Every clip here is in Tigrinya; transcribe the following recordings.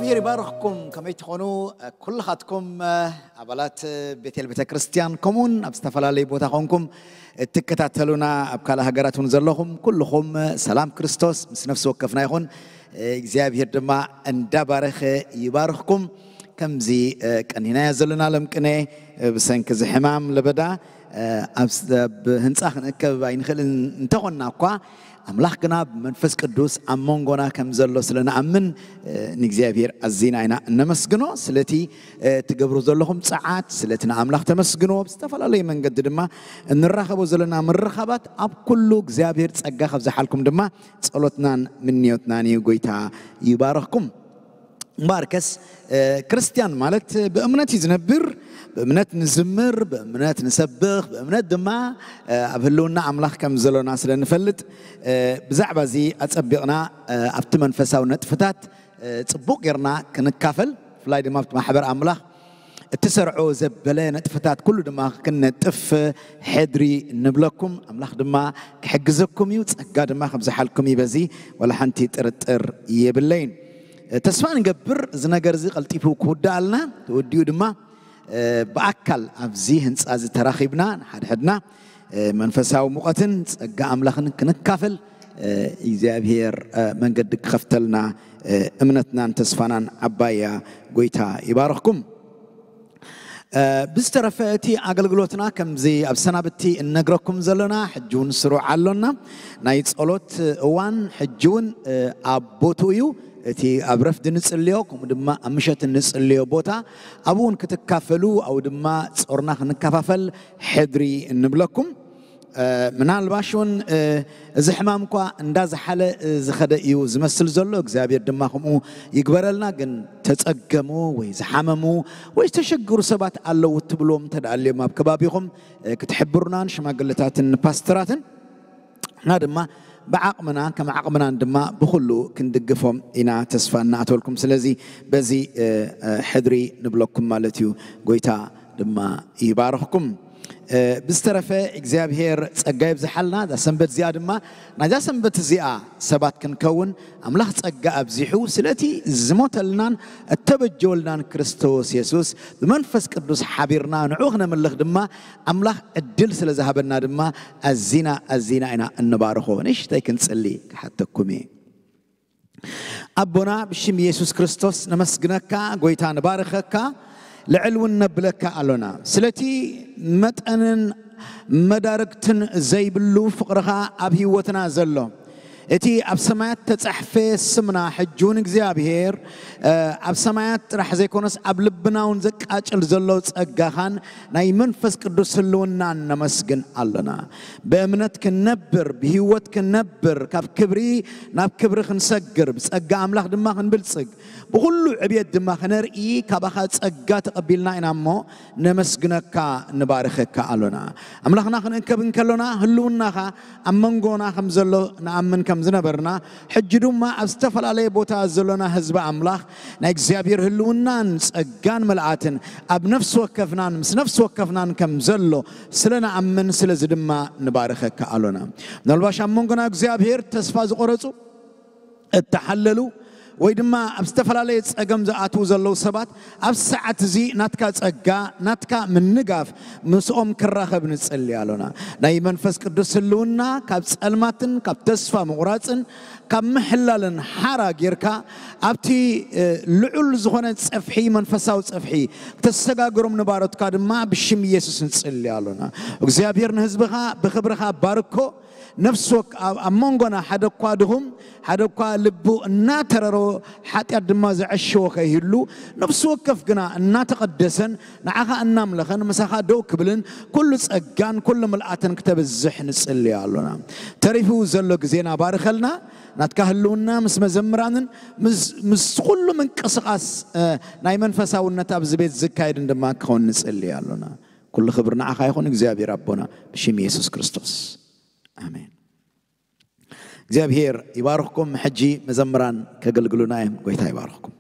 እግዚኣብሔር ይባርኽኩም። ከመይ ትኾኑ? ኩልኻትኩም ኣባላት ቤቴል ቤተ ክርስቲያን፣ ከምኡውን ኣብ ዝተፈላለዩ ቦታ ኾንኩም እትከታተሉና፣ ኣብ ካልእ ሃገራት እውን ዘለኹም ኩልኹም፣ ሰላም ክርስቶስ ምስ ነፍሲ ወከፍና ይኹን። እግዚኣብሔር ድማ እንዳባረኸ ይባርኽኩም። ከምዚ ቀኒናዮ ዘለና ሎም ቅነ ብሰንኪ እዚ ሕማም ለበዳ ኣብ ህንፃ ክንእከብ ኣይንኽእልን እንተኾንና እኳ፣ ኣምላኽ ግና ብመንፈስ ቅዱስ ኣብ መንጎና ከም ዘሎ ስለ ንኣምን፣ ንእግዚኣብሔር ኣዚና ኢና እነመስግኖ። ስለቲ ትገብሩ ዘለኹም ጸዓት፣ ስለቲ ንኣምላኽ ተመስግኖ። ብዝተፈላለየ መንገዲ ድማ እንራኸቦ ዘለና ምርኻባት ኣብ ኩሉ እግዚኣብሔር ጸጋ ከብዝሓልኩም ድማ ጸሎትናን ምንዮትናን እዩ። ጎይታ ይባረኽኩም። እምበኣርከስ ክርስቲያን ማለት ብእምነት እዩ ዝነብር። ብእምነት ንዝምር፣ ብእምነት ንሰብኽ፣ ብእምነት ድማ ኣብ ህልውና ኣምላኽ ከም ዘሎና ስለ ንፈልጥ፣ ብዛዕባ እዚ ኣጸቢቕና ኣብቲ መንፈሳዊ ነጥፍታት ጽቡቕ ጌርና ክንካፈል፣ ብፍላይ ድማ ኣብቲ ማሕበር ኣምላኽ እትሰርዖ ዘበለ ነጥፍታት ኩሉ ድማ ክንነጥፍ ሕድሪ ንብለኩም። ኣምላኽ ድማ ክሕግዘኩም እዩ፣ ጸጋ ድማ ከብዝሓልኩም እዩ። በዚ ወላ ሓንቲ ጥርጥር የብለይን። ተስፋ ንገብር እዚ ነገር እዚ ቀልጢፉ ክውዳኣልና፣ ተወዲኡ ድማ ብኣካል ኣብዚ ህንፃ እዚ ተራኺብና ንሓድሕድና መንፈሳዊ ሙቐትን ጸጋ ኣምላኽን ክንካፈል እግዚኣብሔር መንገዲ ክኸፍተልና እምነትናን ተስፋናን ዓባያ። ጎይታ ይባርኽኩም። ብዝተረፈ እቲ ኣገልግሎትና ከምዚ ኣብ ሰናብቲ እነግረኩም ዘለና ሕጂ እውን ስሩዕ ኣሎና። ናይ ጸሎት እዋን ሕጂ እውን ኣብ ቦትኡ እዩ። እቲ ኣብ ረፍዲ ንጽልዮ ከምኡ ድማ ኣብ ምሸት ንጽልዮ ቦታ ኣብኡ እውን ክትካፈሉ ኣብኡ ድማ ጾርና ክንከፋፈል ሕድሪ እንብለኩም። ምናልባሽ እውን እዚ ሕማም እኳ እንዳዝሓለ ዝኸደ እዩ ዝመስል ዘሎ። እግዚኣብሔር ድማ ከምኡ ይግበረልና። ግን ተጸገሙ ወይ ዝሓመሙ ወይ ዝተሸግሩ ሰባት ኣለዉ እትብልዎም እንተ ደኣ ኣልዮም ኣብ ከባቢኹም ክትሕብሩናን ሽማግለታትን ፓስተራትን ንሕና ድማ ብዓቕምና ከም ዓቕምናን ድማ ብኹሉ ክንድግፎም ኢና ተስፋ እናኣተወልኩም። ስለዚ በዚ ሕድሪ ንብለኩም ማለት እዩ። ጎይታ ድማ ይባርኽኩም። ብዝተረፈ እግዚኣብሔር ጸጋ ይብዝሓልና። እዛ ሰንበት እዚኣ ድማ ናይዛ ሰንበት እዚኣ ሰባት ክንከውን ኣምላኽ ጸጋ ኣብዚሑ ስለቲ ዝሞተልናን እተበጀወልናን ክርስቶስ የሱስ ብመንፈስ ቅዱስ ሓቢርና ንዑ ክነምልኽ ድማ ኣምላኽ ዕድል ስለ ዝሃበና ድማ ኣዚና ኣዚና ኢና እንባርኾ። ንእሽተይ ክንጽሊ ክሓተኩም እየ። ኣቦና ብሽም የሱስ ክርስቶስ ነመስግነካ፣ ጎይታ ንባርኸካ፣ ልዕል እውን ነብለካ ኣሎና ስለቲ መጠንን መዳርግትን ዘይብሉ ፍቕርኻ ኣብ ህይወትና ዘሎ። እቲ ኣብ ሰማያት ተጻሕፈ ስምና ሕጂ እውን እግዚኣብሔር ኣብ ሰማያት ጥራሕ ዘይኮነስ ኣብ ልብና እውን ዘቃጭል ዘሎ ጸጋኻን ናይ መንፈስ ቅዱስ ህልውናን ነመስግን ኣሎና። ብእምነት ክንነብር፣ ብህይወት ክንነብር፣ ካብ ክብሪ ናብ ክብሪ ክንሰግር፣ ብጸጋ ኣምላኽ ድማ ክንብልጽግ፣ ብኹሉ ዕብየት ድማ ክነርኢ ካባኻ ጸጋ ተቐቢልና ኢና እሞ ነመስግነካ፣ ንባርኸካ ኣሎና። ኣምላኽና ክንእከብ እንከሎና ህልውናኻ ኣብ መንጎና ከም ዘሎ ንኣምን ከም ዝነበርና፣ ሕጂ ድማ ኣብ ዝተፈላለየ ቦታ ዘሎና ህዝቢ ኣምላኽ ናይ እግዚኣብሔር ህልውናን ጸጋን መልኣትን ኣብ ነፍሲ ወከፍናን ምስ ነፍሲ ወከፍናን ከም ዘሎ ስለ ንኣምን፣ ስለዚ ድማ ንባርኸካ ኣሎና። ምናልባሽ ኣብ መንጎና እግዚኣብሔር ተስፋ ዝቆረጹ፣ እተሓለሉ ወይ ድማ ኣብ ዝተፈላለየ ጸገም ዝኣትዉ ዘለዉ ሰባት ኣብ ሰዓት እዚ ናትካ ጸጋ፣ ናትካ ምንጋፍ ምስኦም ክራኸብ ንጽሊ ኣሎና። ናይ መንፈስ ቅዱስ ህልውና ካብ ጸልማትን ካብ ተስፋ ምቑራጽን ካብ ምሕላልን ሓራ ጌርካ ኣብቲ ልዑል ዝኾነ ጸፍሒ፣ መንፈሳዊ ጸፍሒ ክተሰጋግሮም ንባሮትካ ድማ ብሽም ኢየሱስ ንጽሊ ኣሎና። እግዚኣብሔር ንህዝብኻ ብኽብርኻ ባርኮ። ነፍሲ ወክ ኣብ ኣብ መንጎና ሓደ እኳ ድኹም፣ ሓደ እኳ ልቡ እናተረሮ፣ ሓጢኣት ድማ ዘዐሸዎ ከይህሉ፣ ነፍሲ ወከፍ ግና እናተቐደሰን ንዓኻ እናምለኸን ምሳኻ ደው ክብልን ኩሉ ጸጋን ኩሉ ምልኣትን ክተብዝሕ ንጽሊ ኣሎና። ተሪፉ ዘሎ ግዜና ባርኸልና። ናትካ ህልውና ምስ መዘምራንን ምስ ምስ ኩሉ ምንቅስቓስ ናይ መንፈሳውነት ኣብዚ ቤት ዝካየድን ድማ ክኸውን ንጽሊ ኣሎና። ኩሉ ክብሪ ንዓኻ ይኹን እግዚኣብሔር ኣቦና ብሽም የሱስ ክርስቶስ። ኣሜን። እግዚኣብሔር ይባርኽኩም። ሕጂ መዘምራን ከገልግሉና እዮም። ጎይታ ይባርኽኩም።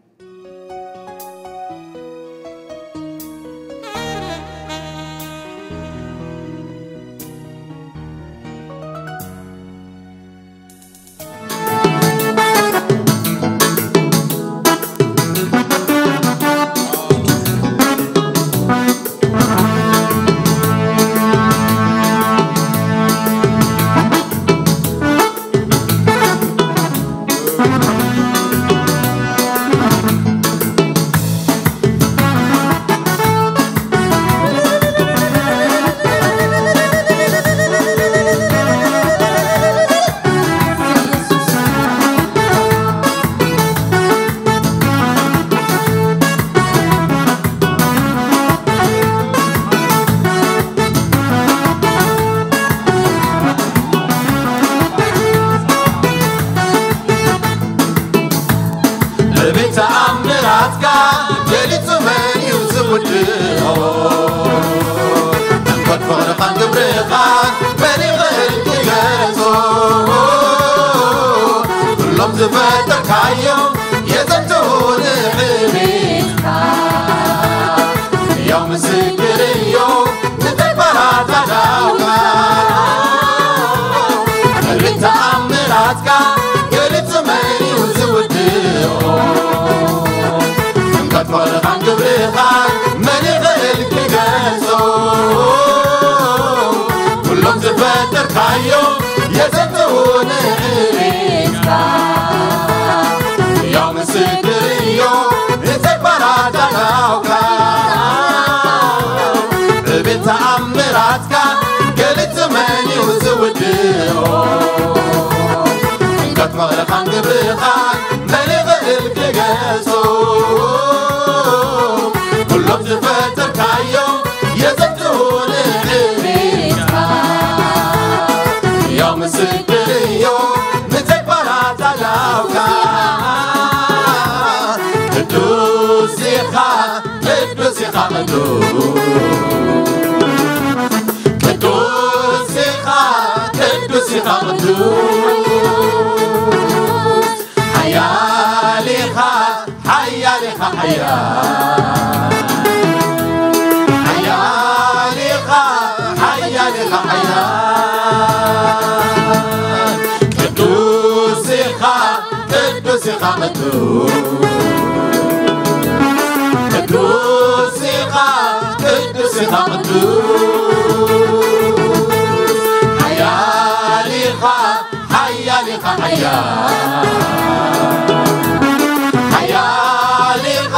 ፈጠርካዮ የዘንትኡ ንዕቤትካ። ሕያው ምስክር እዮም ንተግባራት ኣእዳውካ። ዕቤት ተኣምራትካ ገሊጹ መን እዩ ዝውድኦ? ጥምቀት ፍቕርኻን ግብርኻን መን ይኽእል ክገልጾ? ኩሎም ዝፈጠርካዮ የዘንትኡ ንዕቤትካ። ሕያው ምስክር እዮም ንተግባራት ኣእዳውካ። ዕቤት ተኣምራትካ ገሊጹ መን እዩ ዝውድኦ? ጥምቀት ፍቕርኻን ግብርኻን መን ይኽእል ክገልጾ? ኩሎም ዝፈጠርካዮ የዘንትኡ ንዕቤትካ። ሕያው ምስክር እዮም ንተግባራት ኣእዳውካ። ቅዱስ ኢኻ፣ ቅዱስ ኢኻ፣ ቅዱስ። ቅዱስ ኢኻ፣ ቅዱስ ኢኻ፣ ቅዱስ። ሓያል ኢኻ፣ ሓያል ኢኻ፣ ሓያል። ሓያል ኢኻ፣ ሓያል ኢኻ፣ ሓያል። ቅዱስ ኢኻ፣ ቅዱስ ኢኻ፣ ቅዱስ። ቅዱስ ኢኻ፣ ቅዱስ ኢኻ፣ ቅዱስ። ሓያል ኢኻ፣ ሓያል ኢኻ፣ ሓያል። ሓያል ኢኻ፣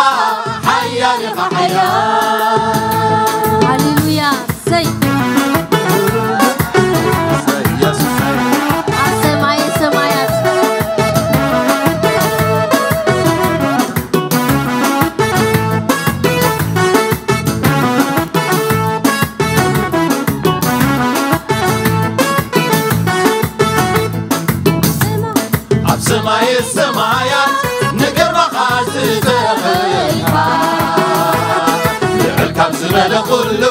ሓያል ኢኻ፣ ሓያል። ሃሌሉያ። እሰይ። እሰይ፣ ኢየሱስ። ኣብ ሰማየ ሰማያት። ኣብ ሰማየ ሰማያት ንግርማኻ ዝተኸልካ፣ ልዕል ካብ ዝበለ ኩሉ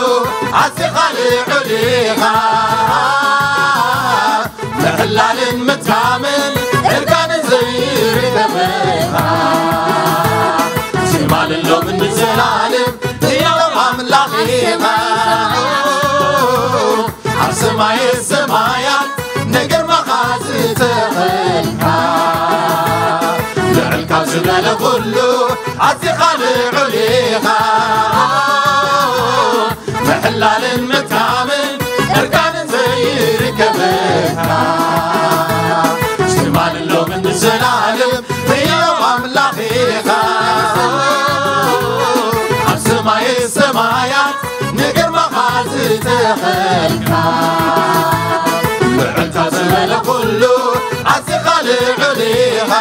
ኣዚኻ ልዑል ኢኻ። ምሕላልን ምትካምን እርጋንን ዘይርከበካ፣ ትማልን ሎምን ንዘላለም ሕያው ኣምላኽ ኢኻ። ኣብ ሰማየ ሰማያት ንግርማኻ ዝተኸልካ፣ ልዕል ካብ ዝበለ ኩሉ ኣዚኻ ልዑል ኢኻ። ምሕላልን ምትካምን እርጋንን ዘይርከበካ፣ ትማልን ሎምን ንዘላለም ሕያው ኣምላኽ ኢኻ። ኣብ ሰማየ ሰማያት ንግርማኻ ዝተኸልካ፣ ልዕል ካብ ዝበለ ኩሉ ኣዚኻ ልዑል ኢኻ።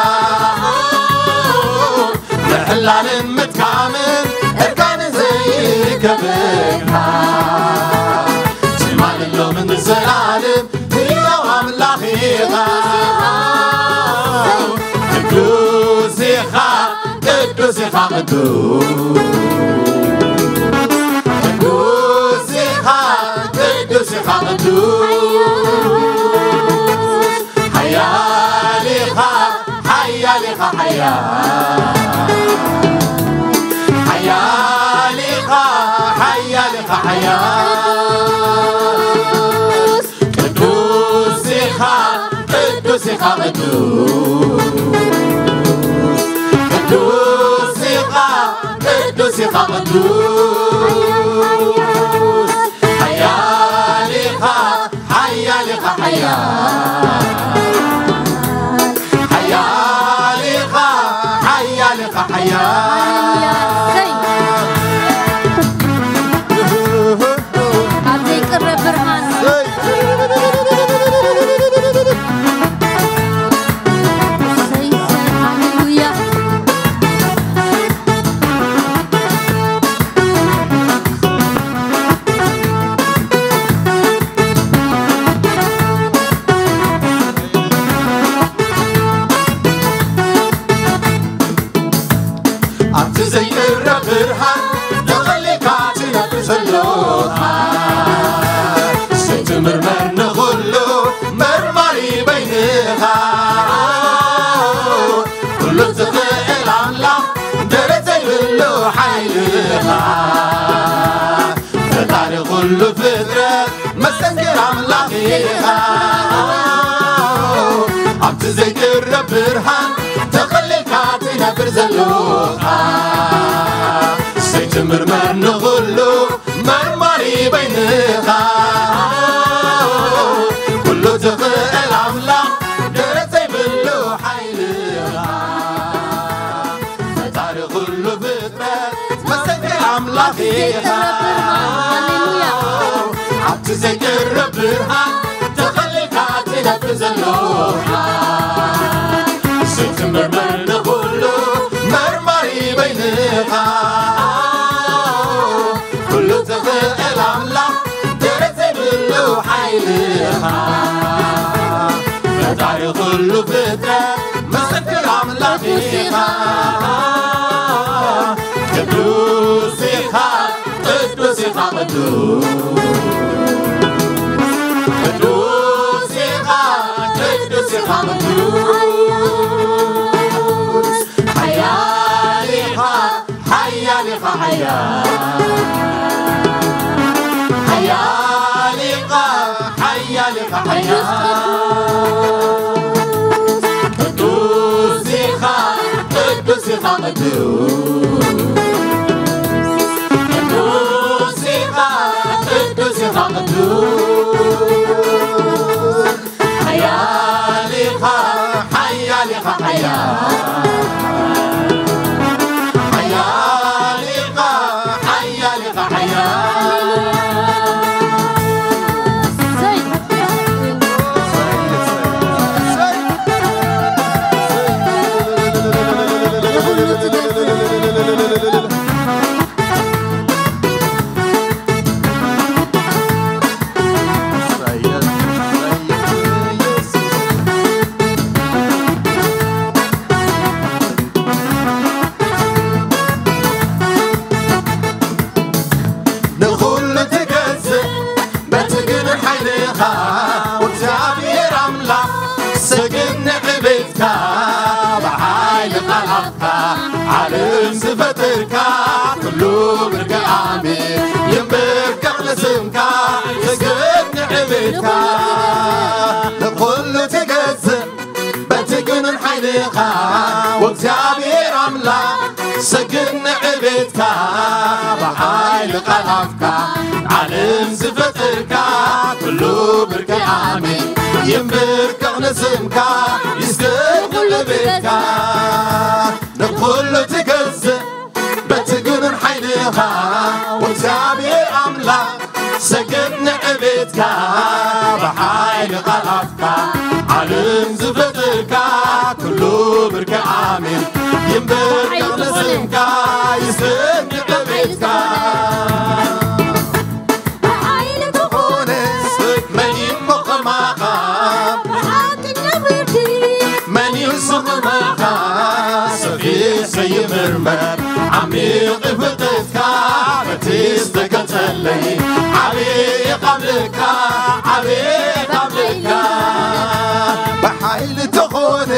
ምሕላልን ምትካምን እርጋንን ዘይርከበካ፣ ትማልን ሎምን ንዘላለም ሕያው ኣምላኽ ኢኻ። ቅዱስ ኢኻ፣ ቅዱስ ኢኻ፣ ቅዱስ። ቅዱስ ኢኻ፣ ቅዱስ ኢኻ፣ ቅዱስ። ሓያል ኢኻ፣ ሓያል ኢኻ፣ ሓያል። ሓያል ኢኻ፣ ሓያል ኢኻ፣ ሓያል። ቅዱስ ኢኻ፣ ቅዱስ ኢኻ፣ ቅዱስ። ቅዱስ ኢኻ፣ ቅዱስ ኢኻ፣ ቅዱስ። ሓያል ኢኻ፣ ሓያል ኢኻ፣ ሓያል። ሓያል ኢኻ፣ ሓያል ኢኻ፣ ሓያል። ኣብ ዘይቅረ ብርሃን። እሰይ፣ እሰይ፣ ሃሌሉያ። መሰንክር ኣምላኽ ኢኻ። ኣብቲ ዘይቅረብ ብርሃን ተኸሊልካ ትነብር ዘለኻ፣ ዘይትምርመር ንኹሉ መርማሪ በይንኻ። ኩሉ ትኽእል ኣምላኽ ደረት ዘይብሉ ሓይልኻ፣ ፈጣሪ ኩሉ ፍጥረት መሰንክር ኣምላኽ ኢኻ። ሃሌሉያ። ኣብቲ ዘይቅረብ ብርሃን ተኸሊልካ ትነብር ዘለኻ፣ ዘይትምርመር ንኹሉ መርማሪ በይንኻ። ኩሉ ትኽእል ኣምላኽ ደረት ዘይብሉ ሓይልኻ፣ ፈጣሪ ኩሉ ፍጥረት መሰክር ኣምላኽ ኢኻ። ቅዱስ ኢኻ፣ ቅዱስ ኢኻ፣ ቅዱስ። ቅዱስ ኢኻ፣ ቅዱስ ኢኻ፣ ቅዱስ። ሓያል ኢኻ፣ ሓያል ኢኻ፣ ሓያል። ሓያል ኢኻ፣ ሓያል ኢኻ፣ ሓያል። ቅዱስ ኢኻ፣ ቅዱስ ኢኻ፣ ቅዱስ። ቅዱስ ኢኻ፣ ቅዱስ ኢኻ፣ ቅዱስ። ሓያል ኢኻ፣ ሓያል ኢኻ፣ ሓያል። ሓያል ኢኻ፣ ሓያል ኢኻ፣ ሓያል። ንኹሉ ትገዝእ በቲ ግኑን ሓይልኻ፣ እግዚኣብሔር ኣምላኽ፣ ሰግድ ንዕቤትካ፣ ብሓይሊ ቃል ኣፍካ ዓለም ዝፈጠርካ፣ ኩሉ ብርግኣሚ ይንበርከኽ ንስምካ፣ ሰግድ ንዕቤትካ። ንኹሉ ትገዝእ በቲ ግኑን ሓይልኻ፣ ወእግዚኣብሔር ኣምላኽ፣ ሰግድ ንዕቤትካ፣ ብሓይሊ ቃል ኣፍካ ዓለም ዝፈጠርካ፣ ኩሉ ብርግኣሚ ይንበርከኽ ንስምካ፣ ይስገድ ኩሉ ቤትካ። ንኹሉ ትገዝእ በቲ ግኑን ሓይልኻ፣ ወእግዚኣብሔር ኣምላኽ፣ ሰግድ ንዕቤትካ፣ ብሓይሊ ቃል ኣፍካ ዓለም ዝፈጠርካ፣ ኩሉ ብርኪ ኣሜን ይንበርከኽ ንስምካ፣ ይስገድ ንዕቤትካ። ብሓይሊ ተኾነ መን እሞ ከማኻ፣ ብሓቀኛ ፍርዲ መን እዩ ከማኻ፣ ሰፊሕ ዘይምርመር ዓሚቕ ፍልጠትካ፣ በቲ ዝተገልጸለይ ዓብዪ ቓልካ፣ ዓብዪ ቓልካ። ብሓይሊ ተኾነ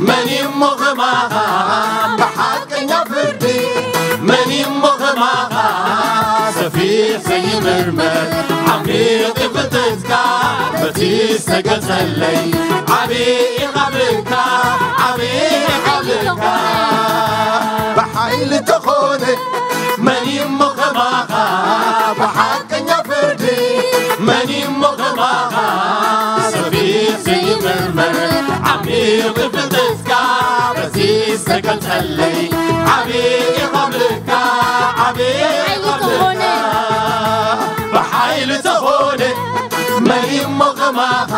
መን እሞ ከማኻ፣ ብሓቀኛ ፍርዲ መን እሞ ከማኻ፣ ሰፊሕ ዘይምርመር ዓሚቕ ፍልጠትካ፣ በቲ ዝተገልጸለይ ዓብዪ ቓልካ፣ ዓብዪ ቓልካ። ብሓይሊ ተኾነ መን እሞ ከማኻ፣ ብሓቀኛ ፍርዲ መን እሞ ከማኻ፣ ሰፊሕ ዘይምርመር ዓሚቕ ፍልጠትካ፣ በቲ ዝተገልጸለይ ዓብዪ ቓልካ፣ ዓብዪ ቓልካ። ብሓይሊ ተኾነ መን እሞ ከማኻ፣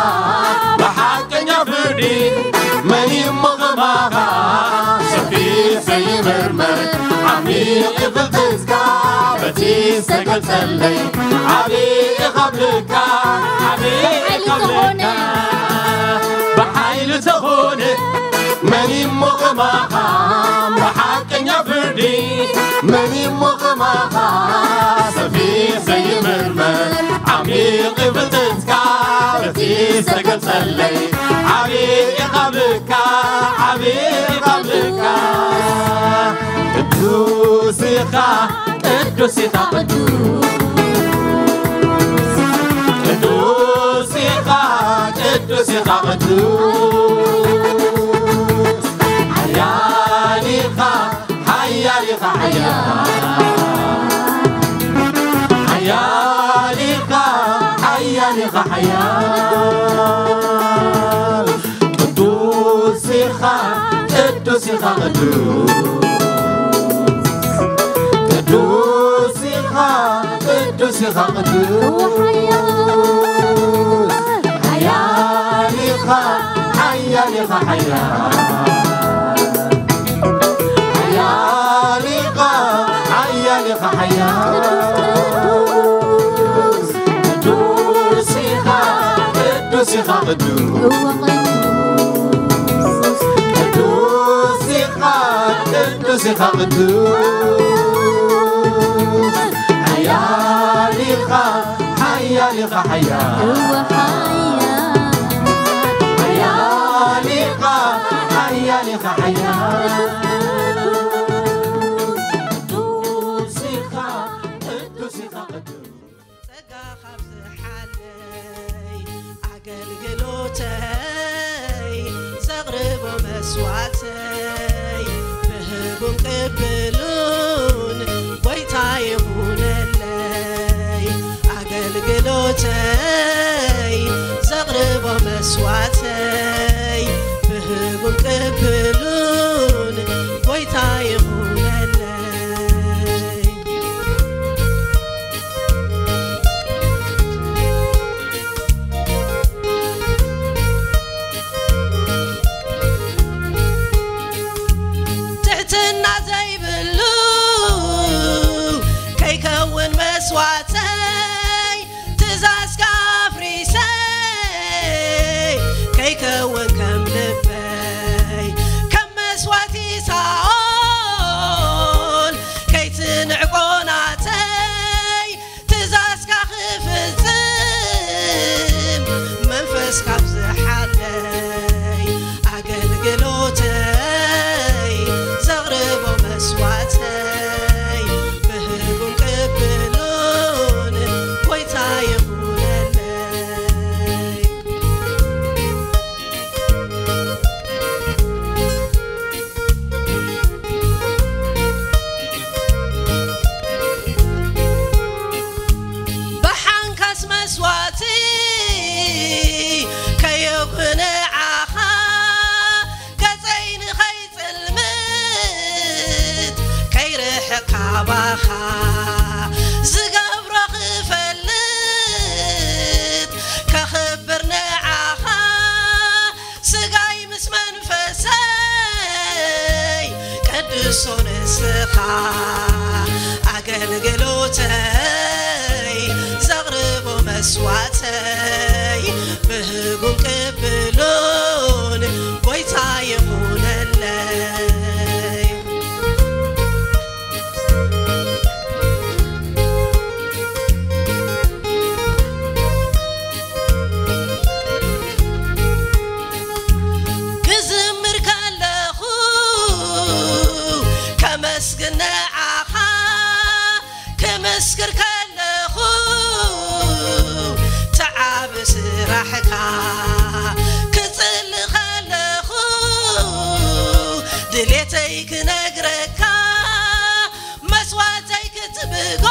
ብሓቀኛ ፍርዲ መን እሞ ከማኻ፣ ሰፊሕ ዘይምርመር ዓሚቕ ፍልጠትካ፣ በቲ ዝተገልጸለይ ዓብዪ ቓልካ፣ ዓብዪ ቃልካ። ብሓይሊ ተኾነ መን እሞ ከማኻ፣ ብሓቀኛ ፍርዲ መን እሞ ከማኻ፣ ሰፊሕ ዘይምርመር ዓሚቕ ፍልጠትካ፣ በቲ ዝተገልጸለይ ዓብዪ ቓልካ፣ ዓብዪ ቓልካ። ቅዱስ ኢኻ፣ ቅዱስ ኢኻ፣ ቅዱስ። ቅዱስ ሓያል ኢኻ፣ ሓያል ኢኻ፣ ሓያል። ሓያል ኢኻ፣ ሓያል ኢኻ፣ ሓያል። ቅዱስ ኢኻ፣ ቅዱስ ኢኻ፣ ቅዱስ። ቅዱስ ኢኻ፣ ቅዱስ ኢኻ፣ ቅዱስ። ሓያል ኢኻ፣ ሓያል ኢኻ፣ ሓያል። ሓያል ኢኻ፣ ሓያል ኢኻ፣ ሓያል። ቅዱስ ኢኻ፣ ቅዱስ ኢኻ፣ ቅዱስ። እወ፣ ቅዱስ። ቅዱስ ኢኻ፣ ቅዱስ ኢኻ፣ ቅዱስ። ሓያል ኢኻ፣ ሓያል ኢኻ፣ ሓያል። እወ፣ ሓያል። ሓያል ኢኻ፣ ሓያል ኢኻ፣ ሓያል። ቅዱስ ኢኻ፣ ቅዱስ ኢኻ፣ ቅዱስ። ጸጋ ካብ ዝሓለይ ኣገልግሎተይ ዘቕርቦ መስዋዕተይ ብህጉን ቅብሉን ጎይታ ይኹነለይ። ኣገልግሎተይ ዘቕርቦ መስዋዕተይ ብህጉን ቅብሉን ጎይታ ይኹነለይ። ትሕትና ዘይብሉ ከይከውን መስዋዕተይ ትእዛዝካ ኣፍሪሰ ከይከውን ከም ልበይ ከም መስዋዕቲ ሳኦል ከይትንዕቆ ናተይ ትእዛዝካ ክፍጽም መንፈስ ካብ ዝሓለይ ኣገልግሎተይ ዘቕርቦ መስዋዕተይ ብህጉን ቅብሉን ጎይታ ይኹነለይ። ብሓንካስ መስዋዕቲ ከየኩ ንዓኻ ገጸይ ንኸይጽልምት ከይርሕቕ ካባኻ ዝገብሮ ክፈልጥ ከኽብር ንዓኻ ስጋይ ምስ መንፈሰይ ቅዱስ ንስኻ ኣገልግሎተይ ዘቕርቦ መስዋዕተይ ብህጉን ቅብሉን ጎይታ ይኹነለይ። ክዝምር ከለኹ ከመስግን ንዓኻ ክምስክር ከለኹ ተዓቢ ስራሕካ ክጽሊ ከለኹ ድሌተይ ክነግረካ መስዋዕተይ ክትብጎ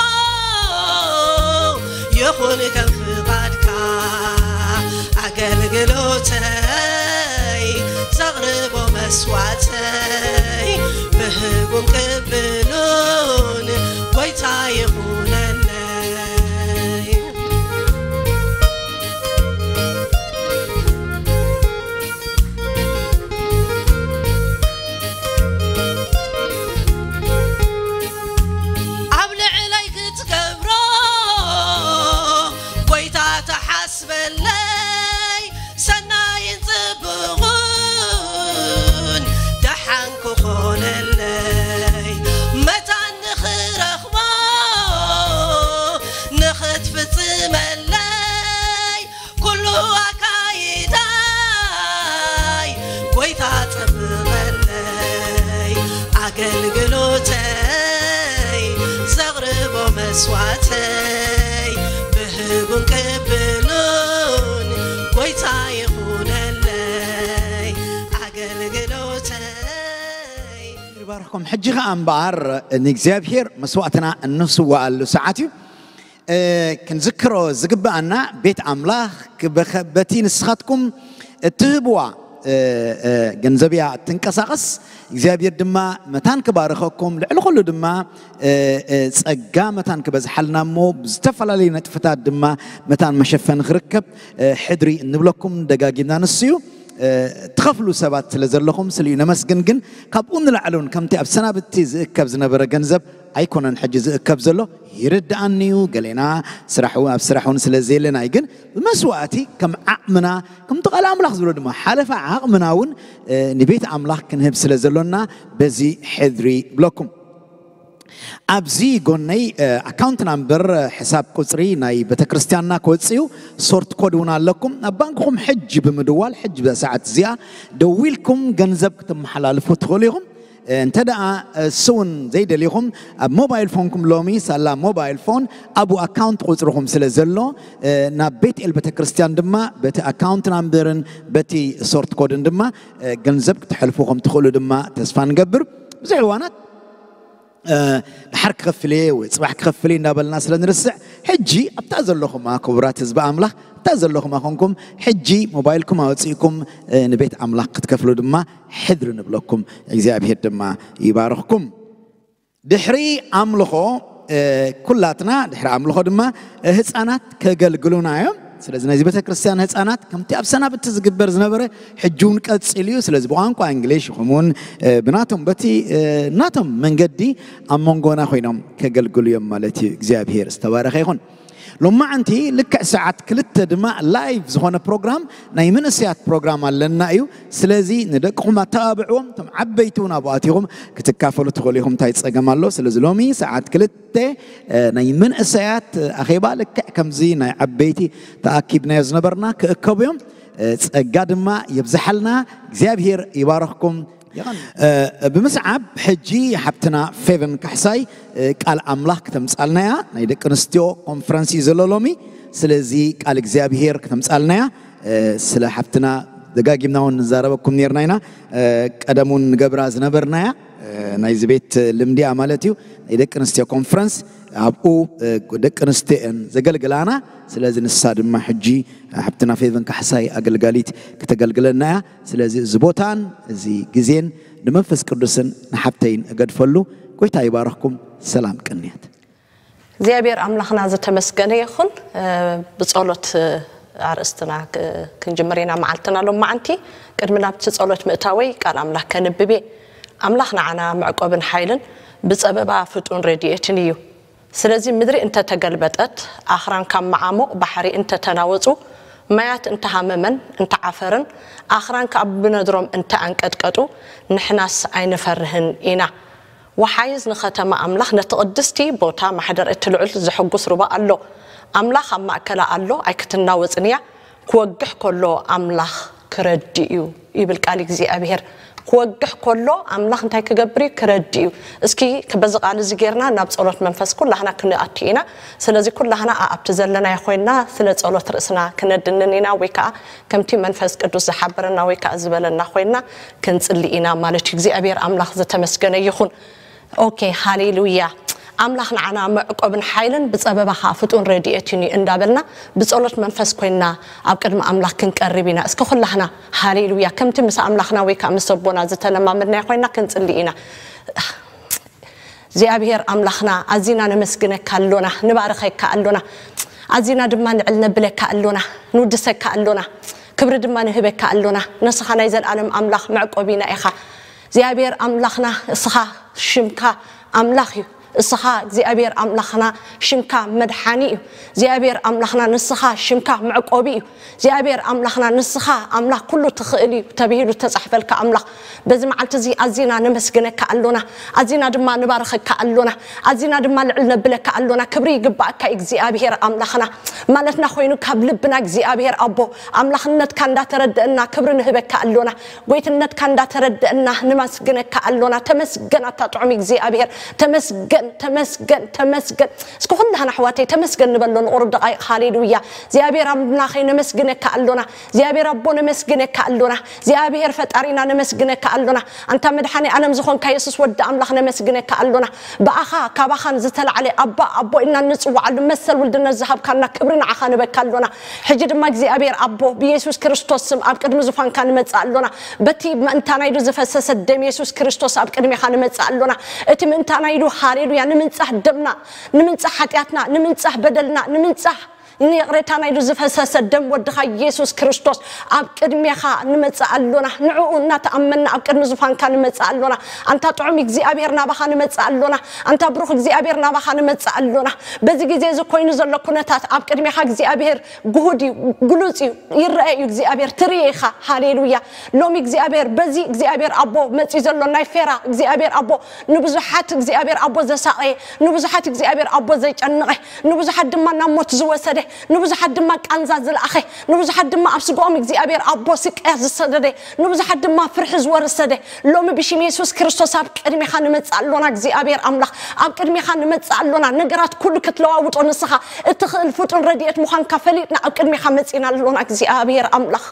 ይኹን ከም ፍቓድካ ኣገልግሎተይ ዘቕርቦ መስዋዕተይ ብህጉን ቅብሉን ጎይታ ይኹነለይ። ኣብ ልዕለይ ክትገብሮ ጎይታ ተሓስበለይ ሰናይን ጽቡቕን ደሓን ክኾነለይ መታን ንኽረኽቦ ንኽትፍጽመለይ ኩሉ ኣካይዳይ ጎይታ ጸብቐለይ ኣገልግሎተይ ዘቕርቦ መስዋዕተይ ብህጉን ቅብሉን ጎይታ ይኹነለይ። ኩም ሕጂ ኸኣ እምበኣር ንእግዚኣብሔር መስዋዕትና እንስዋኣሉ ሰዓት እዩ። ክንዝክሮ ዝግብኣና ቤት ኣምላኽ በቲ ንስኻትኩም እትህብዋ ገንዘብ እያ እትንቀሳቐስ። እግዚኣብሔር ድማ መታን ክባርኸኩም፣ ልዕሊ ኩሉ ድማ ጸጋ መታን ክበዝሓልና እሞ ብዝተፈላለዩ ነጥፍታት ድማ መታን መሸፈኒ ክርከብ ሕድሪ እንብለኩም ደጋጊምና። ንሱ እዩ ትኸፍሉ ሰባት ስለ ዘለኹም ስልዩ ነመስግን። ግን ካብኡ ንላዕሊ እውን ከምቲ ኣብ ሰናብቲ ዝእከብ ዝነበረ ገንዘብ ኣይኮነን ሕጂ ዝእከብ ዘሎ። ይርድኣኒ እዩ፣ ገሌና ስራሕ እውን፣ ኣብ ስራሕ እውን ስለ ዘየለና እዩ። ግን ብመስዋእቲ ከም ዓቕምና፣ ከምቲ ቃል ኣምላኽ ዝብሎ ድማ ሓለፋ ዓቕምና እውን ንቤት ኣምላኽ ክንህብ ስለ ዘሎና በዚ ሕድሪ ብለኩም። ኣብዚ ጎነይ ኣካውንት ናምበር፣ ሕሳብ ቁፅሪ ናይ ቤተክርስትያንና ክወፅእ እዩ። ሶርት ኮድ እውን ኣለኩም። ኣብ ባንክኹም ሕጂ ብምድዋል ሕጂ በሰዓት እዚኣ ደዊልኩም ገንዘብ ክትመሓላልፉ ትኽእሉ ኢኹም። እንተ ደኣ እሱ እውን ዘይደሊኹም ኣብ ሞባይል ፎንኩም ሎሚ ሳላ ሞባይል ፎን ኣብኡ ኣካውንት ቁፅርኹም ስለ ዘሎ ናብ ቤት ኤል ቤተክርስትያን ድማ በቲ ኣካውንት ናምበርን በቲ ሶርት ኮድን ድማ ገንዘብ ክተሕልፉ ከም ትኽእሉ ድማ ተስፋ ንገብር። ብዙሕ እዋናት ድሓር ክኸፍል እየ ወይ ፅባሕ ክኸፍል እየ እንዳበልና ስለ ንርስዕ፣ ሕጂ ኣብታ ዘለኹማ ክቡራት ህዝቢ ኣምላኽ፣ ኣብታ ዘለኹማ ኮንኩም ሕጂ ሞባይልኩም ኣውፅእኩም ንቤት ኣምላኽ ክትከፍሉ ድማ ሕድሪ ንብለኩም። እግዚኣብሔር ድማ ይባርኽኩም። ድሕሪ ኣምልኾ ኩላትና ድሕሪ ኣምልኾ ድማ ህፃናት ከገልግሉና እዮም። ስለዚ ናይዚ ቤተክርስትያን ህፃናት ከምቲ ኣብ ሰናብቲ ዝግበር ዝነበረ ሕጂ እውን ቀፂሉ እዩ። ስለዚ ብቋንቋ እንግሊሽ ይኹን እውን ብናቶም በቲ ናቶም መንገዲ ኣብ መንጎና ኮይኖም ከገልግሉ እዮም ማለት እዩ። እግዚኣብሔር ዝተባረኸ ይኹን። ሎማዓንቲ ልክዕ ሰዓት ክልተ ድማ ላይቭ ዝኾነ ፕሮግራም ናይ መንእሰያት ፕሮግራም ኣለና እዩ። ስለዚ ንደቅኹም ኣተባብዕዎም። እቶም ዓበይቲ እውን ኣብኡ ኣቲኹም ክትካፈሉ ትኽእሉ ኢኹም። እንታይ ጸገም ኣሎ? ስለዚ ሎሚ ሰዓት ክልተ ናይ መንእሰያት ኣኼባ ልክዕ ከምዚ ናይ ዓበይቲ ተኣኪብናዮ ዝነበርና ክእከቡ እዮም። ጸጋ ድማ የብዝሓልና። እግዚኣብሔር ይባረኽኩም። ብምስዓብ ሕጂ ሓብትና ፌቨን ካሕሳይ ቃል ኣምላኽ ክተምጻልና እያ። ናይ ደቂ ኣንስትዮ ኮንፈረንስ እዩ ዘሎ ሎሚ። ስለዚ ቃል እግዚኣብሔር ክተምጻልና እያ። ስለ ሓብትና ደጋጊምና እውን ንዛረበኩም ነርና ኢና። ቀደም እውን ንገብራ ዝነበርናያ ናይዚ ቤት ልምዲ እያ ማለት እዩ። ናይ ደቂ ኣንስትዮ ኮንፈረንስ ኣብኡ ደቂ ኣንስትዮ እየን ዘገልግላና። ስለዚ ንሳ ድማ ሕጂ ሓብትና ፌቨን ካሕሳይ ኣገልጋሊት ክተገልግለና እያ። ስለዚ እዚ ቦታን እዚ ግዜን ንመንፈስ ቅዱስን ንሓብተይን እገድፈሉ። ጎይታ ይባረኽኩም። ሰላም ቅንያት። እግዚኣብሔር ኣምላኽና ዝተመስገነ ይኹን። ብጸሎት ኣርእስትና ክንጅምር ኢና መዓልትና ሎም መዓንቲ። ቅድሚ ናብቲ ጸሎት ምእታወይ ቃል ኣምላኽ ከንብብ እየ። ኣምላኽ ንዓና መዕቆብን ሓይልን ብጸበባ ፍጡን ረድኤትን እዩ። ስለዚ ምድሪ እንተተገልበጠት፣ ኣኽራን ካብ መዓሙቕ ባሕሪ እንተተናወጹ፣ ማያት እንተሃመመን እንተዓፈርን፣ ኣኽራን ካብ ብነድሮም እንተኣንቀጥቀጡ፣ ንሕናስ ኣይንፈርህን ኢና። ወሓይዝ ንኸተማ ኣምላኽ፣ ነቲ ቅድስቲ ቦታ ማሕደር እቲ ልዑል ዘሐጉስ ሩባ ኣሎ። ኣምላኽ ኣብ ማእከላ ኣሎ፣ ኣይክትናወጽን እያ። ክወግሕ ከሎ ኣምላኽ ክረዲ እዩ ይብል ቃል እግዚኣብሔር። ክወግሕ ከሎ ኣምላኽ እንታይ ክገብር እዩ? ክረዲ እዩ። እስኪ በዚ ቃል እዚ ጌርና ናብ ጸሎት መንፈስ ኩላህና ክንኣቱ ኢና። ስለዚ ኩላህና ኣብቲ ዘለናዮ ኮይንና ስለ ጸሎት ርእስና ክነድንን ኢና፣ ወይ ከዓ ከምቲ መንፈስ ቅዱስ ዝሓበረና ወይ ከዓ ዝበለና ኮይንና ክንጽሊ ኢና ማለት እዩ። እግዚኣብሔር ኣምላኽ ዝተመስገነ ይኹን። ኦኬ፣ ሃሌሉያ። ኣምላኽ ንዓና መዕቆብን ሓይልን ብጸበባ ኸኣ ፍጡን ረድኤትን እዩ እንዳበልና ብጸሎት መንፈስ ኮይንና ኣብ ቅድሚ ኣምላኽ ክንቀርብ ኢና። እስከ ኩላህና ሃሌሉያ ከምቲ ምስ ኣምላኽና ወይ ከኣ ምስ ኣቦና ዝተለማመድናዮ ኮይንና ክንጽሊ ኢና። እግዚኣብሔር ኣምላኽና ኣዚና ነመስግነካ ኣሎና፣ ንባርኸካ ኣሎና፣ ኣዚና ድማ ንዕል ነብለካ ኣሎና፣ ንውድሰካ ኣሎና፣ ክብሪ ድማ ንህበካ ኣሎና። ንስኻ ናይ ዘለኣለም ኣምላኽ መዕቆቢና ኢኻ። እግዚኣብሔር ኣምላኽና እስኻ ሽምካ ኣምላኽ እዩ። እስኻ እግዚኣብሔር ኣምላኽና ሽምካ መድሓኒ እዩ። እግዚኣብሔር ኣምላኽና ንስኻ ሽምካ መዕቆቢ እዩ። እግዚኣብሔር ኣምላኽና ንስኻ ኣምላኽ ኩሉ ትኽእል እዩ ተብሂሉ ዝተጻሕፈልካ ኣምላኽ፣ በዚ መዓልቲ እዚ ኣዚና ነመስግነካ ኣሎና። ኣዚና ድማ ንባርኸካ ኣሎና። ኣዚና ድማ ልዕል ነብለካ ኣሎና። ክብሪ ይግባኣካ እግዚኣብሔር ኣምላኽና። ማለትና ኮይኑ ካብ ልብና እግዚኣብሔር ኣቦ ኣምላኽነትካ እንዳተረደእና ክብሪ ንህበካ ኣሎና። ጎይትነትካ እንዳተረደእና ንመስግነካ ኣሎና። ተመስገን ኣታ ጥዑም እግዚኣብሔር፣ ተመስገን ተመስገን፣ ተመስገን። እስኪ ኩላህና ኣሕዋተይ ተመስገን ንበሎ ንቑሩብ ደቓይቕ። ሃሌሉያ። እግዚኣብሔር ኣምላኸይ ነመስግነካ ኣሎና። እግዚኣብሔር ኣቦ ነመስግነካ ኣሎና። እግዚኣብሔር ፈጣሪና ነመስግነካ ኣሎና። ኣንታ መድሓኒ ዓለም ዝኾንካ የሱስ ወዲ ኣምላኽ ነመስግነካ ኣሎና። ብኣኻ ካባኻን ዝተላዕለ ኣባ ኣቦ ኢልና እንጽውዓሉ መሰል ውልድነት ዝሃብካና ክብሪ ንዓኻ ንበካ ኣሎና። ሕጂ ድማ እግዚኣብሔር ኣቦ ብየሱስ ክርስቶስ ስም ኣብ ቅድሚ ዙፋንካ ንመጽእ ኣሎና። በቲ ምእንታና ኢሉ ዝፈሰሰ ደም የሱስ ክርስቶስ ኣብ ቅድሜኻ ንመጽእ ኣሎና። እቲ ምእንታና ኢሉ ሃሌሉያ ንምንጻህ ደምና፣ ንምንጻህ ሓጢኣትና፣ ንምንጻህ በደልና፣ ንምንጻህ ንይቕሬታና ኢሉ ዝፈሰሰ ደም ወድኻ የሱስ ክርስቶስ ኣብ ቅድሜኻ ንመጽእ ኣሎና። ንዕኡ እናተኣመንና ኣብ ቅድሚ ዙፋንካ ንመጽእ ኣሎና። ኣንታ ጥዑም እግዚኣብሔር ናባኻ ንመጽእ ኣሎና። ኣንታ ብሩኽ እግዚኣብሔር ናባኻ ንመጽእ ኣሎና። በዚ ግዜ እዚ ኮይኑ ዘሎ ኩነታት ኣብ ቅድሜኻ እግዚኣብሔር ግሁድ እዩ፣ ግሉጽ እዩ፣ ይረአ እዩ እግዚኣብሔር፣ ትርኢ ኢኻ። ሃሌሉያ። ሎሚ እግዚኣብሔር በዚ እግዚኣብሔር ኣቦ መጺኡ ዘሎ ናይ ፌራ እግዚኣብሔር ኣቦ ንብዙሓት እግዚኣብሔር ኣቦ ዘሳቐየ፣ ንብዙሓት እግዚኣብሔር ኣቦ ዘጨነቐ፣ ንብዙሓት ድማ ናብ ሞት ዝወሰደ፣ ንብዙሓት ድማ ቃንዛ ዝለኣኸ፣ ንብዙሓት ድማ ኣብ ስጋኦም እግዚኣብሔር ኣቦ ስቅያት ዝሰደደ፣ ንብዙሓት ድማ ፍርሒ ዝወረሰደ፣ ሎሚ ብሽም የሱስ ክርስቶስ ኣብ ቅድሜኻ ንመጽእ ኣሎና እግዚኣብሔር ኣምላኽ፣ ኣብ ቅድሜኻ ንመጽእ ኣሎና። ነገራት ኩሉ ክትለዋውጦ ንስኻ እትኽእል ፍጡን ረድኤት ምዃንካ ፈሊጥና ኣብ ቅድሜኻ መጺእና ኣሎና እግዚኣብሔር ኣምላኽ።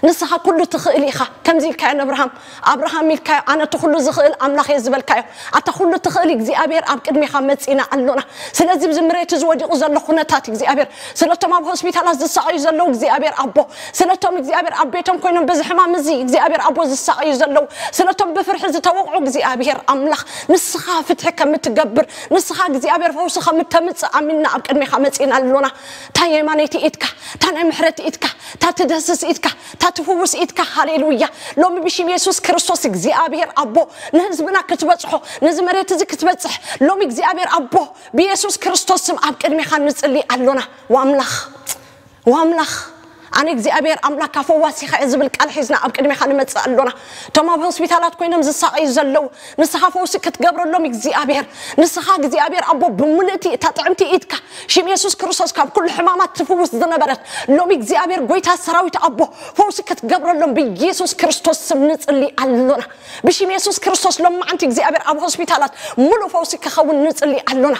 ንስኻ ኩሉ ትኽእል ኢኻ። ከምዚ ኢልካዮ ንኣብርሃም፣ ኣብርሃም ኢልካዮ፣ ኣነ እቲ ኩሉ ዝኽእል ኣምላኽ እየ ዝበልካዮ። ኣታ ኩሉ ትኽእል እግዚኣብሔር ኣብ ቅድሜኻ መጺእና ኣሎና። ስለዚ ኣብዚ መሬት እዚ ወዲቑ ዘሎ ኩነታት እግዚኣብሔር፣ ስለቶም ኣብ ሆስፒታላት ዝሳቐዩ ዘለዉ እግዚኣብሔር ኣቦ፣ ስለቶም እግዚኣብሔር ኣብ ቤቶም ኮይኖም በዚ ሕማም እዚ እግዚኣብሔር ኣቦ ዝሳቐዩ ዘለዉ፣ ስለቶም ብፍርሒ ዝተወቕዑ እግዚኣብሔር ኣምላኽ ንስኻ ፍትሒ ከም እትገብር፣ ንስኻ እግዚኣብሔር ፈውሲ ከም እተምጽእ ኣሚንና ኣብ ቅድሜኻ መጺእና ኣሎና። እታ የማነይቲ ኢድካ፣ እታ ናይ ምሕረት ኢድካ፣ እታ ትደስስ ኢድካ፣ እታ ትፍውስ ኢድካ። ሃሌሉያ። ሎሚ ብሽም የሱስ ክርስቶስ እግዚኣብሔር ኣቦ ንህዝብና ክትበጽሖ፣ ነዚ መሬት እዚ ክትበጽሕ ሎሚ እግዚኣብሔር ኣቦ ብየሱስ ክርስቶስ ስም ኣብ ቅድሜኻ ንጽሊ ኣሎና። ዋምላኽ ዋምላኽ ኣነ እግዚኣብሔር ኣምላኽካ ፈዋሲኻ እየ ዝብል ቃል ሒዝና ኣብ ቅድሜኻ ንመጽእ ኣሎና። እቶም ኣብ ሆስፒታላት ኮይኖም ዝሳቐዩ ዘለዉ ንስኻ ፈውሲ ክትገብረሎም እግዚኣብሔር፣ ንስኻ እግዚኣብሔር ኣቦ ብምልእቲ እታ ጥዕምቲ ኢድካ ሽም የሱስ ክርስቶስ ካብ ኩሉ ሕማማት ትፍውስ ዝነበረት ሎሚ እግዚኣብሔር ጎይታ ሰራዊት ኣቦ ፈውሲ ክትገብረሎም ብየሱስ ክርስቶስ ስም ንጽሊ ኣሎና። ብሽም የሱስ ክርስቶስ ሎማዓንቲ እግዚኣብሔር ኣብ ሆስፒታላት ሙሉእ ፈውሲ ክኸውን ንጽሊ ኣሎና።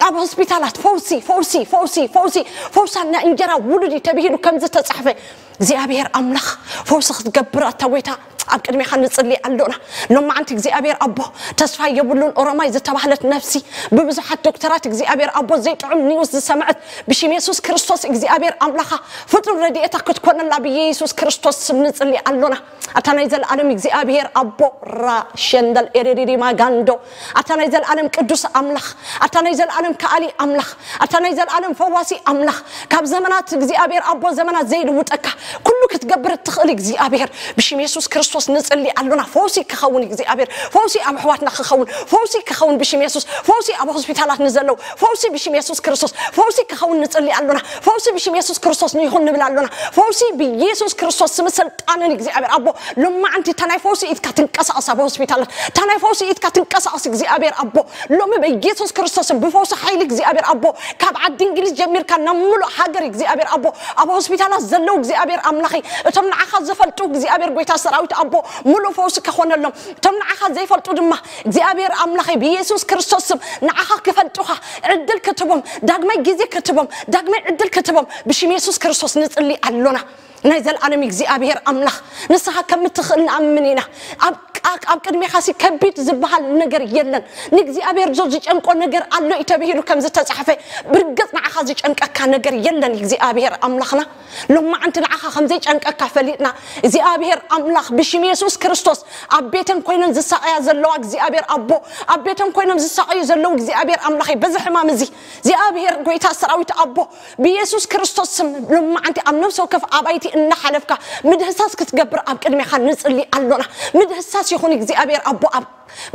ኣብ ሆስፒታላት ፈውሲ፣ ፈውሲ፣ ፈውሲ፣ ፈውሲ፣ ፈውሳ ናይ እንጀራ ውሉድ እዩ ተብሂሉ ከም ዝተጻሕፈ እግዚኣብሔር ኣምላኽ ፈውሲ ክትገብር ኣታ ጎይታ ኣብ ቅድሜኻ ንጽሊ ኣሎና። ሎማዓንቲ እግዚኣብሔር ኣቦ ተስፋ የብሉን ኦሮማይ ዝተባህለት ነፍሲ ብብዙሓት ዶክተራት እግዚኣብሔር ኣቦ ዘይጥዑም ኒውስ ዝሰምዐት ብሽም የሱስ ክርስቶስ እግዚኣብሔር ኣምላኻ ፍጹም ረድኤታ ክትኮነላ ብየሱስ ክርስቶስ ስም ንጽሊ ኣሎና። ኣታ ናይ ዘለኣለም እግዚኣብሔር ኣቦ ራ ሸንደል ኤሬሪሪ ማጋንዶ ኣታ ናይ ዘለኣለም ቅዱስ ኣምላኽ ኣታ ናይ ዘለኣለም ከኣሊ ኣምላኽ ኣታ ናይ ዘለኣለም ፈዋሲ ኣምላኽ ካብ ዘመናት እግዚኣብሔር ኣቦ ዘመናት ዘይልውጠካ ኩሉ ክትገብር እትኽእል እግዚኣብሔር ብሽም የሱስ ክርስቶስ ንጽሊ ኣሎና። ፈውሲ ክኸውን እግዚኣብሔር ፈውሲ ኣብ ኣሕዋትና ክኸውን ፈውሲ ክኸውን ብሽም የሱስ ፈውሲ ኣብ ሆስፒታላት ንዘለዉ ፈውሲ ብሽም የሱስ ክርስቶስ ፈውሲ ክኸውን ንጽሊ ኣሎና። ፈውሲ ብሽም የሱስ ክርስቶስ ንይኹን ንብል ኣሎና። ፈውሲ ብየሱስ ክርስቶስ ስም ስልጣንን እግዚኣብሔር ኣቦ ሎማዓንቲ እታ ናይ ፈውሲ ኢድካ ትንቀሳቐስ ኣብ ሆስፒታላት እታ ናይ ፈውሲ ኢድካ ትንቀሳቐስ እግዚኣብሔር ኣቦ ሎሚ በየሱስ ክርስቶስን ብፈውሲ ሓይሊ እግዚኣብሔር ኣቦ ካብ ዓዲ እንግሊዝ ጀሚርካ ናብ ሙሉእ ሃገር እግዚኣብሔር ኣቦ ኣብ ሆስፒታላት ዘለዉ እግዚኣብሔር ኣምላኸይ እቶም ንዓኻ ዝፈልጡ እግዚኣብሔር ጎይታ ሰራዊት ኣቦ ሙሉእ ፈውሲ ከኾነሎም እቶም ንዓኻ ዘይፈልጡ ድማ እግዚኣብሔር ኣምላኸይ ብየሱስ ክርስቶስ ስም ንዓኻ ክፈልጡኻ ዕድል ክትቦም ዳግማይ ግዜ ክትቦም ዳግማይ ዕድል ክትቦም ብሽም የሱስ ክርስቶስ ንጽሊ ኣሎና። ናይ ዘልኣለም እግዚኣብሔር ኣምላኽ ንስኻ ከም እትኽእል ንኣምን ኢና። ኣብ ቃ- ኣብ ቅድሜኻሲ ከቢድ ዝበሃል ነገር የለን። ንእግዚኣብሔር ዞ ዝጨንቆ ነገር ኣሎ እዩ ተብሂሉ ከም ዝተጻሕፈ ብርግጽ ንዓኻ ዝጨንቀካ ነገር የለን እግዚኣብሔር ኣምላኽና። ሎማዓንቲ ንዓኻ ከም ዘይጨንቀካ ፈሊጥና እግዚኣብሔር ኣምላኽ ብሽም የሱስ ክርስቶስ ኣብ ቤተን ኮይነን ዝሳቐያ ዘለዋ እግዚኣብሔር ኣቦ ኣብ ቤተን ኮይኖም ዝሳቐዩ ዘለዉ እግዚኣብሔር ኣምላኸይ በዚ ሕማም እዚ እግዚኣብሔር ጎይታ ሰራዊት ኣቦ ብየሱስ ክርስቶስ ስም ሎማዓንቲ ኣብ ነፍሲ ወከፍ ኣባይቲ እናሓለፍካ ምድህሳስ ክትገብር ኣብ ቅድሜኻ ንጽሊ ኣሎና። ምድህሳስ ይኹን እግዚኣብሔር ኣቦ ኣብ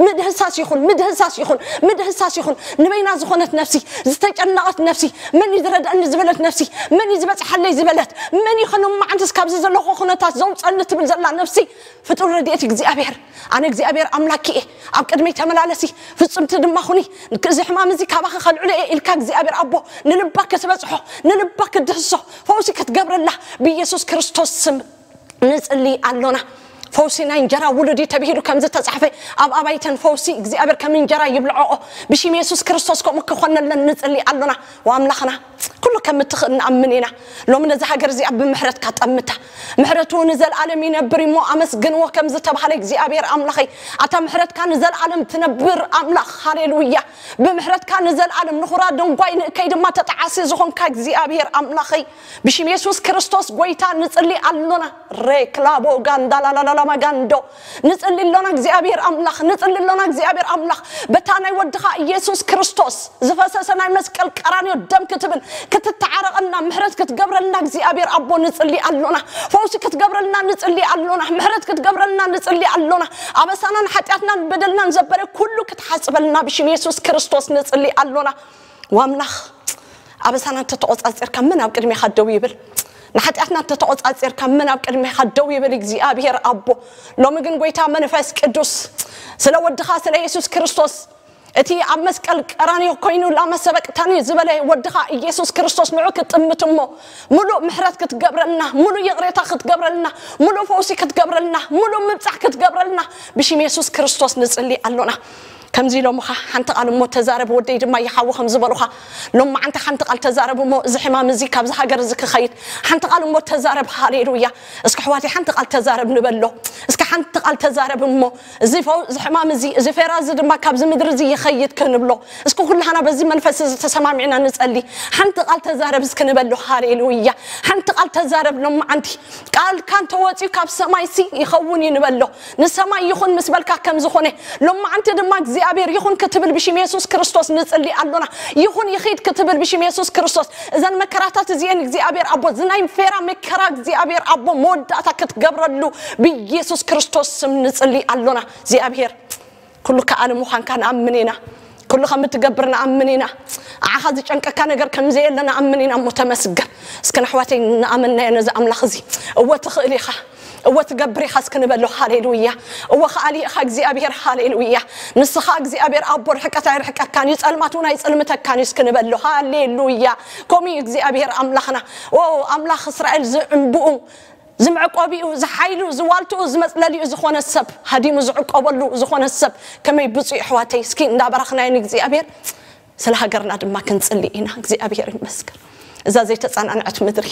ምድህሳስ ይኹን ምድህሳስ ይኹን ምድህሳስ ይኹን ንበይና ዝኾነት ነፍሲ ዝተጨነቐት ነፍሲ መን እዩ ዝረድኣኒ ዝበለት ነፍሲ መን እዩ ዝበፅሓለይ ዝበለት መን እዩ ከኖም መዓንትስ ካብዚ ዘለኹ ኩነታት ዘውፀኒ ትብል ዘላ ነፍሲ ፍጡር ረድኤት እግዚኣብሔር ኣነ እግዚኣብሔር ኣምላኪ እየ ኣብ ቅድመይ ተመላለሲ ፍፅምቲ ድማ ኩኒ እዚ ሕማም እዚ ካባኺ ከልዕሎ እየ ኢልካ እግዚኣብሔር ኣቦ ንልባ ክትበፅሖ ንልባ ክትድህሶ ፈውሲ ክትገብረላ ብኢየሱስ ክርስቶስ ስም ንጽሊ ኣሎና ፈውሲ ናይ እንጀራ ውሉድ እዩ ተባሂሉ ከም ዝተጻሕፈ፣ ኣብ ኣባይተን ፈውሲ እግዚኣብሔር ከም እንጀራ ይብልዖኦ። ብሽም የሱስ ክርስቶስ ከምኡ ክኾነለን ንጽሊ ኣሎና። ወኣምላኽና፣ ኩሉ ከም እትኽእል ንኣምን ኢና። ሎሚ ነዚ ሃገር እዚኣ ብምሕረትካ ጠምታ። ምሕረቱ ንዘለኣለም ይነብር እሞ ኣመስግንዎ ከም ዝተባህለ እግዚኣብሔር ኣምላኸይ፣ ኣታ ምሕረትካ ንዘለኣለም ትነብር ኣምላኽ። ሃሌሉያ። ብምሕረትካ ንዘለኣለም ንኹራ ደንጓይ ንእከይ ድማ ተጠዓሲ ዝኾንካ እግዚኣብሔር ኣምላኸይ፣ ብሽም የሱስ ክርስቶስ ጎይታ ንጽሊ ኣሎና። ሬክላቦ ጋንዳላላላማ ጋንዶ። ንጽሊ ኣሎና እግዚኣብሔር ኣምላኽ፣ ንጽሊ ኣሎና እግዚኣብሔር ኣምላኽ። በታ ናይ ወድኻ ኢየሱስ ክርስቶስ ዝፈሰሰ ናይ መስቀል ቀራንዮ ደም ክትብል፣ ክትተዓረቐና፣ ምሕረት ክትገብረልና እግዚኣብሔር ኣቦ ንጽሊ ኣሎና። ፈውሲ ክትገብረልና ንጽሊ ኣሎና። ምሕረት ክትገብረልና ንጽሊ ኣሎና። ኣበሳናን ሓጢኣትናን በደልናን ዘበለ ኩሉ ክትሓጽበልና ብሽም የሱስ ክርስቶስ ንጽሊ ኣሎና። ዋምላኽ፣ ኣበሳና እንተተቖጻጺርካ መን ኣብ ቅድሜኻ ደው ይብል? ንሓጢኣትና እንተተቖጻጺርካ መን ኣብ ቅድሜኻ ደው ይብል? እግዚኣብሔር ኣቦ፣ ሎሚ ግን ጎይታ መንፈስ ቅዱስ፣ ስለ ወድኻ ስለ የሱስ ክርስቶስ፣ እቲ ኣብ መስቀል ቀራንዮ ኮይኑ ላመ ሰበቅታኒ ዝበለ ወድኻ ኢየሱስ ክርስቶስ ንዑ ክትጥምት እሞ፣ ሙሉእ ምሕረት ክትገብረልና፣ ሙሉእ ይቕሬታ ክትገብረልና፣ ሙሉእ ፈውሲ ክትገብረልና፣ ሙሉእ ምብጻሕ ክትገብረልና ብሽም የሱስ ክርስቶስ ንጽሊ ኣሎና። ከምዚ ኢሎምኻ፣ ሓንቲ ቃል እሞ ተዛረብ ወደይ ድማ ይሓዊ ከም ዝበሉኻ፣ ሎማዓንቲ ሓንቲ ቃል ተዛረብ እሞ እዚ ሕማም እዚ ካብዚ ሃገር እዚ ክኸይድ ሓንቲ ቃል እሞ ተዛረብ። ሃሌሉያ። እስኪ ኣሕዋተይ ሓንቲ ቃል ተዛረብ ንበሎ። እስኪ ሓንቲ ቃል ተዛረብ እሞ እዚ ፈው-፣ እዚ ሕማም እዚ፣ እዚ ፌራ እዚ ድማ ካብዚ ምድሪ እዚ ይኸይድ ክንብሎ። እስኪ ኩላህና በዚ መንፈስ እዚ ተሰማሚዕና ንጸሊ። ሓንቲ ቃል ተዛረብ እስኪ ንበሎ። ሃሌሉያ። ሓንቲ ቃል ተዛረብ ሎማዓንቲ። ቃልካ እንተወጺኡ ካብ ሰማይሲ ይኸውን እዩ ንበሎ። ንሰማይ ይኹን ምስ በልካ ከም ዝኾነ፣ ሎማዓንቲ ድማ እግዚኣብሔር ይኹን ክትብል ብሽም የሱስ ክርስቶስ ንጽሊ ኣሎና። ይኹን ይኺድ ክትብል ብሽም የሱስ ክርስቶስ፣ እዘን መከራታት እዚኤን እግዚኣብሔር ኣቦ፣ እዚ ናይ ፌራ መከራ እግዚኣብሔር ኣቦ መወዳእታ ክትገብረሉ ብኢየሱስ ክርስቶስ ስም ንጽሊ ኣሎና። እግዚኣብሔር ኩሉ ከኣሊ ምዃንካ ንኣምን ኢና። ኩሉ ከም እትገብር ንኣምን ኢና። ንዓኻ ዝጨንቀካ ነገር ከም ዘየለ ንኣምን ኢና እሞ ተመስገን። እስኪ ንኣሕዋተይ ንኣመናዮ ነዚ ኣምላኽ እዚ። እወ ትኽእል ኢኻ። እወ ትገብር ኢኻ እስኪ ንበሎ። ሃሌሉያ። እወ ከኣሊ ኢኻ እግዚኣብሔር። ሃሌሉያ። ንስኻ እግዚኣብሔር ኣቦ ርሕቀት ኣይርሕቀካን እዩ፣ ጸልማት እውን ኣይጽልምተካን እዩ እስኪ ንበሎ። ሃሌሉያ። ከምኡ እዩ እግዚኣብሔር ኣምላኽና። ኦ ኣምላኽ እስራኤል ዝዕንብኡ፣ ዝመዕቆቢኡ፣ ዝሓይሉ፣ ዝዋልትኡ፣ ዝመጽለሊኡ ዝኾነ ሰብ፣ ሃዲሙ ዝዕቆበሉ ዝኾነ ሰብ ከመይ ብፁዕ ኣሕዋተይ። እስኪ እንዳባረኽናዮ ንእግዚኣብሔር፣ ስለ ሃገርና ድማ ክንጽሊ ኢና። እግዚኣብሔር ይመስገን። እዛ ዘይተጸናንዐት ምድሪ፣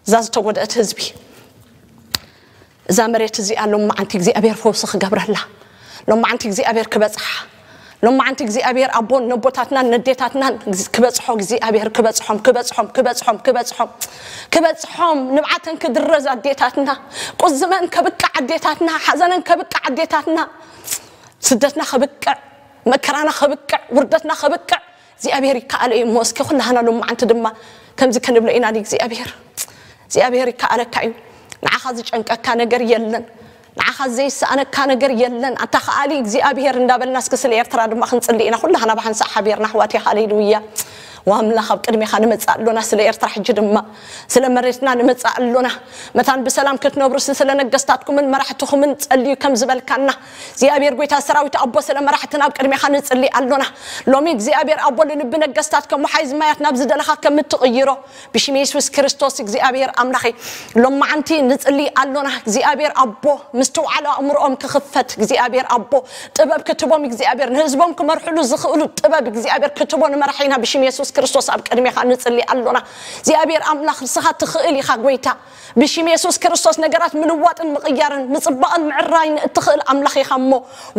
እዛ ዝተጎድአት ህዝቢ፣ እዛ መሬት እዚኣ ሎማዓንቲ እግዚኣብሔር ፈውሲ ክገብረላ፣ ሎማዓንቲ እግዚኣብሔር ክበጽሓ፣ ሎማዓንቲ እግዚኣብሔር ኣቦን ነቦታትናን ነዴታትናን ክበጽሖ እግዚኣብሔር ክበጽሖም፣ ክበጽሖም፣ ክበጽሖም፣ ክበጽሖም፣ ክበጽሖም፣ ንብዓተን ክድረዝ ኣዴታትና፣ ቁዝመን ከብቅዕ ኣዴታትና፣ ሓዘነን ከብቅዕ ኣዴታትና፣ ስደትና ከብቅዕ፣ መከራና ከብቅዕ፣ ውርደትና ከብቅዕ እግዚኣብሔር ይከኣሎ እዩ እሞ፣ እስኪ ኩላህና ሎማዓንቲ ድማ ከምዚ ክንብሎ ኢና ንእግዚኣብሔር። እግዚኣብሔር ይከኣለካ እዩ። ንዓኻ ዝጨንቀካ ነገር የለን። ንዓኻ ዘይሰኣነካ ነገር የለን። ኣታ ከኣሊ እግዚኣብሔር እንዳበልና እስኪ ስለ ኤርትራ ድማ ክንጽሊ ኢና። ኩላህና ብሓንሳእ ሓቢርና ኣሕዋተይ፣ ሃሌሉያ። ወኣምላኽ ኣብ ቅድሜኻ ንመጽእ ኣሎና፣ ስለ ኤርትራ ሕጂ ድማ ስለ መሬትና ንመጽእ ኣሎና። መታን ብሰላም ክትነብሩ ሲ ስለ ነገስታትኩምን መራሕትኹምን ጸልዩ ከም ዝበልካና፣ እግዚኣብሔር ጎይታ ሰራዊት ኣቦ ስለ መራሕትና ኣብ ቅድሜኻ ንጽሊ ኣሎና። ሎሚ እግዚኣብሔር ኣቦ ንልቢ ነገስታት ከም ወሓይዝ ማያት ናብ ዝደለኻ ከም እትቕይሮ ብሽም የሱስ ክርስቶስ እግዚኣብሔር ኣምላኸይ ሎማዓንቲ ንጽሊ ኣሎና። እግዚኣብሔር ኣቦ ምስትውዓል ኣእምሮኦም ክኽፈት እግዚኣብሔር ኣቦ ጥበብ ክትቦም እግዚኣብሔር ንህዝቦም ክመርሕሉ ዝኽእሉ ጥበብ እግዚኣብሔር ክትቦ ንመራሒና ብሽም የሱስ ክርስቶስ ኣብ ቅድሜኻ ንጽሊ ኣሎና። እግዚኣብሔር ኣምላኽ ንስኻ ትኽእል ኢኻ ጎይታ። ብሽም የሱስ ክርስቶስ ነገራት ምልዋጥን ምቕያርን ምጽባቕን ምዕራይን እትኽእል ኣምላኽ ኢኻ እሞ፣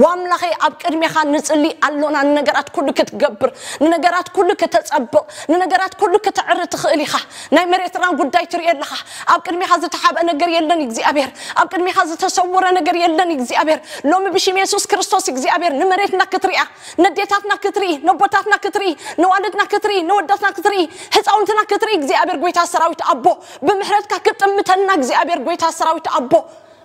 ወኣምላኸይ ኣብ ቅድሜኻ ንጽሊ ኣሎና። ንነገራት ኩሉ ክትገብር፣ ንነገራት ኩሉ ክተጸብቕ፣ ንነገራት ኩሉ ክተዕሪ ትኽእል ኢኻ። ናይ መሬትና ጉዳይ ትርኢ ኣለኻ። ኣብ ቅድሜኻ ዝተሓብአ ነገር የለን እግዚኣብሔር። ኣብ ቅድሜኻ ዝተሰወረ ነገር የለን እግዚኣብሔር። ሎሚ ብሽም የሱስ ክርስቶስ እግዚኣብሔር ንመሬትና ክትሪኣ፣ ነዴታትና ክትርኢ፣ ነቦታትና ክትርኢ፣ ነዋልድና ክትርኢ፣ ነወዳትና ክትርኢ፣ ህፃውንትና ክትርኢ እግዚኣብሔር ጎይታ ሰራዊት ኣቦ ብምሕረትካ ክጥምተና እግዚኣብሔር ጎይታ ሰራዊት ኣቦ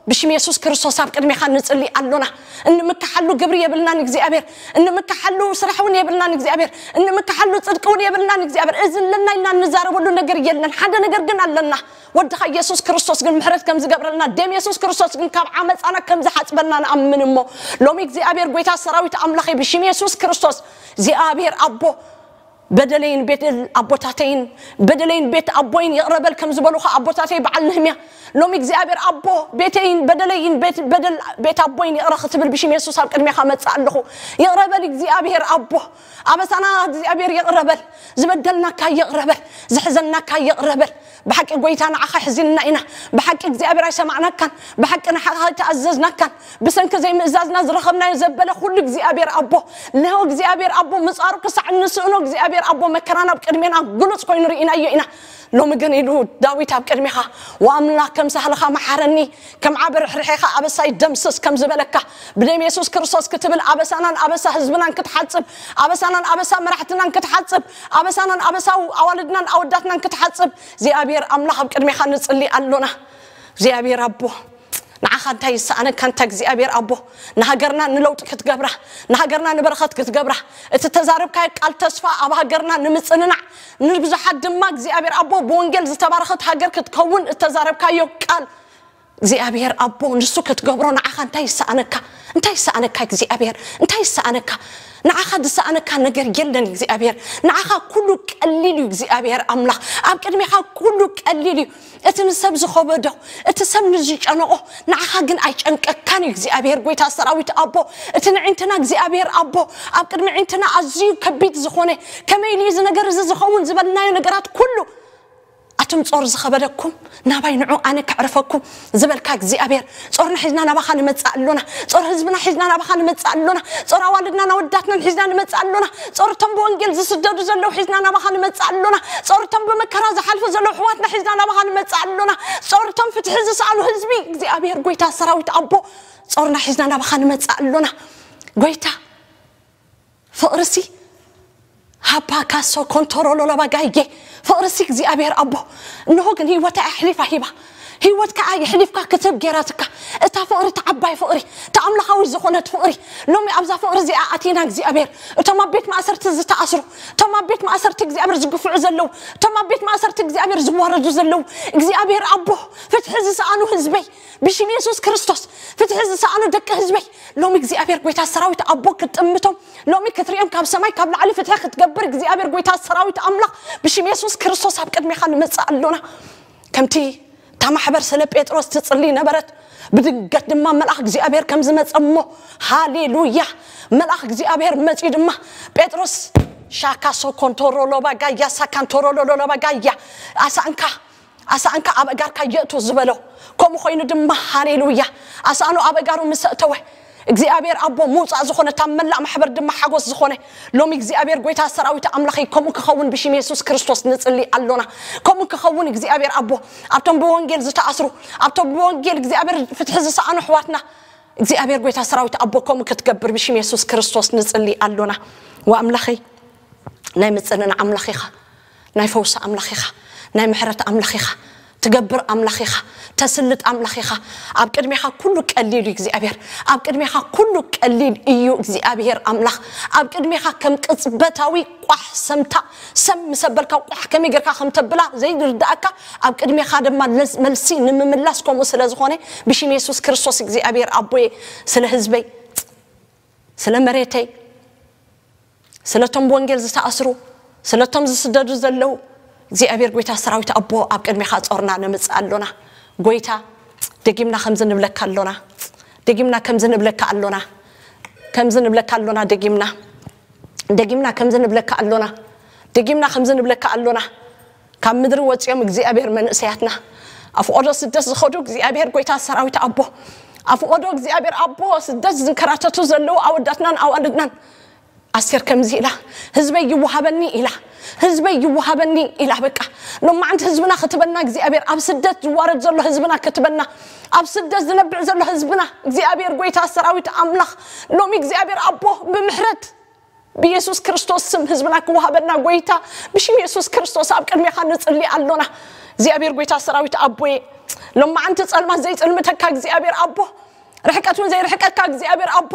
ብሽም የሱስ ክርስቶስ ኣብ ቅድሜኻ ንጽሊ ኣሎና። እንምክሓሉ ግብሪ የብልናን እግዚኣብሔር፣ እንምክሓሉ ስራሕ እውን የብልናን እግዚኣብሔር፣ እንምክሓሉ ጽድቂ እውን የብልናን እግዚኣብሔር። እዚ ኣለና ኢልና እንዛረበሉ ነገር የለን። ሓደ ነገር ግን ኣለና። ወድኻ ኢየሱስ ክርስቶስ ግን ምሕረት ከም ዝገብረልና፣ ደም የሱስ ክርስቶስ ግን ካብ ዓመፃና ከም ዝሓፅበና ንኣምን እሞ፣ ሎሚ እግዚኣብሔር ጎይታ ሰራዊት ኣምላኸይ ብሽም የሱስ ክርስቶስ እግዚኣብሔር ኣቦ በደለይን በደል ኣቦታተይን በደለይን ቤት ኣቦይን ይቕረ በል ከም ዝበሉኻ ኣቦታተይ በዓል ነህምያ፣ ሎሚ እግዚኣብሔር ኣቦ ቤተይን በደለይን ቤት በደል ቤት ኣቦይን ይቕረ ክትብል ብሽም የሱስ ኣብ ቅድሜኻ መጽእ ኣለኹ። ይቕረ በል እግዚኣብሔር ኣቦ፣ ኣበሳና እግዚኣብሔር ይቕረ በል፣ ዝበደልናካ ይቕረ በል፣ ዝሕዘናካ ይቕረ በል። ብሓቂ ጎይታ ንዓኻ ሕዚንና ኢና። ብሓቂ እግዚኣብሔር ኣይሰማዕናካን፣ ብሓቂ ንዓኻ ኣይተኣዘዝናካን። ብሰንኪ ዘይምእዛዝና ዝረኸብናዮ ዘበለ ኩሉ እግዚኣብሔር ኣቦ፣ ንሆ እግዚኣብሔር ኣቦ ምጻሩ ክሳዕ እንስእኖ እግዚኣብሔር ኣቦ መከራና ኣብ ቅድሜና ግሉጽ ኮይኑ ርኢናዮ ኢና። ሎሚ ግን ኢሉ ዳዊት ኣብ ቅድሜኻ፣ ወኣምላኽ ከም ሳህልኻ መሓረኒ፣ ከም ዓቢ ርሕርሐኻ ኣበሳይ ደምስስ ከም ዝበለካ፣ ብደም የሱስ ክርስቶስ ክትብል ኣበሳናን ኣበሳ ህዝብናን ክትሓጽብ፣ ኣበሳናን ኣበሳ መራሕትናን ክትሓጽብ፣ ኣበሳናን ኣበሳ ኣዋልድናን ኣወዳትናን ክትሓጽብ እግዚኣብሔር ኣምላኽ ኣብ ቅድሜኻ ንጽሊ ኣሎና። እግዚኣብሔር ኣቦ ንዓኻ እንታይ ይሰኣነካ? እንታ እግዚኣብሔር ኣቦ ንሃገርና ንለውጢ ክትገብራ፣ ንሃገርና ንበረኸት ክትገብራ፣ እቲ ተዛረብካዮ ቃል ተስፋ ኣብ ሃገርና ንምጽንናዕ፣ ንብዙሓት ድማ እግዚኣብሔር ኣቦ ብወንጌል ዝተባረኸት ሃገር ክትከውን እተዛረብካዮ ቃል እግዚኣብሔር ኣቦ ንሱ ክትገብሮ ንዓኻ እንታይ ይሰኣነካ? እንታይ ይሰኣነካ እግዚኣብሔር? እንታይ ይሰኣነካ? ንዓኻ ዝሰኣነካ ነገር የለን እግዚኣብሔር። ንዓኻ ኩሉ ቀሊል እዩ እግዚኣብሔር ኣምላኽ። ኣብ ቅድሜኻ ኩሉ ቀሊል እዩ። እቲ ንሰብ ዝኸበዶ፣ እቲ ሰብ ንዝጨነቆ፣ ንዓኻ ግን ኣይጨንቀካን እዩ እግዚኣብሔር ጎይታ ሰራዊት ኣቦ። እቲ ንዕንትና እግዚኣብሔር ኣቦ ኣብ ቅድሚ ዕንትና ኣዝዩ ከቢድ ዝኾነ፣ ከመይ ኢሉ እዚ ነገር እዚ ዝኸውን ዝበልናዮ ነገራት ኩሉ ኣቱም ጾር ዝኸበደኩም ናባይ ንዑ ኣነ ከዕርፈኩም ዝበልካ እግዚኣብሔር፣ ጾርና ሒዝና ናባኻ ንመጽእ ኣሎና። ጾር ህዝብና ሒዝና ናባኻ ንመጽእ ኣሎና። ጾር ኣዋልድናን ኣወዳትናን ሒዝና ንመጽእ ኣሎና። ጾር እቶም ብወንጌል ዝስደዱ ዘለዉ ሒዝና ናባኻ ንመጽእ ኣሎና። ጾር እቶም ብመከራ ዝሓልፉ ዘለዉ ኣሕዋትና ሒዝና ናባኻ ንመጽእ ኣሎና። ጾር እቶም ፍትሒ ዝሰኣኑ ህዝቢ እግዚኣብሔር ጎይታ ሰራዊት ኣቦ ጾርና ሒዝና ናባኻ ንመጽእ ኣሎና። ጎይታ ፍቕርሲ ሃባ ካሶ ኮንቶሮሎ ለባጋይጌ ፍቕርሲ እግዚኣብሔር ኣቦ እንሆ ግን ህይወታ ኣሕሊፋ ሂባ ህይወትካ የሕሊፍካ ክትህብ ጌራትካ እታ ፍቕሪ እታ ዓባይ ፍቕሪ እታ ኣምላኻዊት ዝኾነት ፍቕሪ ሎሚ ኣብዛ ፍቕሪ እዚኣ ኣቲና እግዚኣብሔር እቶም ኣብ ቤት ማእሰርቲ ዝተኣስሩ እቶም ኣብ ቤት ማእሰርቲ እግዚኣብሔር ዝግፍዑ ዘለዉ እቶም ኣብ ቤት ማእሰርቲ እግዚኣብሔር ዝዋረዱ ዘለዉ እግዚኣብሔር ኣቦ ፍትሒ ዝሰኣኑ ህዝበይ ብሽም የሱስ ክርስቶስ ፍትሒ ዝሰኣኑ ደቂ ህዝበይ ሎሚ እግዚኣብሔር ጎይታ ሰራዊት ኣቦ ክትጥምቶም ሎሚ ክትሪኦም ካብ ሰማይ ካብ ላዕሊ ፍትሒ ክትገብር እግዚኣብሔር ጎይታ ሰራዊት ኣምላኽ ብሽም የሱስ ክርስቶስ ኣብ ቅድሜኻ ንመጽእ ኣሎና ከምቲ እታ ማሕበር ስለ ጴጥሮስ ትጽሊ ነበረት ብድንገት ድማ መልኣኽ እግዚኣብሔር ከም ዝመጸ እሞ ሃሌሉያ መልኣኽ እግዚኣብሔር መጺኡ ድማ ጴጥሮስ ሻካ ሶኮንቶሮሎባ ጋያ ሳካንቶሮሎሎባ ጋያ ኣሳንካ ኣሳንካ ኣብ ኣጋርካ የእቱ ዝበሎ ከምኡ ኮይኑ ድማ ሃሌሉያ ኣሳኑ ኣብ ኣጋሩ ምስ ኣእተወ እግዚኣብሔር ኣቦ ምውፃእ ዝኾነ እታ መላእ ማሕበር ድማ ሓጎስ ዝኾነ ሎሚ እግዚኣብሔር ጎይታ ሰራዊት ኣምላኸይ ከምኡ ክኸውን ብሽም የሱስ ክርስቶስ ንፅሊ ኣሎና ከምኡ ክኸውን እግዚኣብሔር ኣቦ ኣብቶም ብወንጌል ዝተኣስሩ ኣብቶም ብወንጌል እግዚኣብሔር ፍትሒ ዝሰኣኑ ኣሕዋትና እግዚኣብሔር ጎይታ ሰራዊት ኣቦ ከምኡ ክትገብር ብሽም የሱስ ክርስቶስ ንፅሊ ኣሎና ወኣምላኸይ ናይ ምፅንና ኣምላኽ ኢኻ ናይ ፈውሲ ኣምላኽ ኢኻ ናይ ምሕረት ኣምላኽ ኢኻ ትገብር ኣምላኽ ኢኻ ተስልጥ ኣምላኽ ኢኻ ኣብ ቅድሜኻ ኩሉ ቀሊል እዩ እግዚኣብሔር ኣብ ቅድሜኻ ኩሉ ቀሊል እዩ እግዚኣብሔር ኣምላኽ ኣብ ቅድሜኻ ከም ቅፅበታዊ ቋሕ ሰምታ ሰም ምሰበልካ ቋሕ ከመይ ጌርካ ከም ተብላ ዘይርዳእካ ኣብ ቅድሜኻ ድማ መልሲ ንምምላስ ከምኡ ስለ ዝኾነ ብሽም የሱስ ክርስቶስ እግዚኣብሔር ኣቦየ ስለ ህዝበይ ስለ መሬተይ ስለቶም ብወንጌል ዝተኣስሩ ስለቶም ዝስደዱ ዘለዉ እግዚኣብሔር ጎይታ ሰራዊት ኣቦ ኣብ ቅድሜኻ ጾርና ነምጽእ ኣሎና ጎይታ ደጊምና ከምዚ ንብለካ ኣሎና ደጊምና ከምዚ ንብለካ ኣሎና ከምዚ ንብለካ ኣሎና ደጊምና ደጊምና ከምዚ ንብለካ ኣሎና ደጊምና ከምዚ ንብለካ ኣሎና ካብ ምድሪ ወፂኦም እግዚኣብሔር መንእሰያትና ኣፍቆዶ ስደት ዝኸዱ እግዚኣብሔር ጎይታ ሰራዊት ኣቦ ኣፍቆዶ እግዚኣብሔር ኣቦ ስደት ዝንከራተቱ ዘለዉ ኣወዳትናን ኣዋልድናን ኣስቴር ከምዚ ኢላ ህዝበይ ይወሃበኒ ኢላ ህዝበይ ይወሃበኒ ኢላ በቃ ሎማዓንቲ ህዝብና ክትበና እግዚኣብሔር ኣብ ስደት ዝዋረድ ዘሎ ህዝብና ክትበና ኣብ ስደት ዝነብዕ ዘሎ ህዝብና እግዚኣብሔር ጎይታ ሰራዊት ኣምላኽ ሎሚ እግዚኣብሔር ኣቦ ብምሕረት ብየሱስ ክርስቶስ ስም ህዝብና ክወሃበና ጎይታ ብሽም የሱስ ክርስቶስ ኣብ ቅድሜኻ ንፅሊ ኣሎና እግዚኣብሔር ጎይታ ሰራዊት ኣቦየ ሎማዓንቲ ፀልማት ዘይፅልምተካ እግዚኣብሔር ኣቦ ርሕቀት እውን ዘይርሕቀካ እግዚኣብሔር ኣቦ፣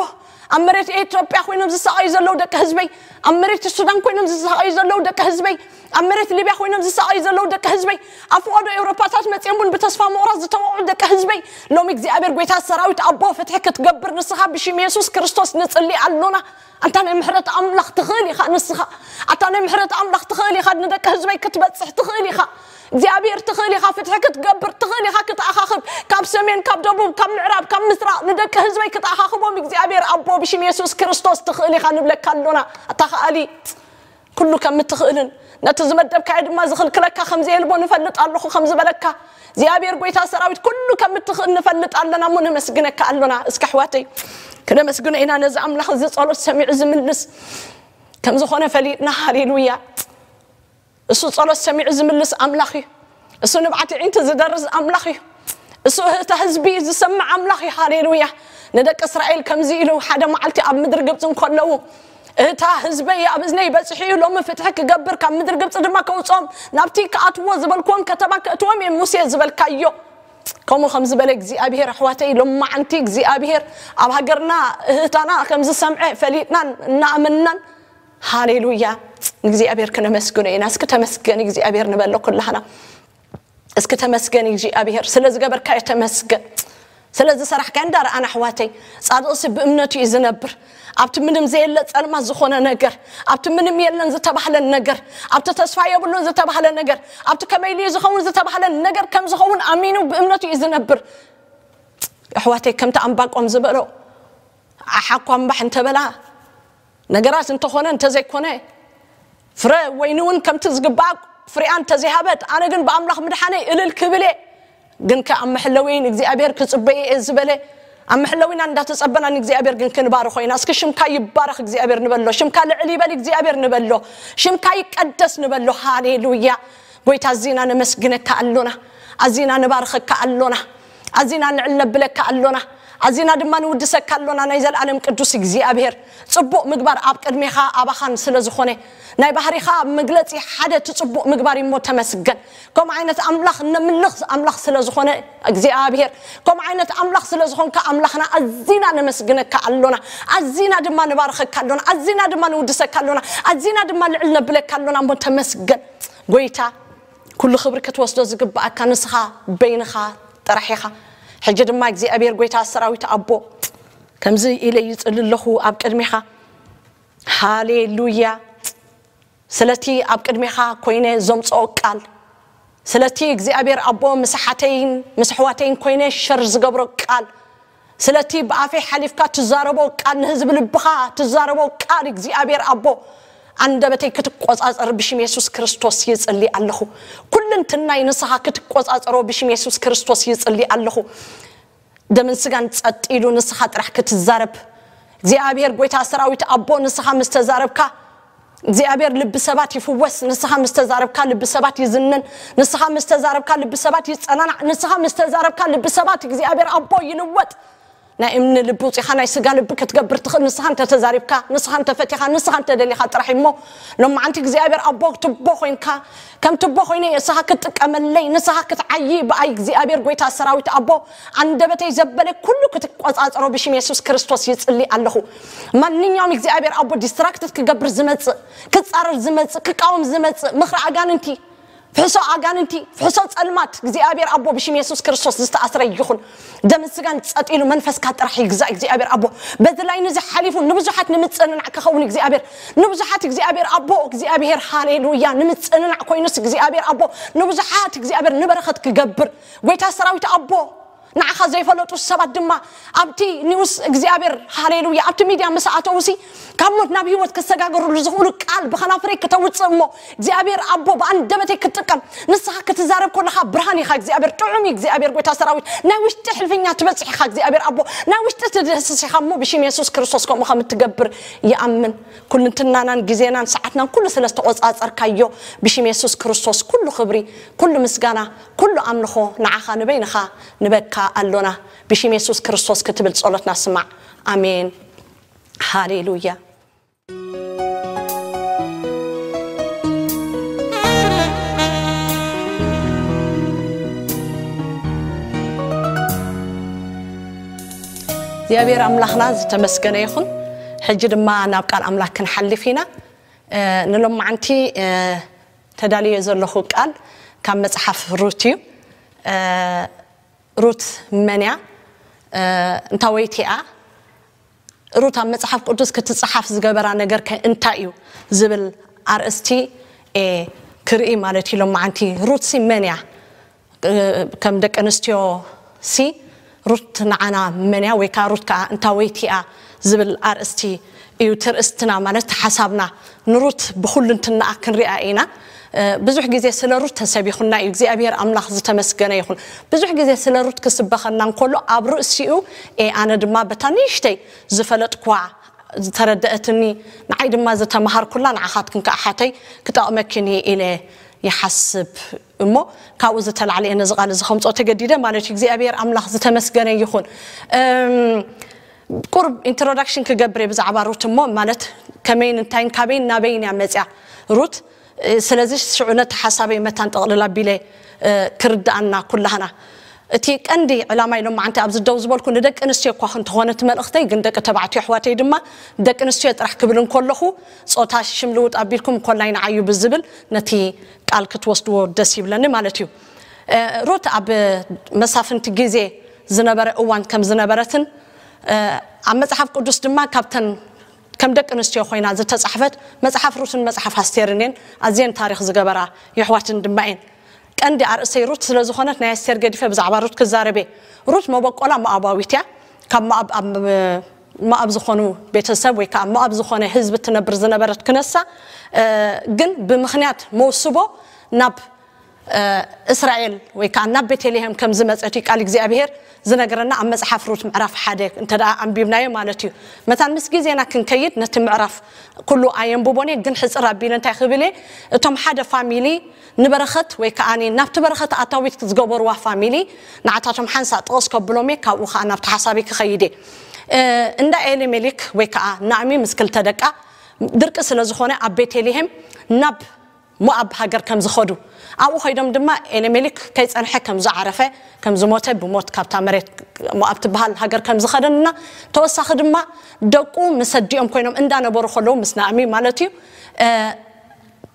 ኣብ መሬት ኢትዮጵያ ኮይኖም ዝሰቃዩ ዘለዉ ደቂ ህዝበይ፣ ኣብ መሬት ሱዳን ኮይኖም ዝሰቃዩ ዘለዉ ደቂ ህዝበይ፣ ኣብ መሬት ሊብያ ኮይኖም ዝሰቃዩ ዘለዉ ደቂ ህዝበይ፣ ኣብ ፈቐዶ ኤውሮፓታት መፅኦም እውን ብተስፋ ምቑራፅ ዝተወቕዑ ደቂ ህዝበይ፣ ሎሚ እግዚኣብሔር ጎይታ ሰራዊት ኣቦ ፍትሒ ክትገብር ንስኻ ብሽም የሱስ ክርስቶስ ንፅሊ ኣሎና። ኣንታ ናይ ምሕረት ኣምላኽ ትኽእል ኢኻ ንስኻ። ኣታ ናይ ምሕረት ኣምላኽ ትኽእል ኢኻ፣ ንደቂ ህዝበይ ክትበጽሕ ትኽእል ኢኻ። እግዚኣብሔር ትኽእል ኢኻ፣ ፍትሒ ክትገብር ትኽእል ኢኻ፣ ክትኣኻኽብ ካብ ሰሜን፣ ካብ ደቡብ፣ ካብ ምዕራብ፣ ካብ ምስራቕ ንደቂ ህዝበይ ክትኣኻኽቦም እግዚኣብሔር ኣቦ ብሽም የሱስ ክርስቶስ ትኽእል ኢኻ ንብለካ ኣሎና። ኣታ ከኣሊ ኩሉ ከም እትኽእልን ነቲ ዝመደብካዮ ድማ ዝኽልክለካ ከም ዘየልቦ ንፈልጥ ኣለኹ ከም ዝበለካ እግዚኣብሔር ጎይታ ሰራዊት ኩሉ ከም እትኽእል ንፈልጥ ኣለና እሞ ነመስግነካ ኣሎና። እስከ ኣሕዋተይ ክነመስግኖ ኢና ነዚ ኣምላኽ እዚ ጸሎት ሰሚዑ ዝምልስ ከም ዝኾነ ፈሊጥና። ሃሌሉያ። እሱ ጸሎት ሰሚዑ ዝምልስ ኣምላኽ እዩ። እሱ ንብዓት ኣዒንቲ ዝደርዝ ኣምላኽ እዩ። እሱ እህታ ህዝቢ ዝሰምዕ ኣምላኽ እዩ። ሃሌሉያ። ንደቂ እስራኤል ከምዚ ኢሉ ሓደ መዓልቲ ኣብ ምድሪ ግብፂ እንከለዉ እህታ ህዝበይ ኣብ እዝነይ በፂሑ እዩ፣ ሎሚ ፍትሒ ክገብር ካብ ምድሪ ግብፂ ድማ ከውፅኦም ናብቲ ክኣትዎ ዝበልክዎም ከተማ ክእትዎም እየ ሙሴ ዝበልካዮ። ከምኡ ከም ዝበለ እግዚኣብሔር ኣሕዋተይ ሎማዓንቲ እግዚኣብሔር ኣብ ሃገርና እህታና ከም ዝሰምዐ ፈሊጥናን እናኣመንናን ሃሌሉያ። ንእግዚኣብሔር ክነመስግኖ ኢና። እስኪ ተመስገን እግዚኣብሔር ንበሎ ኩላህና። እስኪ ተመስገን እግዚኣብሔር ስለ ዝገበርካዮ ተመስገን። ስለ ዝሰራሕካዮ እንዳረኣና ኣሕዋተይ፣ ጻድቕሲ ብእምነቱ እዩ ዝነብር። ኣብቲ ምንም ዘየለ ጸልማት ዝኾነ ነገር፣ ኣብቲ ምንም የለን ዝተባህለን ነገር፣ ኣብቲ ተስፋ የብሉን ዝተባህለ ነገር፣ ኣብቲ ከመይ ኢሉ ዝኸውን ዝተባህለን ነገር ከም ዝኸውን ኣሚኑ ብእምነቱ እዩ ዝነብር። ኣሕዋተይ ከምቲ ኣንባቆም ዝበሎ ኣሓኳ እምባሕ እንተበላ ነገራት እንተኾነ እንተዘይኮነ ፍረ ወይኒ እውን ከምቲ ዝግባእ ፍሬኣ እንተዘይሃበት ኣነ ግን ብኣምላኽ ምድሓነይ እልል ክብል እየ። ግን ከ ኣብ መሐለወይን እግዚኣብሔር ክጽበየ እየ ዝበለ ኣብ መሐለዊና እንዳተጸበና ንእግዚኣብሔር ግን ክንባርኾ ኢና። እስኪ ሽምካ ይባረኽ እግዚኣብሔር ንበሎ፣ ሽምካ ልዕል ይበል እግዚኣብሔር ንበሎ፣ ሽምካ ይቀደስ ንበሎ። ሃሌሉያ። ጎይታ ኣዚና ነመስግነካ ኣሎና፣ ኣዚና ንባርኸካ ኣሎና፣ ኣዚና ንዕል ነብለካ ኣሎና፣ ኣዚና ድማ ንውድሰካ ኣሎና። ናይ ዘልኣለም ቅዱስ እግዚኣብሔር ጽቡቕ ምግባር ኣብ ቅድሜኻ ኣባኻን ስለ ዝኾነ ናይ ባህሪኻ መግለጺ ሓደ እቲ ጽቡቕ ምግባር እሞ ተመስገን። ከምኡ ዓይነት ኣምላኽ ነምልኽ ኣምላኽ ስለ ዝኾነ እግዚኣብሔር ከምኡ ዓይነት ኣምላኽ ስለ ዝኾንካ ኣምላኽና ኣዚና ነመስግነካ ኣሎና፣ ኣዚና ድማ ንባርኸካ ኣሎና፣ ኣዚና ድማ ንውድሰካ ኣሎና፣ ኣዚና ድማ ልዕል ነብለካ ኣሎና እሞ ተመስገን። ጎይታ ኩሉ ክብሪ ክትወስዶ ዝግባኣካ ንስኻ በይንኻ ጥራሕ ኢኻ። ሕጂ ድማ እግዚኣብሔር ጎይታ ሰራዊት ኣቦ ከምዚ ኢለ ይጽሊ ኣለኹ ኣብ ቅድሜኻ። ሃሌሉያ። ስለቲ ኣብ ቅድሜኻ ኮይነ ዘምጽኦ ቃል፣ ስለቲ እግዚኣብሔር ኣቦ ምስ ሓተይን ምስ ኣሕዋተይን ኮይነ ሸር ዝገብሮ ቃል፣ ስለቲ ብኣፈይ ሓሊፍካ ትዛረቦ ቃል፣ ንህዝቢ ልብኻ ትዛረቦ ቃል እግዚኣብሔር ኣቦ ኣንደበተይ ክትቆጻጸር ብሽም የሱስ ክርስቶስ ይጽሊ ኣለኹ። ኩልንትናይ ንስኻ ክትቆጻጸሮ ብሽም የሱስ ክርስቶስ ይጽሊ ኣለኹ። ደምን ስጋን ጸጥ ኢሉ ንስኻ ጥራሕ ክትዛረብ እግዚኣብሔር ጎይታ ሰራዊት ኣቦ ንስኻ ምስ ተዛረብካ እግዚኣብሔር ልቢ ሰባት ይፍወስ። ንስኻ ምስ ተዛረብካ ልቢ ሰባት ይዝንን። ንስኻ ምስ ተዛረብካ ልቢ ሰባት ይጸናናዕ። ንስኻ ምስ ተዛረብካ ልቢ ሰባት እግዚኣብሔር ኣቦ ይልወጥ። ናይ እምኒ ልቢ ውፂኻ ናይ ስጋ ልቢ ክትገብር ትኽእል ንስኻ እንተተዛሪብካ፣ ንስኻ እንተፈቲኻ፣ ንስኻ እንተደሊኻ ጥራሕ እሞ ሎማዓንቲ እግዚኣብሔር ኣቦ ትቦ ኮይንካ ከም ትቦ ኮይነ እየ እስኻ ክትጥቀመለይ ንስኻ ክትዓይ ብኣይ እግዚኣብሔር ጎይታ ሰራዊት ኣቦ ኣንደበተይ ዘበለ ኩሉ ክትቆፃፀሮ ብሽም የሱስ ክርስቶስ ይፅሊ ኣለኹ። ማንኛውም እግዚኣብሔር ኣቦ ዲስትራክትድ ክገብር ዝመፅእ ክፃረር ዝመፅእ ክቃወም ዝመፅእ ምኽሪ ኣጋንንቲ ፍሕሶ ኣጋንንቲ ፍሕሶ ፀልማት እግዚኣብሔር ኣቦ ብሽም የሱስ ክርስቶስ ዝተኣስረ ይኹን። ደምን ስጋን ጸጥ ኢሉ መንፈስካ ጥራሕ ይግዛእ እግዚኣብሔር ኣቦ። በዚ ላይ ንዚ ሓሊፉ ንብዙሓት ንምጽንናዕ ክኸውን እግዚኣብሔር ንብዙሓት እግዚኣብሔር ኣቦ እግዚኣብሔር ሃሌሉያ ንምጽንናዕ ኮይኑስ እግዚኣብሔር ኣቦ ንብዙሓት እግዚኣብሔር ንበረኸት ክገብር ጎይታ ሰራዊት ኣቦ ንዓኻ ዘይፈለጡ ሰባት ድማ ኣብቲ ኒውስ እግዚኣብሔር ሃሌሉያ ኣብቲ ሚድያ ምስ ኣተውሲ ካብ ሞት ናብ ህይወት ክሰጋገሩሉ ዝኽእሉ ቃል ብኸናፍረይ ክተውፅእ እሞ እግዚኣብሔር ኣቦ ብኣንደበተይ ክትጥቀም ንስኻ ክትዛረብ ከለኻ ብርሃን ኢኻ እግዚኣብሔር ጥዑም እዩ እግዚኣብሔር ጎይታ ሰራዊት ናይ ውሽጢ ሕልፍኛ ትበፅሕ ኢኻ እግዚኣብሔር ኣቦ ናይ ውሽጢ ትድህስስ ኢኻ እሞ ብሽም የሱስ ክርስቶስ ከምኡ ከም እትገብር ይኣምን ኩልንትናናን ግዜናን ሰዓትናን ኩሉ ስለ ዝተቆፃፀርካዮ ብሽም የሱስ ክርስቶስ ኩሉ ክብሪ ኩሉ ምስጋና ኩሉ ኣምልኾ ንዓኻ ንበይንኻ ንበካ ኣሎና ብሽም የሱስ ክርስቶስ ክትብል ጸሎትና ስማዕ ኣሜን ሃሌሉያ እግዚኣብሔር ኣምላኽና ዝተመስገነ ይኹን። ሕጂ ድማ ናብ ቃል ኣምላኽ ክንሓልፍ ኢና። ንሎማዓንቲ ተዳልዮ ዘለኹ ቃል ካብ መጽሓፍ ሩት እዩ። ሩት መን እያ? እንታወይቲ እያ? ሩት ኣብ መጽሓፍ ቅዱስ ክትጽሓፍ ዝገበራ ነገር ከ እንታይ እዩ ዝብል ኣርእስቲ ክርኢ ማለት እዩ። ሎማዓንቲ ሩት ሲ መን እያ? ከም ደቂ ኣንስትዮ ሲ ሩት ንዓና መን እያ ወይ ከዓ ሩት ከዓ እንታወይቲ እያ ዝብል ኣርእስቲ እዩ ትርእስትና ማለት ሓሳብና። ንሩት ብኩልንትናኣ ክንሪኣ ኢና። ብዙሕ ግዜ ስለ ሩት ተሰቢኹና እዩ። እግዚኣብሔር ኣምላኽ ዝተመስገነ ይኹን። ብዙሕ ግዜ ስለ ሩት ክስበኸና እንከሎ ኣብ ርእሲኡ ኣነ ድማ በታ ንእሽተይ ዝፈለጥኳ ዝተረደአትኒ ንዓይ ድማ ዝተማሃርኩላ ንዓኻትክን ከዓ ሓተይ ክጠቕመክን እዩ ኢለ ይሓስብ እሞ ካብኡ ዝተላዕለ እየ ነዚ ቃል እዚ ከምፅኦ ተገዲደ ማለት እዩ። እግዚኣብሔር ኣምላኽ ዝተመስገነ ይኹን። ቁርብ ኢንትሮዳክሽን ክገብር እየ ብዛዕባ ሩት እሞ ማለት ከመይን እንታይን ካበይን ናበይን እያ መፅያ ሩት። ስለዚ ሽዑ ነቲ ሓሳበይ መታን ጠቕልል ኣቢለ ክርድኣና ኩላህና እቲ ቀንዲ ዕላማ ኢሎም መዓንቲ ኣብዚ ደው ዝበልኩ ንደቂ ኣንስትዮ እኳ ክንተኾነ እቲ መልእኽተይ ግን ደቂ ተባዕትዮ ኣሕዋተይ ድማ ደቂ ኣንስትዮ ጥራሕ ክብል እንከለኹ ፆታ ሽም ልውጥ ኣቢልኩም ኮላይ ንዓዩ ብዝብል ነቲ ቃል ክትወስድዎ ደስ ይብለኒ ማለት እዩ። ሩት ኣብ መሳፍንቲ ግዜ ዝነበረ እዋን ከም ዝነበረትን ኣብ መፅሓፍ ቅዱስ ድማ ካብተን ከም ደቂ ኣንስትዮ ኮይና ዝተፃሕፈት መፅሓፍ ሩትን መፅሓፍ ኣስቴርን እየን። ኣዝየን ታሪክ ዝገበራ የሕዋትን ድማ እየን። ቀንዲ ኣርእሰይ ሩት ስለ ዝኾነት ናይ ኣስቴር ገዲፈ ብዛዕባ ሩት ክዛረብ እየ። ሩት መበቆላ ሞኣባዊት እያ። ካብ ሞኣብ ኣብ ሞኣብ ዝኾኑ ቤተሰብ ወይ ከዓ ሞኣብ ዝኾነ ህዝቢ ትነብር ዝነበረት ክነሳ ግን ብምኽንያት መውስቦ ናብ እስራኤል ወይ ከዓ ናብ ቤተልሔም ከም ዝመፀት እዩ ቃል እግዚኣብሄር ዝነገረና ኣብ መፅሓፍ ሩት ምዕራፍ ሓደ እንተ ደኣ ኣንቢብናዮ ማለት እዩ። መታን ምስ ግዜና ክንከይድ ነቲ ምዕራፍ ኩሉ ኣየንብቦን እየ፣ ግን ሕፅር ኣቢለ እንታይ ክብል እየ፣ እቶም ሓደ ፋሚሊ ንበረኸት ወይ ከዓ ናብቲ በረኸት ኣታዊት ዝገበርዋ ፋሚሊ ንዓታቶም ሓንሳ ጥቕስ ከብሎም እየ፣ ካብኡ ከዓ ናብቲ ሓሳበይ ክኸይድ እየ። እንዳ ኤሊሜሊክ ወይ ከዓ ናእሚ ምስ ክልተ ደቃ ድርቂ ስለ ዝኾነ ኣብ ቤተልሔም ናብ ሞኣብ ሃገር ከም ዝኸዱ ኣብኡ ኸይዶም ድማ ኤሌሜሊክ ከይጸንሐ ከም ዝዓረፈ ከም ዝሞተ ብሞት ካብታ መሬት ሞኣብ ትበሃል ሃገር ከም ዝኸደንና ተወሳኺ ድማ ደቁ ምስ ኣዲኦም ኮይኖም እንዳነበሩ ከለዉ ምስ ናእሚ ማለት እዩ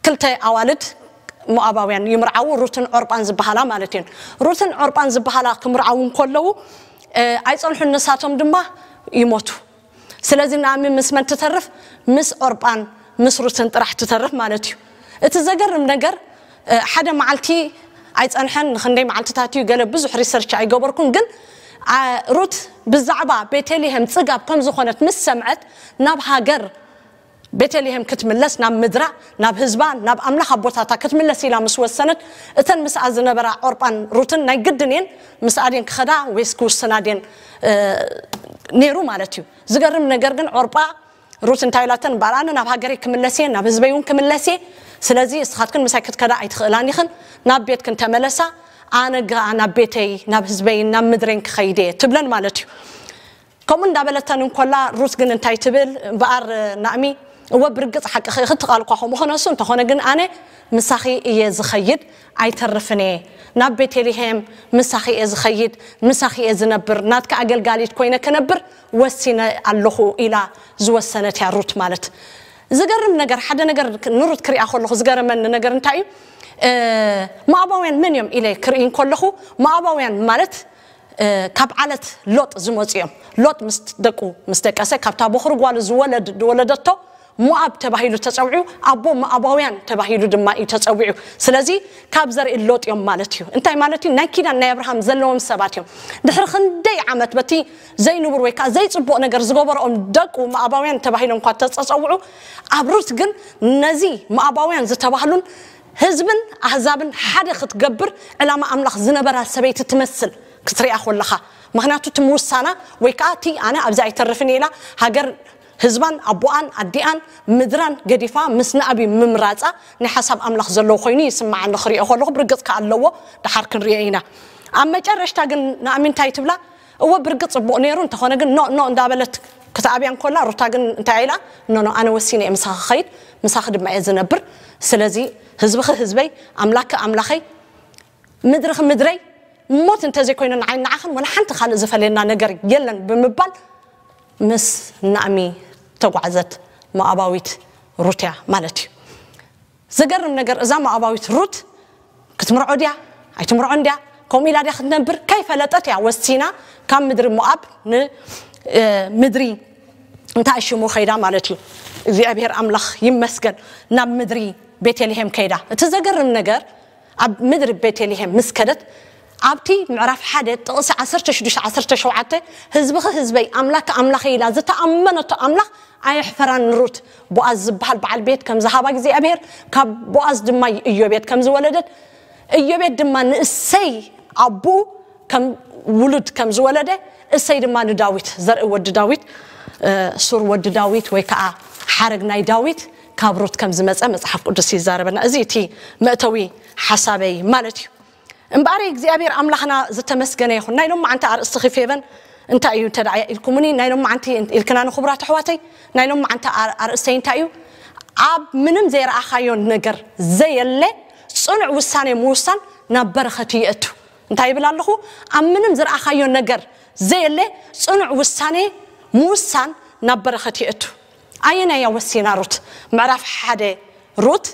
ክልተ ኣዋልድ ሞኣባውያን ይምርዓዉ ሩትን ዖርጳን ዝበሃላ ማለት እየን። ሩትን ዖርጳን ዝበሃላ ክምርዓዉ እንከለዉ ኣይጸንሑን ንሳቶም ድማ ይሞቱ። ስለዚ ናእሚ ምስ መን ትተርፍ? ምስ ዖርጳን ምስ ሩትን ጥራሕ ትተርፍ ማለት እዩ። እቲ ዘገርም ነገር ሓደ መዓልቲ ኣይጸንሐን ንክንደይ መዓልትታት እዩ ገለ ብዙሕ ሪሰርች ኣይገበርኩን ግን ሩት ብዛዕባ ቤተልሔም ጽጋብ ከም ዝኾነት ምስ ሰምዐት ናብ ሃገር ቤተልሔም ክትምለስ ናብ ምድራ ናብ ህዝባ ናብ ኣምላኽ ኣቦታታ ክትምለስ ኢላ ምስ ወሰነት እተን ምስኣ ዝነበራ ዖርጳን ሩትን ናይ ግድን እየን ምስኣ ድየን ክኸዳ ወይስ ክውስና ድየን ነይሩ ማለት እዩ። ዝገርም ነገር ግን ዖርጳ ሩት እንታይ ኢላተን እምበኣር ኣነ ናብ ሃገረይ ክምለስ እየ ናብ ህዝበይ እውን ክምለስ እየ ስለዚ እስኻትክን ምሳይ ክትከዳ ኣይትኽእላን ኢኽን ናብ ቤትክን ተመለሳ ኣነ ግኣ ናብ ቤተይ ናብ ህዝበይን ናብ ምድረይን ክኸይድ እየ ትብለን ማለት እዩ። ከምኡ እንዳበለተን እንኮላ ሩት ግን እንታይ ትብል እምበኣር ናእሚ እወ ብርግጽ ሓቅኺ ክትቃል እኳ ከምኡ ክነሱ እንተኾነ ግን ኣነ ምሳኺ እየ ዝኸይድ ኣይተርፍን እየ ናብ ቤተልሔም ምሳኺ እየ ዝኸይድ ምሳኺ እየ ዝነብር ናትካ ኣገልጋሊት ኮይነ ክነብር ወሲነ ኣለኹ ኢላ ዝወሰነት እያ ሩት ማለት ዝገርም ነገር ሓደ ነገር ንሩት ክሪኣ ከለኹ ዝገረመኒ ነገር እንታይ እዩ ሞኣባውያን መን እዮም ኢለ ክርኢ ከለኹ ሞኣባውያን ማለት ካብ ዓለት ሎጥ ዝመፁ እዮም። ሎጥ ምስ ደቁ ምስ ደቀሰ ካብታ በኹሪ ጓሉ ዝወለድ ዝወለደቶ ሞኣብ ተባሂሉ ተፀውዑ ኣቦ ሞኣባውያን ተባሂሉ ድማ እዩ ተፀዊዑ። ስለዚ ካብ ዘርኢ ሎጥ እዮም ማለት እዩ። እንታይ ማለት እዩ? ናይ ኪዳን ናይ ኣብርሃም ዘለዎም ሰባት እዮም። ድሕሪ ክንደይ ዓመት በቲ ዘይንቡር ወይ ከዓ ዘይፅቡቕ ነገር ዝገበረኦም ደቁ ሞኣባውያን ተባሂሎም እኳ ተፀፀውዑ ኣብ ሩት ግን ነዚ ሞኣባውያን ዝተባህሉን ህዝብን ኣህዛብን ሓደ ክትገብር ዕላማ ኣምላኽ ዝነበራ ሰበይቲ ትመስል ክትሪኣ ኮለኻ ምኽንያቱ እቲ ምውሳና ወይ ከዓ እቲ ኣነ ኣብዚ ኣይተርፍን ኢላ ሃገር ህዝባን ኣቦኣን ኣዲኣን ምድራን ገዲፋ ምስ ንኣብይ ምምራፃ ናይ ሓሳብ ኣምላኽ ዘለዎ ኮይኑ ይስምዓኒ ክሪኦ ከለኹ ብርግፅ ከዓ ኣለዎ ድሓር ክንሪኦ ኢና ኣብ መጨረሽታ ግን ንኣሚ እንታይ ትብላ እወ ብርግፅ ፅቡቕ ነይሩ እንተኾነ ግን ኖ ኖ እንዳበለት ክትኣብያ እንኮላ ሩታ ግን እንታይ ኢላ ኖ ኖ ኣነ ወሲነ እየ ምሳኺ ኸይድ ምሳኺ ድማ እየ ዝነብር ስለዚ ህዝብኺ ህዝበይ ኣምላክኪ ኣምላኸይ ምድርኺ ምድረይ ሞት እንተዘይኮይኑ ንዓይ ንዓኽን ወላ ሓንቲ ካልእ ዝፈልየና ነገር የለን ብምባል ምስ ናእሚ ተጓዕዘት ሞኣባዊት ሩት እያ ማለት እዩ። ዘገርም ነገር፣ እዛ ሞኣባዊት ሩት ክትምርዖ ድያ ኣይትምርዖን ድያ፣ ከምኡ ኢላ ድያ ክትነብር ከይፈለጠት እያ ወሲና ካብ ምድሪ ሞኣብ ንምድሪ እንታይ ሽሙ ከይዳ ማለት እዩ። እግዚኣብሔር ኣምላኽ ይመስገን፣ ናብ ምድሪ ቤተልሔም ከይዳ። እቲ ዘገርም ነገር፣ ኣብ ምድሪ ቤተልሔም ምስ ከደት፣ ኣብቲ ምዕራፍ ሓደ ጥቕሲ ዓሰርተ ሽዱሽተ ዓሰርተ ሸውዓተ፣ ህዝብኺ ህዝበይ፣ ኣምላክ ኣምላኸይ ኢላ ዝተኣመነቶ ኣምላኽ ኣየሕፈራን። ሩት፣ ቦኣዝ ዝበሃል በዓል ቤት ከም ዝሃባ እግዚኣብሔር፣ ካብ ቦኣዝ ድማ ኢዮቤድ ከም ዝወለደት፣ ኢዮቤድ ድማ ንእሰይ ኣቦኡ ከም ውሉድ ከም ዝወለደ፣ እሰይ ድማ ንዳዊት፣ ዘርኢ ወዲ ዳዊት፣ እ፣ ሱር ወዲ ዳዊት ወይ ከዓ ሓረግ ናይ ዳዊት ካብ ሩት ከም ዝመፀ መፅሓፍ ቅዱስ ይዛረበና። እዚ እቲ መእተዊ ሓሳበይ ማለት እዩ። እምበኣር እግዚኣብሔር ኣምላኽና ዝተመስገነ ይኹን። ናይ ሎማዓንቲ ኣርእስቲ ኺፌቨን እንታይ እዩ እንተ ደኣ ኢልኩምኒ፣ ናይ ሎማዓንቲ ኢልክና ንኽቡራት ኣሕዋተይ፣ ናይ ሎማዓንቲ ኣር-፣ ኣርእስተይ እንታይ እዩ? ኣብ ምንም ዘይረኣኻዮ ነገር ዘየለ ጽኑዕ ውሳኔ ምውሳን ናብ በረኸት የእቱ። እንታይ ይብል ኣለኹ? ኣብ ምንም ዝረኣኻዮ ነገር ዘየለ ጽኑዕ ውሳኔ ምውሳን ናብ በረኸት የእቱ። ኣየናይ እያ ወሲና ሩት? ምዕራፍ ሓደ ሩት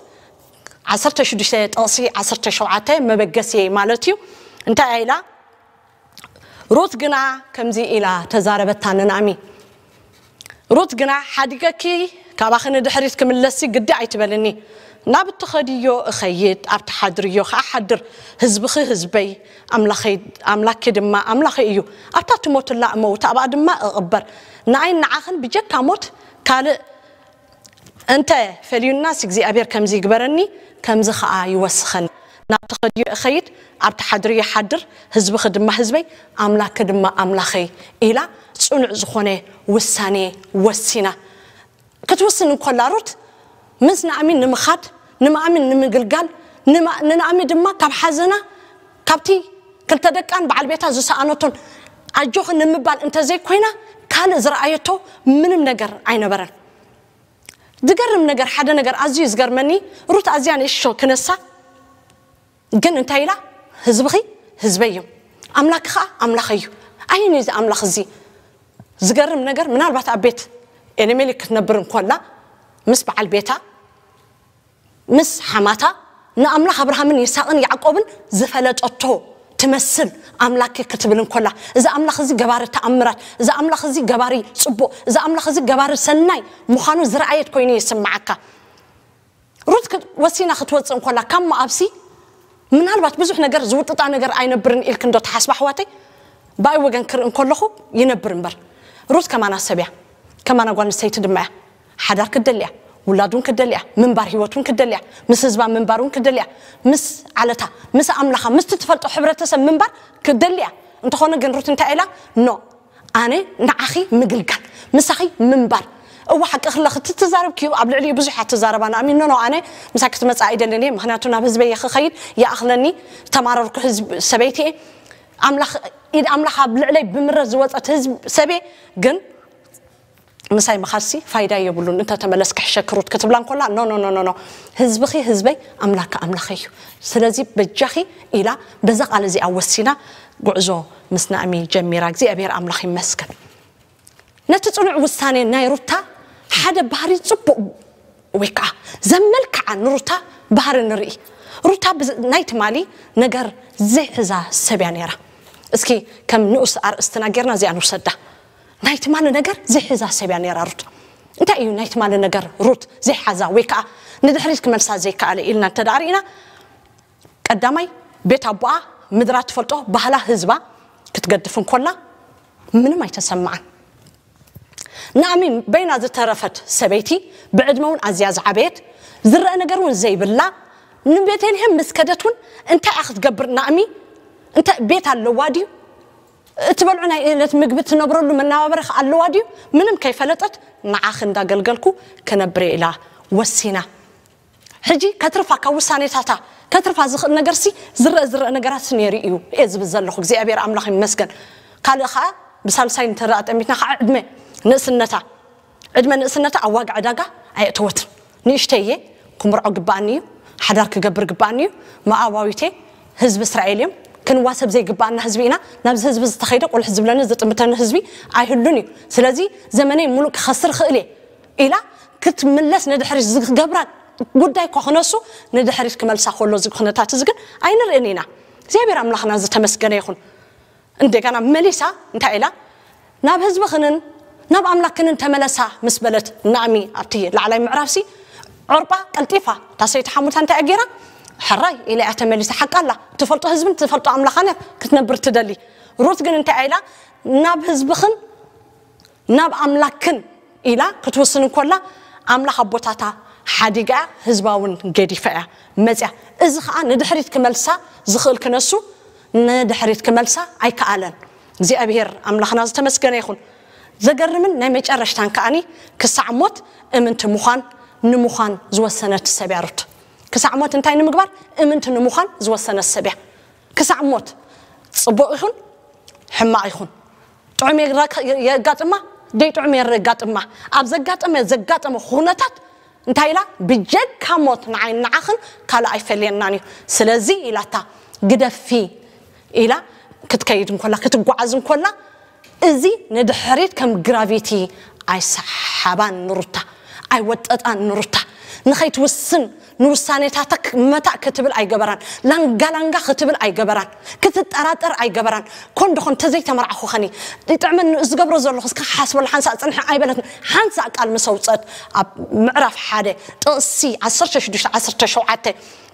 ዓሰርተ ሽዱሽተ ጥቕሲ ዓሰርተ ሸውዓተ መበገሲ ማለት እዩ። እንታይ ኢላ? ሩት ግና ከምዚ ኢላ ተዛረበታ ንናእሚ። ሩት ግና፣ ሓዲገኪ ካባኺ ንድሕሪት ክምለስሲ ግዲ ኣይትበልኒ። ናብ እትኸድዮ እኸይድ፣ ኣብ ትሓድርዮ ኸኣ ሓድር። ህዝብኺ ህዝበይ፣ ኣምላኸይ፣ ኣምላኪ ድማ ኣምላኸይ እዩ። ኣብታ ትሞትላ እመውት፣ ኣብኣ ድማ እቕበር። ንኣይን ንዓኽን ብጀካ ሞት ካልእ እንተ ፈልዩናስ፣ እግዚኣብሔር ከምዚ ይግበረኒ፣ ከምዚ ኸኣ ይወስኸኒ። ናብ ትኸድዮ እኸይድ፣ ኣብ ትሓድርዮ ይሓድር፣ ህዝብኺ ድማ ህዝበይ፣ ኣምላኪ ድማ ኣምላኸይ ኢላ ጽኑዕ ዝኾነ ውሳኔ ወሲና። ክትውስን እንኮላ ሩት፣ ምስ ናእሚ ንምኻድ፣ ንማእሚ ንምግልጋል፣ ንማ-፣ ንናእሚ ድማ ካብ ሓዘና፣ ካብቲ ክልተ ደቃን በዓል ቤታ ዝሰኣነቶን ኣጆኺ ንምባል እንተዘይኮይና፣ ካልእ ዝረኣየቶ ምንም ነገር ኣይነበረን። ዝገርም ነገር፣ ሓደ ነገር ኣዝዩ ዝገርመኒ፣ ሩት ኣዝያ ንእሾ ክነሳ፣ ግን እንታይ ኢላ? ህዝብኺ ህዝበይ እዮም፣ ኣምላኪ ኸዓ ኣምላኸይ እዩ። ኣየን እዩ እዚ ኣምላኽ እዚ? ዝገርም ነገር፣ ምናልባት ኣብ ቤት ኤሊሜሌክ ክትነብር እንኮላ፣ ምስ በዓል ቤታ፣ ምስ ሓማታ፣ ንኣምላኽ ኣብርሃምን ይስሐቅን ያዕቆብን ዝፈለጠቶ ትመስል ኣምላኪ ክትብል እንኮላ፣ እዚ ኣምላኽ እዚ ገባሪ ተኣምራት፣ እዚ ኣምላኽ እዚ ገባሪ ጽቡቕ፣ እዚ ኣምላኽ እዚ ገባሪ ሰናይ ምዃኑ ዝረኣየት ኮይኑ ይስምዓካ። ሩት ክት-፣ ወሲና ክትወጽእ እንኮላ ካብ ሞኣብሲ፣ ምናልባት ብዙሕ ነገር ዝውጥጣ ነገር ኣይነብርን ኢልክ እንዶ ትሓስባ ኣሕዋተይ? ብኣይ ወገን ክርኢ እንከለኹ ይነብር እምበር። ሩት ከማና ሰብ እያ፣ ከማና ጓል ኣንስተይቲ ድማ እያ። ሓዳር ክትደሊ እያ፣ ውላድ እውን ክትደሊ እያ፣ ምንባር ህይወት እውን ክትደሊ እያ፣ ምስ ህዝባ ምንባር እውን ክትደሊ እያ፣ ምስ ዓለታ፣ ምስ ኣምላኻ፣ ምስቲ ትፈልጦ ሕብረተሰብ ምንባር ክትደሊ እያ። እንተኾነ ግን ሩት እንታይ ኢላ? ኖ፣ ኣነ ንዓኺ ምግልጋል፣ ምሳኺ ምንባር። እወ፣ ሓቂ ክለኺ፣ እቲ ትዛረብክዮ ኣብ ልዕሊኡ ብዙሕ እያ ትዛረባ። ንኣሚን፣ ኖ፣ ኖ፣ ኣነ ምሳኪ ክትመጽእ ኣይደልን እየ፣ ምኽንያቱ ናብ ህዝበይ እየ ክኸይድ፣ ይኣኽለኒ፣ ዝተማረርኩ ህዝብ፣ ሰበይቲ እየ። ኣምላኽ፣ ኢድ ኣምላኽ ኣብ ልዕለይ ብምረት ዝወጸት ህዝብ፣ ሰብ እየ። ግን ምሳይ ምኻድሲ ፋይዳ የብሉን፣ እንተ ተመለስኪ ሕሸኪ ሩት ክትብላ እንኮላ፣ ኖ፣ ኖ፣ ኖ፣ ኖ፣ ኖ፣ ህዝብኺ ህዝበይ፣ ኣምላኪ ኣምላኸይ እዩ። ስለዚ በጃኺ ኢላ በዛ ቃል እዚኣ ወሲና ጉዕዞ ምስ ናእሚ ጀሚራ። እግዚኣብሔር ኣምላኽ ይመስገን። ነቲ ጽኑዕ ውሳኔ ናይ ሩታ ሓደ ባህሪ ጽቡቕ ወይ ከዓ ዘመልክዓ ንሩታ ባህሪ ንርኢ። ሩታ ብዝ-፣ ናይ ትማሊ ነገር ዘይሕዛ ሰብ እያ ነይራ። እስኪ ከም ንኡስ ኣርእስትና ጌርና እዚኣ ንውሰዳ። ናይ ትማሊ ነገር ዘይሕዛ ሰብ እያ ነይራ ሩት። እንታይ እዩ ናይ ትማሊ ነገር ሩት ዘይሓዛ ወይ ከዓ ንድሕሪት ክመልሳ ዘይከኣለ ኢልና እንተ ደኣ ርኢና፣ ቀዳማይ፣ ቤት ኣቦኣ ምድራ ትፈልጦ፣ ባህላ ህዝባ ክትገድፍ እንኮላ ምንም ኣይተሰምዓን። ናእሚ በይና ዝተረፈት ሰበይቲ፣ ብዕድመ እውን ኣዝያ ዝዓበየት፣ ዝረአ ነገር እውን ዘይብላ፣ ንቤተልሔም ምስ ከደት እውን እንታይ እያ ክትገብር ናእሚ? እንታይ ቤት ኣለዋ ድዩ? እትበልዑ ናይ ዕለት ምግቢ ትነብረሉ መነባበሪ ከ ኣለዋ ድዩ? ምንም ከይፈለጠት፣ ንዓኺ እንዳገልገልኩ ክነብር እየ ኢላ ወሲና። ሕጂ ከትርፋ፣ ካብ ውሳኔታታ ከትርፋ ዝኽእል ነገርሲ፣ ዝረአ ዝረአ ነገራትሲ ነይሩ እዩ እየ ዝብል ዘለኹ። እግዚኣብሔር ኣምላኽ ይመስገን። ካልእ ኸዓ ብሳልሳይ እንተ ደኣ ጠሚትና ኸዓ ዕድመ ንእስነታ፣ ዕድመ ንእስነታ ኣብ ዋጋ ዕዳጋ ኣየእተወትን። ንእሽተይ እየ፣ ክምርዖ ግባኣኒ እዩ፣ ሓዳር ክገብር ግባኣኒ እዩ፣ መኣባዊቴ ህዝቢ እስራኤል እዮም፣ ክንዋሰብ ዘይግባኣና ህዝቢ ኢና። ናብዚ ህዝቢ ዝተኸይደ ቁልሕ ዝብለኒ ዝጥምተኒ ህዝቢ ኣይህሉን እዩ። ስለዚ ዘመነይ ሙሉእ ክኸስር ክእል እየ ኢላ ክትምለስ ንድሕሪት ዝገብራ ጉዳይ እኳ ክነሱ፣ ንድሕሪት ክመልሳ ከሎ እዚ ኩነታት እዚ ግን ኣይንርእን ኢና። እግዚኣብሔር ኣምላኽና ዝተመስገነ ይኹን። እንደገና መሊሳ እንታይ ኢላ? ናብ ህዝብኽንን ናብ ኣምላክንን ተመለሳ ምስ በለት፣ ናእሚ ኣብቲ ላዕላይ ምዕራፍሲ ዖርጳ ቀልጢፋ እታ ሰይቲ ሓሙታ እንታይ ገይራ? ሕራይ ኢላ እያ ተመሊሳ። ሓቃ ኣላ። ትፈልጦ ህዝብን ትፈልጦ ኣምላኻን ክትነብር ትደሊ። ሩት ግን እንታይ ኢላ? ናብ ህዝብኽን ናብ ኣምላክን ኢላ ክትውስን እንኮላ፣ ኣምላኽ ኣቦታታ ሓዲጋ ህዝባውን ገዲፋ እያ መጽያ። እዚ ኸዓ ንድሕሪት ክመልሳ ዝኽእል ክነሱ ንድሕሪት ክመልሳ ኣይከኣለን። እግዚኣብሔር ኣምላኽና ዝተመስገነ ይኹን። ዘገርምን ናይ መጨረሽታን ከዓኒ ክሳዕ ሞት እምንቲ ምዃን ንምዃን ዝወሰነት ሰብ እያ ሩት። ክሳዕ ሞት እንታይ ንምግባር? እምንቲ ንምዃን ዝወሰነት ሰብ እያ። ክሳዕ ሞት ጽቡቕ ይኹን ሕማቕ ይኹን፣ ጥዑም የራ- የጋጥማ ደይ ጥዑም የጋጥማ፣ ኣብ ዘጋጠመ ዘጋጠመ ኩነታት እንታይ ኢላ? ብጀካ ሞት ንዓይ ንዓኽን ካልእ ኣይፈልየናን እዩ። ስለዚ ኢላታ ግደፊ ኢላ ክትከይድ እንኮላ ክትጓዓዝ እንኮላ፣ እዚ ንድሕሪት ከም ግራቪቲ ኣይሰሓባን ንሩታ፣ ኣይወጠጣን ንሩታ። ንኸይትውስን ንውሳኔታታ መታእ ክትብል ኣይገበራን። ላንጋላንጋ ክትብል ኣይገበራን። ክትጠራጠር ኣይገበራን። ኮን ዶኾን ተዘይተመርዓኹ ኸኒ ይጥዕመኒ ዝገብሮ ዘለኹ እስከ ሓስበሉ ሓንሳእ ጽንሒ ኣይበለትን። ሓንሳእ ቃል ምስ ኣውጸት ኣብ ምዕራፍ ሓደ ጥቕሲ ዓሰርተ ሽዱሽተ ዓሰርተ ሸውዓተ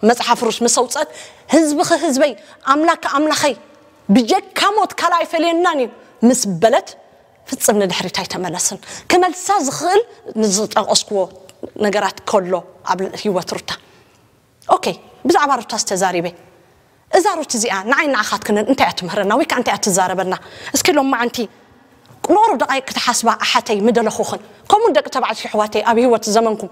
መጽሓፍ ሩት ምስ ኣውጸት ህዝብኺ ህዝበይ ኣምላክ ኣምላኸይ ብጀካ ሞት ካልእ ኣይፈልየናን እዩ ምስ በለት ፍጽም ንድሕሪት ኣይተመለስን። ክመልሳ ዝኽእል ንዝጠቐስክዎ ነገራት ከሎ ኣብ ህይወት ሩታ። ኦኬ፣ ብዛዕባ ሩታ ዝተዛሪበ እዛ ሩት እዚኣ ንዓይ ንዓኻትክንን እንታይ እያ ትምህረና ወይ ከዓ እንታይ እያ ትዛረበና? እስኪ ሎም መዓንቲ ንቑሩብ ደቓይቅ ክትሓስባ ኣሓተይ ምደለኹኽን። ከምኡ ደቂ ተባዕትዮ ኣሕዋተይ ኣብ ህይወት ዘመንኩም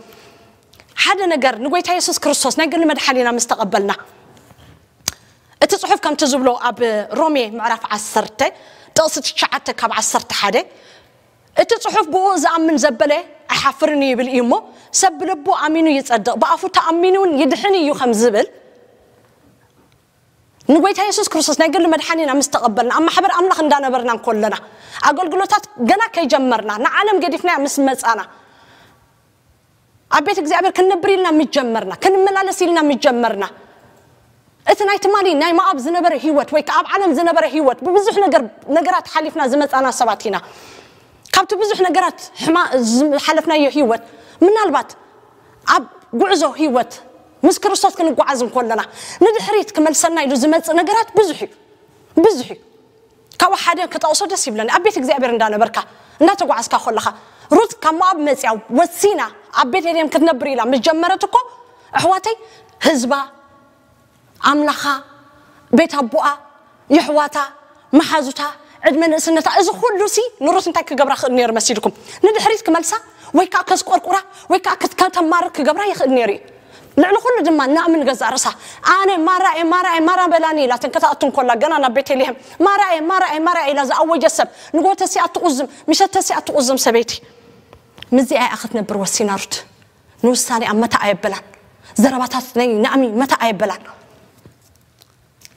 ሓደ ነገር ንጎይታ የሱስ ክርስቶስ ናይ ግሊ መድሓኒና ምስ ተቐበልና እቲ ጽሑፍ ከምቲ ዝብሎ ኣብ ሮሜ ምዕራፍ ዓሰርተ ጥቕሲ ትሽዓተ ካብ ዓሰርተ ሓደ እቲ ጽሑፍ ብኡ ዝኣምን ዘበለ ኣይሓፍርን እዩ ይብል እዩ እሞ ሰብ ብልቡ ኣሚኑ ይጸድቕ ብኣፉ ተኣሚኑ እውን ይድሕን እዩ ከም ዝብል ንጎይታ የሱስ ክርስቶስ ናይ ግሊ መድሓኒና ምስ ተቐበልና ኣብ ማሕበር ኣምላኽ እንዳነበርና እንኮለና ኣገልግሎታት ገና ከይጀመርና ንዓለም ገዲፍናያ ምስ መጻና ኣብ ቤት እግዚኣብሔር ክንነብር ኢልና ምስ ጀመርና ክንመላለስ ኢልና ምስ ጀመርና እቲ ናይ ትማሊ ናይ መኣብ ዝነበረ ህይወት ወይ ከዓ ኣብ ዓለም ዝነበረ ህይወት ብብዙሕ ነገር ነገራት ሓሊፍና ዝመፃና ሰባት ኢና። ካብቲ ብዙሕ ነገራት ዝሓለፍናዮ ህይወት ምናልባት ኣብ ጉዕዞ ህይወት ምስ ክርስቶስ ክንጓዓዝ እንኮለና ንድሕሪት ክመልሰና ኢሉ ዝመፅእ ነገራት ብዙሕ እዩ። ብዙሕ እዩ። ካብኡ ሓደ ክጠቕሶ ደስ ይብለኒ ኣብ ቤት እግዚኣብሔር እንዳነበርካ እንዳተጓዓዝካ ከለኻ ሩት ካብ ሞኣብ መፅያ ወሲና ኣብ ቤተልሔም ክትነብር ኢላ ምስ ጀመረት እኮ ኣሕዋተይ ህዝባ ኣምላኻ ቤት ኣቦኣ የሕዋታ መሓዙታ ዕድመ ንእስነታ እዚ ኩሉ ሲ ንሩት እንታይ ክገብራ ክእል ነይሩ መሲልኩም ንድሕሪት ክመልሳ ወይ ከዓ ከስቆርቁራ ወይ ከዓ ከተማርር ክገብራ ይኽእል ነይሩ እዩ። ልዕሊ ኩሉ ድማ ናእምን ገዛእ ርእሳ ኣነ ማራ እየ ማራ እየ ማራ በላኒ ኢላትን ከተኣቱ እንኮላ ገና ናብ ቤተልሔም ማራ እየ ማራ እየ ማራ እየ ኢላ ዝኣወጀት ሰብ ንጎተሲ ኣትቁዝም ምሸተሲ ኣትቁዝም ሰበይቲ ምስዚኣ እያ ክትነብር ወሲና ሩት። ንውሳኔኣ መታ ኣየበላን ዘረባታት ናይ ናእሚ መታ ኣየበላን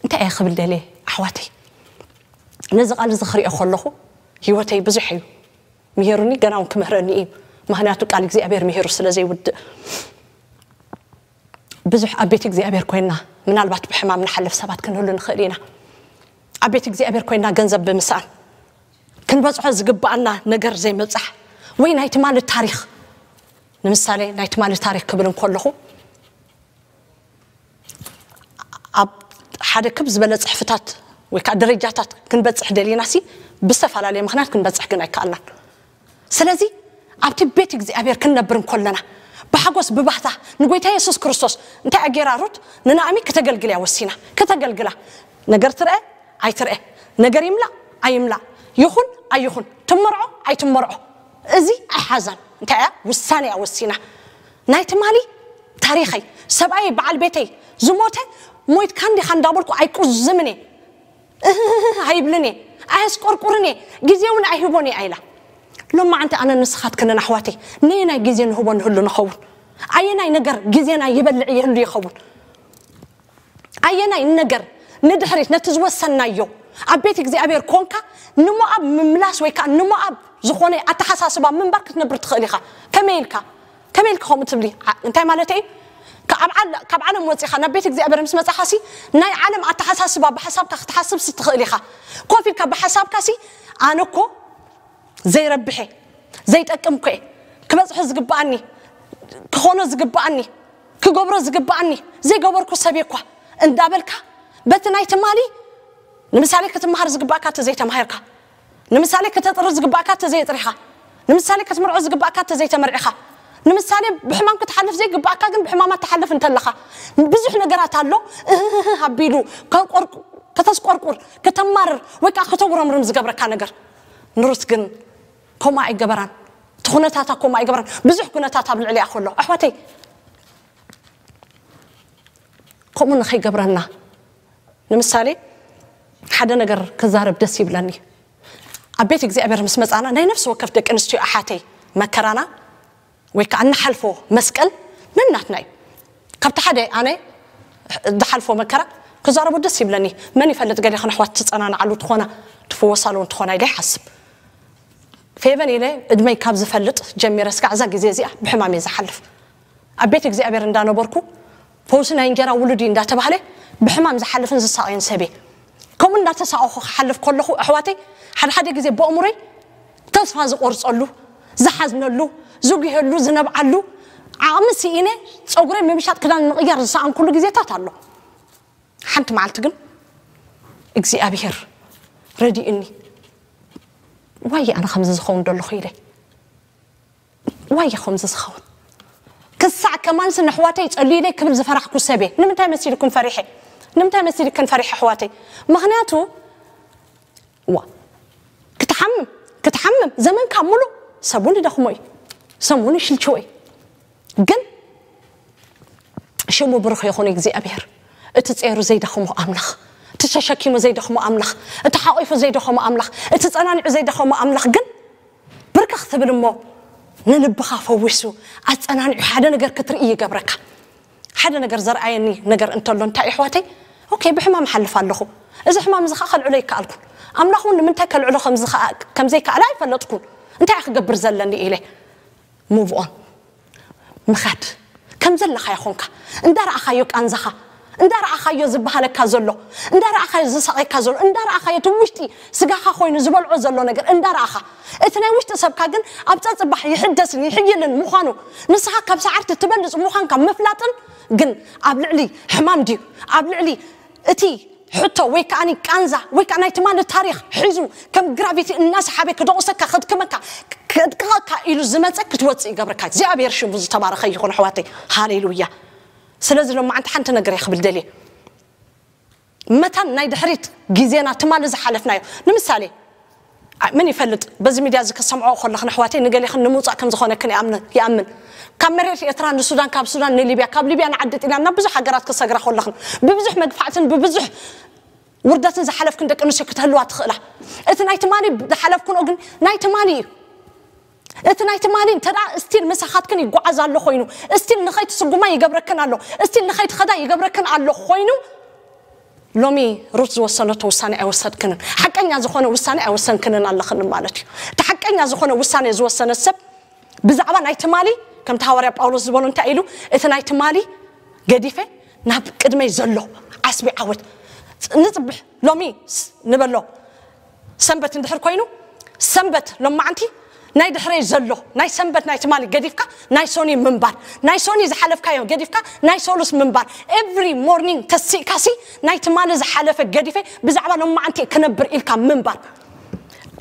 እንታይ እየ ክብል ደልየ ኣሕዋተይ ነዚ ቃል እዚ ክሪኦ ከለኹ ህይወተይ ብዙሕ እዩ ምሄሩኒ ገና እውን ክምህረኒ እዩ። ምክንያቱ ቃል እግዚኣብሔር ምሄሩ ስለ ዘይውድእ ብዙሕ ኣብ ቤት እግዚኣብሔር ኮይንና ምናልባት ብሕማም ንሓልፍ ሰባት ክንህሉ ንኽእል ኢና። ኣብ ቤት እግዚኣብሔር ኮይንና ገንዘብ ብምስኣን ክንበፅሖ ዝግባኣና ነገር ዘይምብፃሕ ወይ ናይ ትማሊ ታሪክ ንምሳሌ ናይ ትማሊ ታሪክ ክብል እንከለኹ ኣብ ሓደ ክብ ዝበለ ፅሕፍታት ወይ ከዓ ደረጃታት ክንበፅሕ ደሊና ሲ ብዝተፈላለየ ምክንያት ክንበፅሕ ግን ኣይከኣልናን። ስለዚ ኣብቲ ቤት እግዚኣብሔር ክንነብር እንኮለና ብሓጎስ ብባህታ ንጎይታ የሱስ ክርስቶስ እንታይ ኣጌራ ሩት ንናእሚ ክተገልግል እያ ወሲና ክተገልግላ ነገር ትርአ ኣይትርአ ነገር ይምላእ ኣይምላእ ይኹን ኣይኹን ትመርዖ ኣይትመርዖ እዚ ኣይሓዛን እንታይ እያ ውሳኔ እያ ወሲና ናይ ትማሊ ታሪኸይ ሰብኣይ በዓል ቤተይ ዝሞተ ሞይትካ እንዲኻ እንዳበልኩ ኣይቁዝምን እየ እህህህ ኣይብልን እየ ኣየስቆርቁርን እየ ግዜ እውን ኣይህቦን እየ ኣይላ ሎማዓንቲ ኣነ ንስኻትክንን ኣሕዋተይ ነየናይ ግዜ ንህቦ ንህሉ ንኸውን ኣየናይ ነገር ግዜና ይበልዕ ይህሉ ይኸውን ኣየናይ ነገር ንድሕሪት ነቲ ዝወሰናዮ ኣብ ቤት እግዚኣብሔር ኮንካ ንሞኣብ ምምላስ ወይ ከዓ ንሞኣብ ዝኾነ ኣተሓሳስባ ምንባር ክትነብር ትኽእል ኢኻ። ከመይ ኢልካ ከመይ ኢልካ ከምኡ ትብሊ? እንታይ ማለት እዩ? ካብ ዓለም ወፂኻ ናብ ቤት እግዚኣብሔር ምስ መፃኻ ሲ ናይ ዓለም ኣተሓሳስባ ብሓሳብካ ክትሓስብ ሲ ትኽእል ኢኻ። ኮፍ ኢልካ ብሓሳብካ ሲ ኣነ እኮ ዘይረብሐ ዘይጠቅም ኮ ክበፅሖ ዝግብኣኒ ክኾኖ ዝግብኣኒ ክገብሮ ዝግብኣኒ ዘይገበርኩ ሰብ እኳ እንዳበልካ በቲ ናይ ትማሊ ንምሳሌ ክትመሃር ዝግባእካ እተ ዘይተማሂርካ ንምሳሌ ከተጥሪ ዝግባእካ እተ ዘይጥሪኻ ንምሳሌ ክትምርዖ ዝግባእካ እተ ዘይተመርዒኻ ንምሳሌ ብሕማም ክትሓልፍ ዘይግባእካ ግን ብሕማማት ትሓልፍ እንተለኻ ብዙሕ ነገራት ኣሎ። እህህህ ኣቢሉ ከተስቆርቁር ከተማርር ወይ ከዓ ከተጉረምርም ዝገብረካ ነገር ንሩት ግን ከምኡ ኣይገበራን። እቲ ኩነታታ ከምኡ ኣይገበራን። ብዙሕ ኩነታት ኣብ ልዕሊኣ ከሎ ኣሕዋተይ ከምኡ ንኸይገብረና ንምሳሌ ሓደ ነገር ክዛረብ ደስ ይብለኒ። ኣብ ቤት እግዚኣብሔር ምስ መፃና ናይ ነፍሲ ወከፍ ደቂ ኣንስትዮ ኣሓተይ መከራና ወይ ከዓ እንሓልፎ መስቀል ነናትና እዩ። ካብቲ ሓደ ኣነ ዝሓልፎ መከራ ክዛረቦ ደስ ይብለኒ። መን ይፈልጥ ገሊኹም ኣሕዋት ትፀናንዓሉ ትኾና ትፍወሳሉ እውን ትኾና ኢለ ይሓስብ። ፌቨን ኢለ እድመይ ካብ ዝፈልጥ ጀሚረ ስጋዕ እዛ ግዜ እዚኣ ብሕማም እየ ዝሓልፍ። ኣብ ቤት እግዚኣብሔር እንዳነበርኩ ፈውሲ ናይ እንጀራ ውሉድ እዩ እንዳተባህለ ብሕማም ዝሓልፍን ዝሳቐየን ሰብ እየ። ከምኡ እንዳተሳቐኹ ክሓልፍ ከለኹ ኣሕዋተይ ሓደ ሓደ ግዜ በእምሮይ ተስፋ ዝቆርፀሉ ዝሓዝነሉ ዝጉሄሉ ዝነብዓሉ ዓቕሚ ስኢነ ፀጉረይ ምምሻጥ ክዳን ምቕያር ዝሰኣንኩሉ ግዜታት ኣሎ። ሓንቲ መዓልቲ ግን እግዚኣብሔር ረዲእኒ ዋየ ኣነ ከምዚ ዝኸውን ደለኹ ኢለ ዋየ ከምዚ ዝኸውን ክሳዕ ከማንስ ንሕዋተይ ጸልዩለይ ክብል ዝፈራሕኩ ሰብየ ንምንታይ መሲልኩም ፈሪሐ ንምንታይ መሲልክን ፈሪሐ ኣሕዋተይ ምኽንያቱ ዋ ክትሓምም ክትሓምም ዘመንካ ሙሉ ሰቡን ይደኽሞ እዩ ሰሙን ይሽልችዎ እዩ ግን ሽሙ ብሩኽ ይኹን እግዚኣብሔር እቲ ጼሩ ዘይደኽሞ ኣምላኽ እቲ ተሸኪሙ ዘይደኽሞ ኣምላኽ እቲ ሓቂፉ ዘይደኸሞ ኣምላኽ እቲ ጸናኒዑ ዘይደኸሞ ኣምላኽ ግን ብርክኽ ትብል እሞ ንልብኻ ፈዊሱ ኣጸናኒዑ ሓደ ነገር ክትርኢ ይገብረካ ሓደ ነገር ዘርኣየኒ ነገር እንተሎ እንታይ ኣሕዋተይ ኦኬ ብሕማም ሓልፍ ኣለኹ እዚ ሕማም እዚ ከዓ ከልዕሎ ይከኣልኩን ኣምላኽ እውን ንምንታይ ከልዕሎ ከምዘይከኣለ ኣይፈለጥኩን እንታይ ክገብር ዘለኒ ኢለ move on ምኻድ ከም ዘለኻዮ ኾንካ እንዳረኣኻዮ ቃንዛኻ እንዳረኣኻዮ ዝበሃለካ ዘሎ እንዳረኣኻዮ ዝሳቐየካ ዘሎ እንዳረኣኻዮ እቲ ውሽጢ ስጋኻ ኮይኑ ዝበልዖ ዘሎ ነገር እንዳረኣኻ እቲ ናይ ውሽጢ ሰብካ ግን ኣብ ፀፅባሕ ይሕደስን ይሕይልን ምዃኑ ንስኻ ካብ ሰዓርቲ ትበልፅ ምዃንካ ምፍላጥን ግን ኣብ ልዕሊ ሕማም ድዩ ኣብ ልዕሊ እቲ ሕቶ ወይ ከዓ ቃንዛ ወይ ከዓ ናይ ትማሊ ታሪክ ሒዙ ከም ግራቪቲ እናሰሓበ ክደቑሰካ ከድክመካ ከድቅቐካ ኢሉ ዝመፀ ክትወፅእ ይገብረካ እግዚኣብሔር ሽሙ ዝተባረኸ ይኹን ኣሕዋተይ ሃሌሉያ ስለዚ ሎማዓንቲ ሓንቲ ነገር እየ ክብል ደልየ መታን ናይ ድሕሪት ግዜና ትማሊ ዝሓለፍናዮ ንምሳሌ መን ይፈልጥ በዚ ሚድያ እዚ ክሰምዖ ከለኽን ኣሕዋተይ ንገሌኽን ንምውፃእ ከም ዝኾነክን ይኣምን ካብ መሬት ኤርትራ ንሱዳን ካብ ሱዳን ንሊብያ ካብ ሊብያ ንዓዲ ጢልያን ናብ ብዙሕ ሃገራት ክሰግራ ከለኽን ብብዙሕ መግፋዕትን ብብዙሕ ውርደትን ዝሓለፍክን ደቂ ኣንስትዮ ክትህልዋ ትኽእላ እቲ ናይ ትማሊ ዝሓለፍክንኦ ግን ናይ ትማሊ እዩ እቲ ናይ ትማሊ እንተ still ምሳኻትክን ይጓዓዝ ኣሎ ኮይኑ still ንኸይትስጉማ ይገብረክን ኣሎ still ንኸይትኸዳ ይገብረክን ኣሎ ኮይኑ ሎሚ ሩት ዝወሰነቶ ውሳኔ ኣይወሰድክንን ሓቀኛ ዝኾነ ውሳኔ ኣይወሰንክንን ኣለኽን ማለት እዩ እቲ ሓቀኛ ዝኾነ ውሳኔ ዝወሰነ ሰብ ብዛዕባ ናይ ትማሊ ከምቲ ሃዋርያ ጳውሎስ ዝበሎ እንታይ ኢሉ እቲ ናይ ትማሊ ገዲፈ ናብ ቅድመይ ዘሎ ዓስቢ ዓወት ንፅብሕ ሎሚ ንበሎ ሰንበት እንድሕር ኮይኑ ሰንበት ሎማዓንቲ ናይ ድሕረይ ዘሎ ናይ ሰንበት ናይ ትማሊ ገዲፍካ ናይ ሶኒ ምንባር ናይ ሶኒ ዝሓለፍካዮ ገዲፍካ ናይ ሶሉስ ምንባር every morning ተሲእካሲ ናይ ትማሊ ዝሓለፈ ገዲፈ ብዛዕባ ሎማዓንቲ ክነብር ኢልካ ምንባር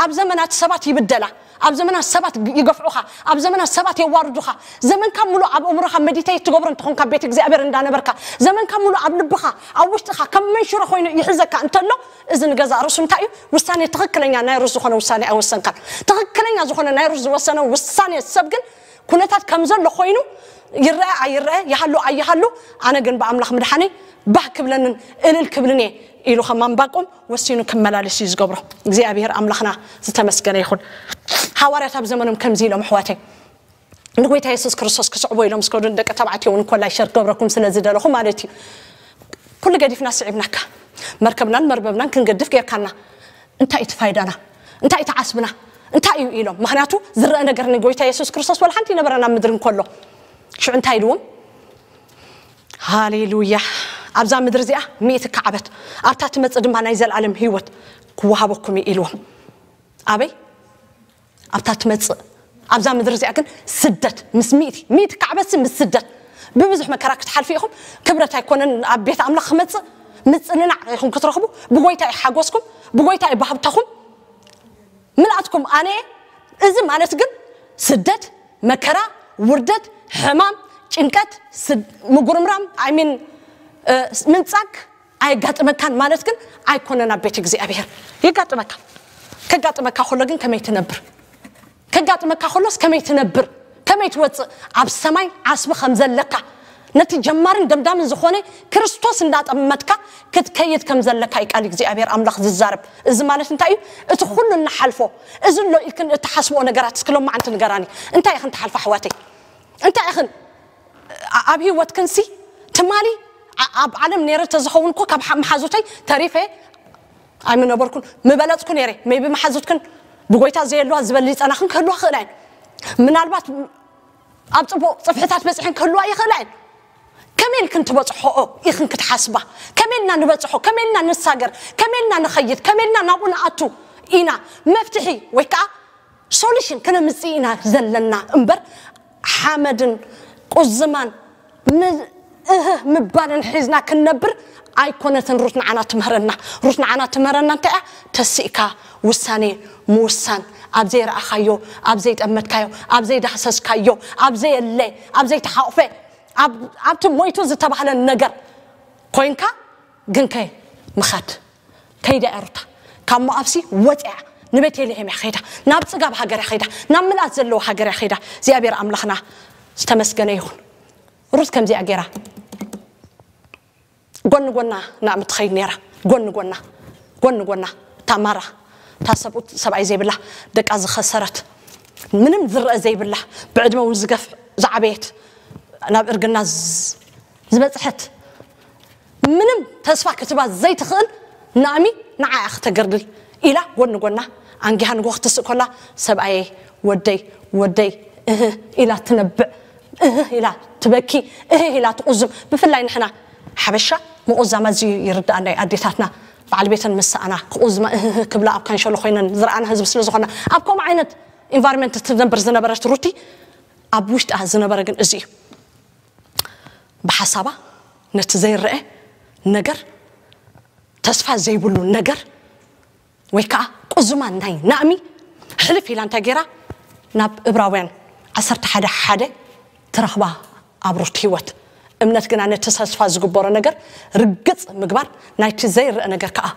ኣብ ዘመናት ሰባት ይብደላ ኣብ ዘመናት ሰባት ይገፍዑኻ ኣብ ዘመናት ሰባት የዋርዱኻ ዘመንካ ሙሉ ኣብ እምሮኻ መዲተይ ትገብሮ እንትኾንካ ቤት እግዚኣብሔር እንዳነበርካ ዘመንካ ሙሉ ኣብ ልብኻ ኣብ ውሽጥኻ ከም መንሽሮ ኮይኑ ይሕዘካ እንተሎ እዚ ንገዛእ ርእሱ እንታይ እዩ ውሳኔ ትኽክለኛ ናይ ሩስ ዝኾነ ውሳኔ ኣይወሰንካን ትኽክለኛ ዝኾነ ናይ ሩስ ዝወሰነ ውሳኔ ሰብ ግን ኩነታት ከም ዘሎ ኮይኑ ይረአ ኣይረአ ይሃሉ ኣይሃሉ ኣነ ግን ብኣምላኽ ምድሓነይ ባህ ክብለንን እልል ክብልን እየ ኢሉ ከም ኣንባቆም ወሲኑ ክመላለስ እዩ ዝገብሮ እግዚኣብሔር ኣምላኽና ዝተመስገነ ይኹን ሃዋርያት ኣብ ዘመኖም ከምዚ ኢሎም ኣሕዋተይ ንጎይታ የሱስ ክርስቶስ ክስዕቦ ኢሎም ስከዱ ንደቂ ተባዕትዮ እውን ኮላይ ሸር ክገብረኩም ስለ ዝደለኹ ማለት እዩ ኩሉ ገዲፍና ስዒብናካ መርከብናን መርበብናን ክንገድፍ ጌርካና። እንታይ እቲ ፋይዳና? እንታይ እቲ ዓስብና? እንታይ እዩ ኢሎም? ምክንያቱ ዝረአ ነገር ንጎይታ የሱስ ክርስቶስ ወላ ሓንቲ ይነበረን ኣብ ምድሪ እንከሎ። ሽዑ እንታይ ኢልዎም? ሃሌሉያ። ኣብዛ ምድሪ እዚኣ ሚእቲ ካዕበት፣ ኣብታ ትመጽእ ድማ ናይ ዘለኣለም ህይወት ክወሃበኩም እዩ ኢልዎም። ኣበይ? ኣብታ ትመጽእ። ኣብዛ ምድሪ እዚኣ ግን ስደት ምስ ሚእቲ ሚእቲ ካዕበትሲ ምስ ስደት፣ ብብዙሕ መከራ ክትሓልፉ ኢኹም። ክብረት ኣይኮነን ኣብ ቤት ኣምላኽ ክመጽእ፣ ምጽንናዕ ኢኹም ክትረኽቡ። ብጎይታ እዩ ሓጎስኩም፣ ብጎይታ እዩ ባህብታኹም። ምልኣትኩም ኣነ። እዚ ማለት ግን ስደት፣ መከራ፣ ውርደት፣ ሕማም፣ ጭንቀት፣ ስድ- ምጉርምራም፣ ኣይሚን ምንጻግ ኣየጋጥመካን ማለት ግን ኣይኮነን። ኣብ ቤት እግዚኣብሔር የጋጥመካ። ከጋጥመካ ከሎ ግን ከመይ ትነብር? ከጋጥመካ ከሎስ ከመይ ትነብር? ከመይ ትወፅእ? ኣብ ሰማይ ዓስቢ ከም ዘለካ፣ ነቲ ጀማርን ደምዳምን ዝኾነ ክርስቶስ እንዳጠመትካ ክትከይድ ከም ዘለካ እዩ ቃል እግዚኣብሔር ኣምላኽ ዝዛረብ። እዚ ማለት እንታይ እዩ? እቲ ኩሉ እንሓልፎ፣ እዚ ኣሎ ኢልክን እትሓስብኦ ነገራት እስኪ ሎማዓንቲ ንገራኒ። እንታይ ኢኽን ትሓልፋ ኣሕዋተይ? እንታይ ኢኽን ኣ- ኣብ ህይወትክንሲ ትማሊ ኣ- ኣብ ዓለም ነይረ ተዝኸውን እኮ ካብ ሓ- መሓዙተይ ተሪፈ ኣይምነበርኩን፣ ምበለጽኩ ነይረ። ሜቢ መሓዙትክን ብጎይታ ዘየለዋ ዝበልጸናኽን ክህልዋ ክእላ እየን። ምናልባት ኣብ ጽቡቕ ጽፍሕታት በጺሐን ክህልዋ ይኽእላ እየን። ከመይ ኢልክን ትበጽሖኦ ኢኽን ክትሓስባ? ከመይ ኢልና ንበጽሖ? ከመይ ኢልና ንሳገር? ከመይ ኢልና ንኸይድ? ከመይ ኢልና ናብኡ ንኣቱ ኢና መፍትሒ ወይ ከዓ ሶሉሽን ክነምጽእ ኢና ዘለና እምበር፣ ሓመድን ቁዝማን ም- እህ ምባልን ሒዝና ክንነብር ኣይኮነትን። ሩት ንዓና ትምህረና። ሩት ንዓና ትምህረና እንታይ እያ? ተሲእካ ውሳኔ ምውሳን፣ ኣብ ዘይረኣኻዮ፣ ኣብ ዘይጠመትካዮ፣ ኣብ ዘይዳህሰስካዮ፣ ኣብ ዘየለ፣ ኣብ ዘይተሓቑፈ፣ ኣብ- ኣብቲ ሞይቱ ዝተባህለ ነገር ኮይንካ፣ ግንከ ምኻድ ከይዳ እያ ሩታ። ካብ ሞኣብሲ ወፅያ ንቤተልሔም እያ ከይዳ፣ ናብ ፅጋብ ሃገር እያ ከይዳ፣ ናብ ምልኣት ዘለዎ ሃገር እያ ከይዳ። እግዚኣብሔር ኣምላኽና ዝተመስገነ ይኹን። ሩት ከምዚኣ ገይራ ጎኒ ጎና ናእሚ ትኸይድ ነይራ። ጎኒ ጎና፣ ጎኒ ጎና። እታ ማራ፣ እታ ሰብኡት ሰብኣይ ዘይብላ፣ ደቃ ዝኸሰረት፣ ምንም ዝረአ ዘይብላ፣ ብዕድመ እውን ዝገፍ ዝዓበየት፣ ናብ እርግና ዝ- ዝበፅሐት፣ ምንም ተስፋ ክትባ ዘይትኽእል ናእሚ ንዓኣ ክተገርድል ኢላ ጎኒ ጎና ኣንጊሃ ንጎ ክትስእ ኮላ፣ ሰብኣየ ወደይ ወደይ እህ ኢላ ትነብዕ፣ እህ ኢላ ትበኪ፣ እህ ኢላ ትቑዝም። ብፍላይ ንሕና ሓበሻ ምቑዛም ኣዝዩ ይርዳኣና እዩ። ኣዴታትና በዓል ቤተን ምስ ሰኣና ክቑዝማ እህህ ክብላ ኣብ ካንሸሎ ኮይነን ዝረኣና ህዝቢ ስለ ዝኾና፣ ኣብ ከምኡ ዓይነት ኢንቫይሮንመንት ትነብር ዝነበረት ሩቲ ኣብ ውሽጣ ዝነበረ ግን እዚ እዩ። ብሓሳባ ነቲ ዘይረአ ነገር፣ ተስፋ ዘይብሉ ነገር ወይ ከዓ ቁዝማን ናይ ናእሚ ሕልፍ ኢላ እንታይ ገይራ ናብ እብራውያን ዓሰርተ ሓደ ሓደ ትረኽባ ኣብ ሩት ህይወት። እምነት ግና ነቲ ተስፋ ዝግበሮ ነገር ርግፅ ምግባር ናይቲ ዘይረአ ነገር ከዓ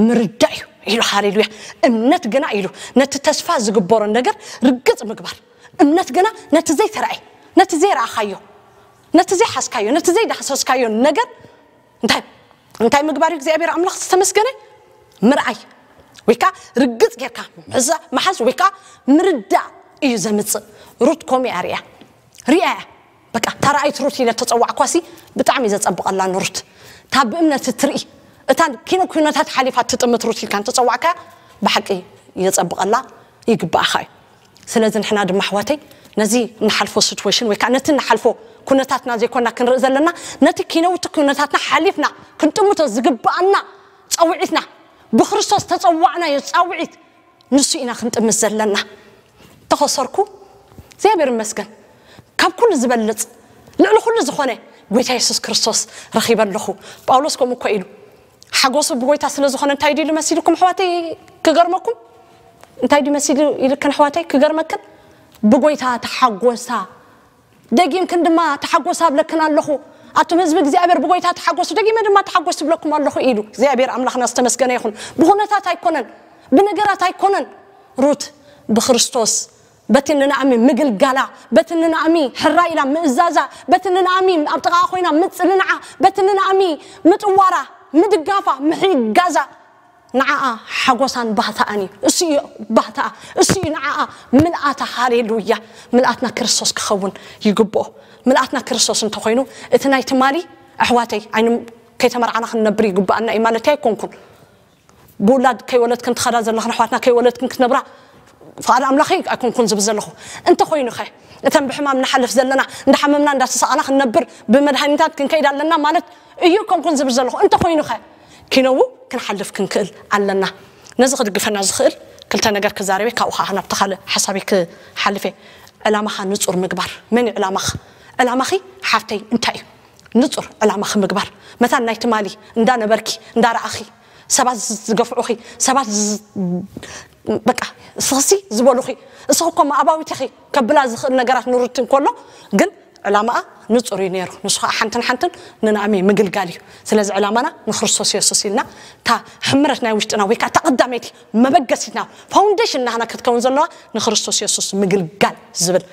ምርዳእ እዩ ኢሉ። ሃሌሉያ። እምነት ግና ኢሉ ነቲ ተስፋ ዝግበሮ ነገር ርግፅ ምግባር፣ እምነት ግና ነቲ ዘይተረኣየ፣ ነቲ ዘይረኣኻዮ፣ ነቲ ዘይሓዝካዮ፣ ነቲ ዘይዳህሰስካዮ ነገር እንታይ እንታይ ምግባር እዩ? እግዚኣብሔር ኣምላኽ ዝተመስገነ ምርኣይ ወይ ከዓ ርግፅ ጌርካ ምሕዛ- ምሓዝ ወይ ከዓ ምርዳእ እዩ ዘምፅእ። ሩት ኮሚያ ሪያ ሪያ እያ። በቃ እታ ረኣይት ሩት ኢለ ተፀዋዕኳሲ ብጣዕሚ እዩ ዘፀብቐላ ንሩት። እታ ብእምነት እትርኢ፣ እታ ኪነ ኩነታት ሓሊፋ ትጥምት ሩት ኢልካ እንተፀዋዕካ ብሓቂ የፀብቐላ፣ ይግባኣኻ እዩ። ስለዚ ንሕና ድማ ኣሕዋተይ ነዚ እንሓልፎ ሲትዌሽን ወይ ከዓ ነቲ እንሓልፎ ኩነታትና ዘይኮና ክንርኢ ዘለና፣ ነቲ ኪነውቲ ኩነታትና ሓሊፍና ክንጥምቶ ዝግባኣና ፃውዒትና፣ ብክርስቶስ ተፀዋዕናዮ ፃውዒት ንሱ ኢና ክንጥምት ዘለና። ተኸሰርኩ እግዚኣብሔር ይመስገን፣ ካብ ኩሉ ዝበልፅ ልዕሊ ኩሉ ዝኾነ ጎይታ የሱስ ክርስቶስ ረኺበ ኣለኹ። ጳውሎስ ከምኡ እኮ ኢሉ ሓጎሱ ብጎይታ ስለ ዝኾነ እንታይ ድዩ ኢሉ መሲልኩም ኣሕዋተይ? ክገርመኩም እንታይ ድዩ መሲሉ ኢልክን ኣሕዋተይ? ክገርመክን ብጎይታ ተሓጎሳ፣ ደጊምክን ድማ ተሓጎሳ እብለክን ኣለኹ። ኣቱም ህዝቢ እግዚኣብሔር ብጎይታ ተሓጎሱ፣ ደጊመ ድማ ተሓጎሱ እብለኩም ኣለኹ ኢሉ። እግዚኣብሔር ኣምላኽና ዝተመስገነ ይኹን። ብኹነታት ኣይኮነን፣ ብነገራት ኣይኮነን። ሩት ብክርስቶስ በቲ ንናእሚ ምግልጋላ፣ በቲ ንናእሚ ሕራ ኢላ ምእዛዛ፣ በቲ ንናእሚ ኣብ ጥቓኣ ኮይና ምጽንናዓ፣ በቲ ንናእሚ ምጥዋራ፣ ምድጋፋ፣ ምሕጋዛ ንዓኣ ሓጎሳን ባህታኣን እዩ። እሱ እዩ ባህታኣ፣ እሱ እዩ ንዓኣ ምልኣታ። ሃሌሉያ። ምልኣትና ክርስቶስ ክኸውን ይግብኦ። ምልኣትና ክርስቶስ እንተኾይኑ እቲ ናይ ትማሊ ኣሕዋተይ ኣይን ከይተመርዓና ክንነብር ይግባኣና እዩ ማለት ኣይኮንኩን። ብውላድ ከይወለድክን ትኸዳ ዘለኽን ኣሕዋትና ከይወለድክን ክትነብራ ፍቓድ ኣምላኽ እዩ ኣይኮንኩን ዝብል ዘለኹ። እንተኾይኑ ኸ እተን ብሕማም ንሓልፍ ዘለና እንዳሓመምና እንዳተሰቓና ክንነብር ብመድሃኒታት ክንከይድ ኣለና ማለት እዩ ኣይኮንኩን ዝብል ዘለኹ። እንተኾይኑ ኸ ኪነዉ ክንሓልፍ ክንክእል ኣለና። ነዚ ክድግፈና ዝኽእል ክልተ ነገር ክዛረበ ካብኡ ከዓ ናብቲ ካልእ ሓሳበይ ክሓልፈ። ዕላማኻ ንጹር ምግባር። መን እዩ ዕላማኻ? ዕላማኺ ሓፍተይ እንታይ እዩ? ንጹር ዕላማኺ ምግባር። መታን ናይ ትማሊ እንዳነበርኪ እንዳረኣኺ ሰባት ዝገፍዑኺ ሰባት በቃ ስኽሲ ዝበሉኺ እስኺ እኮ ኣባዊት ኢኺ ከብላ ዝኽእል ነገራት ንሩቲ እንከሎ ግን ዕላማኣ ንጹር እዩ ነይሩ። ንሱ ከዓ ሓንትን ሓንትን ንናእሚ ምግልጋል እዩ። ስለዚ ዕላማና ንክርስቶስ የሱስ ኢልና እታ ሕምረት ናይ ውሽጥና ወይ ከዓ እታ ቀዳመይቲ መበገሲትና ፋውንዴሽን ናህና ክትከውን ዘለዋ ንክርስቶስ የሱስ ምግልጋል ዝብል